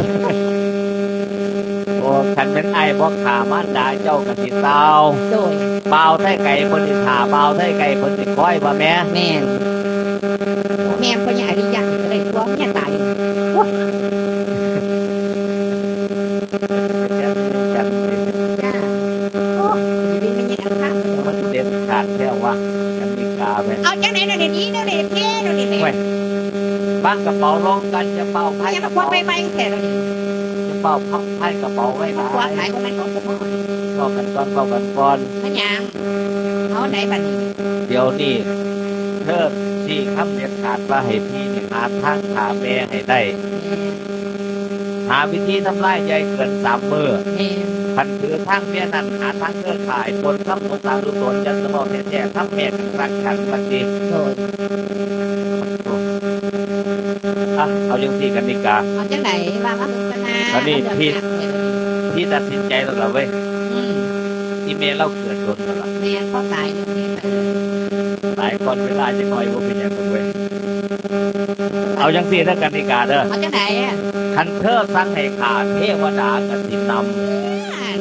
ໂອ້ ຄັນແມ່ນອ້າຍບໍ່ຂ້າມານດາເຈົ້າກໍຊິຕ່າວ. ໂດຍ ບ່າວໄທໄກເພິ່ນຊິຖ້າ ບ່າວໄທໄກເພິ່ນຊິຄອຍວ່າແມ່. ແມ່ນ ແມ່ນ ພໍ່ໃຫຍ່ອະລິຍະນີ້ກໍໄດ້ຕົວະ ເມຍຕາຍ. ໂອ້ຍ ຈ້າ ໂອ້ຍ ຊິເປັນແມ່ໃຫຍ່ອັນຄັກ ມັນເດັດຂາດແທ້ວ່າ ກັນນິກາແມ່. ເອົາຈັ່ງໃດແນວນີ້ ແນວນີ້ເພ ແນວນີ້ແມ່. ໂອ້ຍ ວາງກະເປົາລົງກັນ ຢ່າເປົ່າພາຍກະເປົາ ໄວໆແທ້ດຽວນີ້ ຢ່າເປົ່າພາຍກະເປົາໄວຫຼາຍ ຂວາງຫຼາຍບໍ່ແມ່ນຂອງສົມພອນ. ເວົ້າກັນກ່ອນ ເວົ້າກັນກ່ອນ. ແມ່ນຫຍັງ? ເອົາໃດບັດນີ້? ດຽວນີ້ເທີນຊີ້ຄຳເດັດຂາດວ່າໃຫ້ພີ່ນີ້ຫາທາງຂ້າແມ່ໃຫ້ໄດ້ ແມ່ນ ຫາວິທີທຳລາຍໃຫຍ່ເກີນສາມມື້. ແມ່ນ ຄັນຖືທາງເມຍນັ້ນ ຫາທາງເທີນຂ້າໃຫ້ພົ້ນຄຳສົງສານລຸດໂລນ ຢ່າສະເວົ້າແທ້ໆ ທຳແມ່ກັນສັກກັນວ່າຕິ. ໂດຍ ອ່ະ ເອົາຈັ່ງຊີ້ກັນດີກາ ເອົາຈັ່ງໃດ ວ່າມາເບິ່ງກັນນາ. ອັນນີ້ ເອົາເລື່ອງ ທີ່ ຍາກແທ້ ທີ່ຕັດສິນໃຈແລ້ວລະເວີຍ. ອືມ ອີແມ່ລາວເກີດດົນແລ້ວລະ. ແມ່ນ ພໍຕາຍເລື່ອງນີ້ໄປ ຕາຍກ່ອນເວລາຈັກໜ້ອຍ ບໍ່ເປັນຫຍັງດອກເວີຍ. ເອົາຈັ່ງຊີ້ເດີກັນນິກາເດີ. ເອົາຈັ່ງໃດ? ຄັນເທີສັ່ງໃຫ້ຂ້າ ເທວະດາກໍຊິນຳ.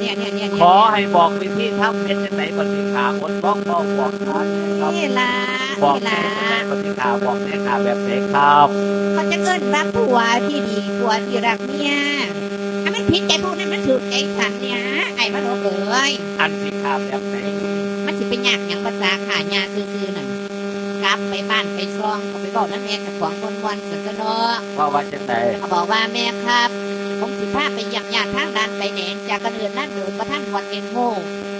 ເອີ ເນຍໆໆໆ ຂໍໃຫ້ບອກວິທີທຳເຮັດຈັ່ງໃດ ບັດນີ້ຂ້າອົດທ້ອງ ເວົ້າບອກຂ້າແດ່ຄັບ. ນີ້ລະ ບອກແດ່ ນີ້ລະ ແບບໃດ ບັດນີ້ຂ້າບອກແດ່ ຂ້າແບບໃດຄັບ? ເຂົາຈະເອີ້ນວ່າຜົວທີ່ດີ ຜົວທີ່ຮັກເມຍ. ຖ້າມັນຜິດໃຈຜູ້ນັ້ນ ມັນຖືກໃຈສັນເນຍ ອ້າຍມະນົບເອີຍ. ອັນຊິຂ້າແບບໃດ? ມັນຊິໄປຍາກຫຍັງ ພາສາຂ້າຍ່າຊື່ໆນັ້ນ. ກັບໄປບ້ານໄປຊ່ອງ ກໍໄປເວົ້ານຳແມ່ເຈົ້າຂອງມ່ວນໆ ຊັ້ນຕົວະເນາະ. ເວົ້າວ່າຈັ່ງໃດ? ກໍບອກວ່າ ແມ່ຄັບ ຜົມຊິພາໄປຢ້ຽມຍາດທາງດ່ານໄປແດນ ຈາກກັນເດີນນັ້ນໂດຍບໍ່ທັນຮອດເຫັນຮູ້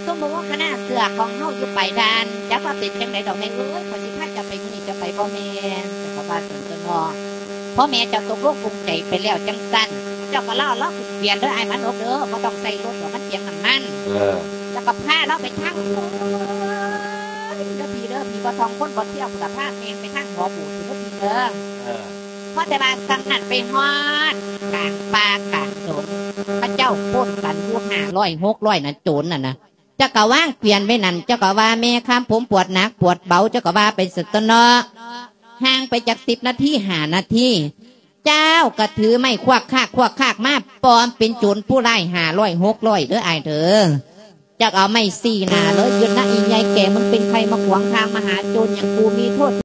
ສົມມຸດວ່າຄະນະເຊື້ອຂອງເຮົາຢູ່ປາຍດ່ານ ຈັກວ່າເປັນຈັ່ງໃດດອກແມ່ເອີຍ ຂ້ອຍຊິພາເຈົ້າໄປມື້ນີ້ ເຈົ້າໄປບໍ່ແມ່ນ. ເຈົ້າກໍວ່າຊັ້ນຕົວະເນາະ. ພໍແມ່ເຈົ້າຕົກລົງປຸງໃຈໄປແລ້ວຈັ່ງຊັ້ນ ເຈົ້າກໍລໍລາວຂຶ້ນເກວຽນເດີ ອ້າຍມານົບເດີ ບໍ່ຕ້ອງໃຊ້ລົດດອກ ມັນເປືອງນ້ຳມັນ. ເອີ ແລ້ວກໍພາລາວໄປທາງໂນ້ນເດີພີ່ເດີ ຜີບໍ່ທ່ອງຄົນບໍ່ທ່ຽວພຸ້ນລະ ພາແມ່ໄປທາງຫໍບູດພຸ້ນເດີພີ່ເດີ. ເອີ ພໍແຕ່ວ່າຊ່ຳນັ້ນໄປຮອດກາງປ່າກາງດົງ ເຂົາເຈົ້າປົ້ນກັນຢູ່ຫ້າຮ້ອຍຫົກຮ້ອຍນະ ໂຈນນັ້ນນະ. ເຈົ້າກໍວາງເກວຽນໄວ້ນັ້ນ ເຈົ້າກໍວ່າ ແມ່ຄຳ ຜົມປວດໜັກປວດເບົາ ເຈົ້າກໍວ່າໄປຊັ້ນຕົວະເນາະ. ຫ່າງໄປຈັກສິບນາທີ ຫ້ານາທີ ເຈົ້າກໍຖືໄມ້ຄວັກຄາກຄວັກຄາກມາ ປອມເປັນໂຈນຜູ້ຮ້າຍຫ້າຮ້ອຍຫົກຮ້ອຍເດີອ້າຍເດີ. ຈັກເອົາໄມ້ຊີ້ໜ້າເລີຍ ຢືນນະອີ່ໃຫຍ່ແກ່ ມຶງເປັນໃຜມາຂວາງທາງມະຫາໂຈນຫຍັງ ກູມີໂທດ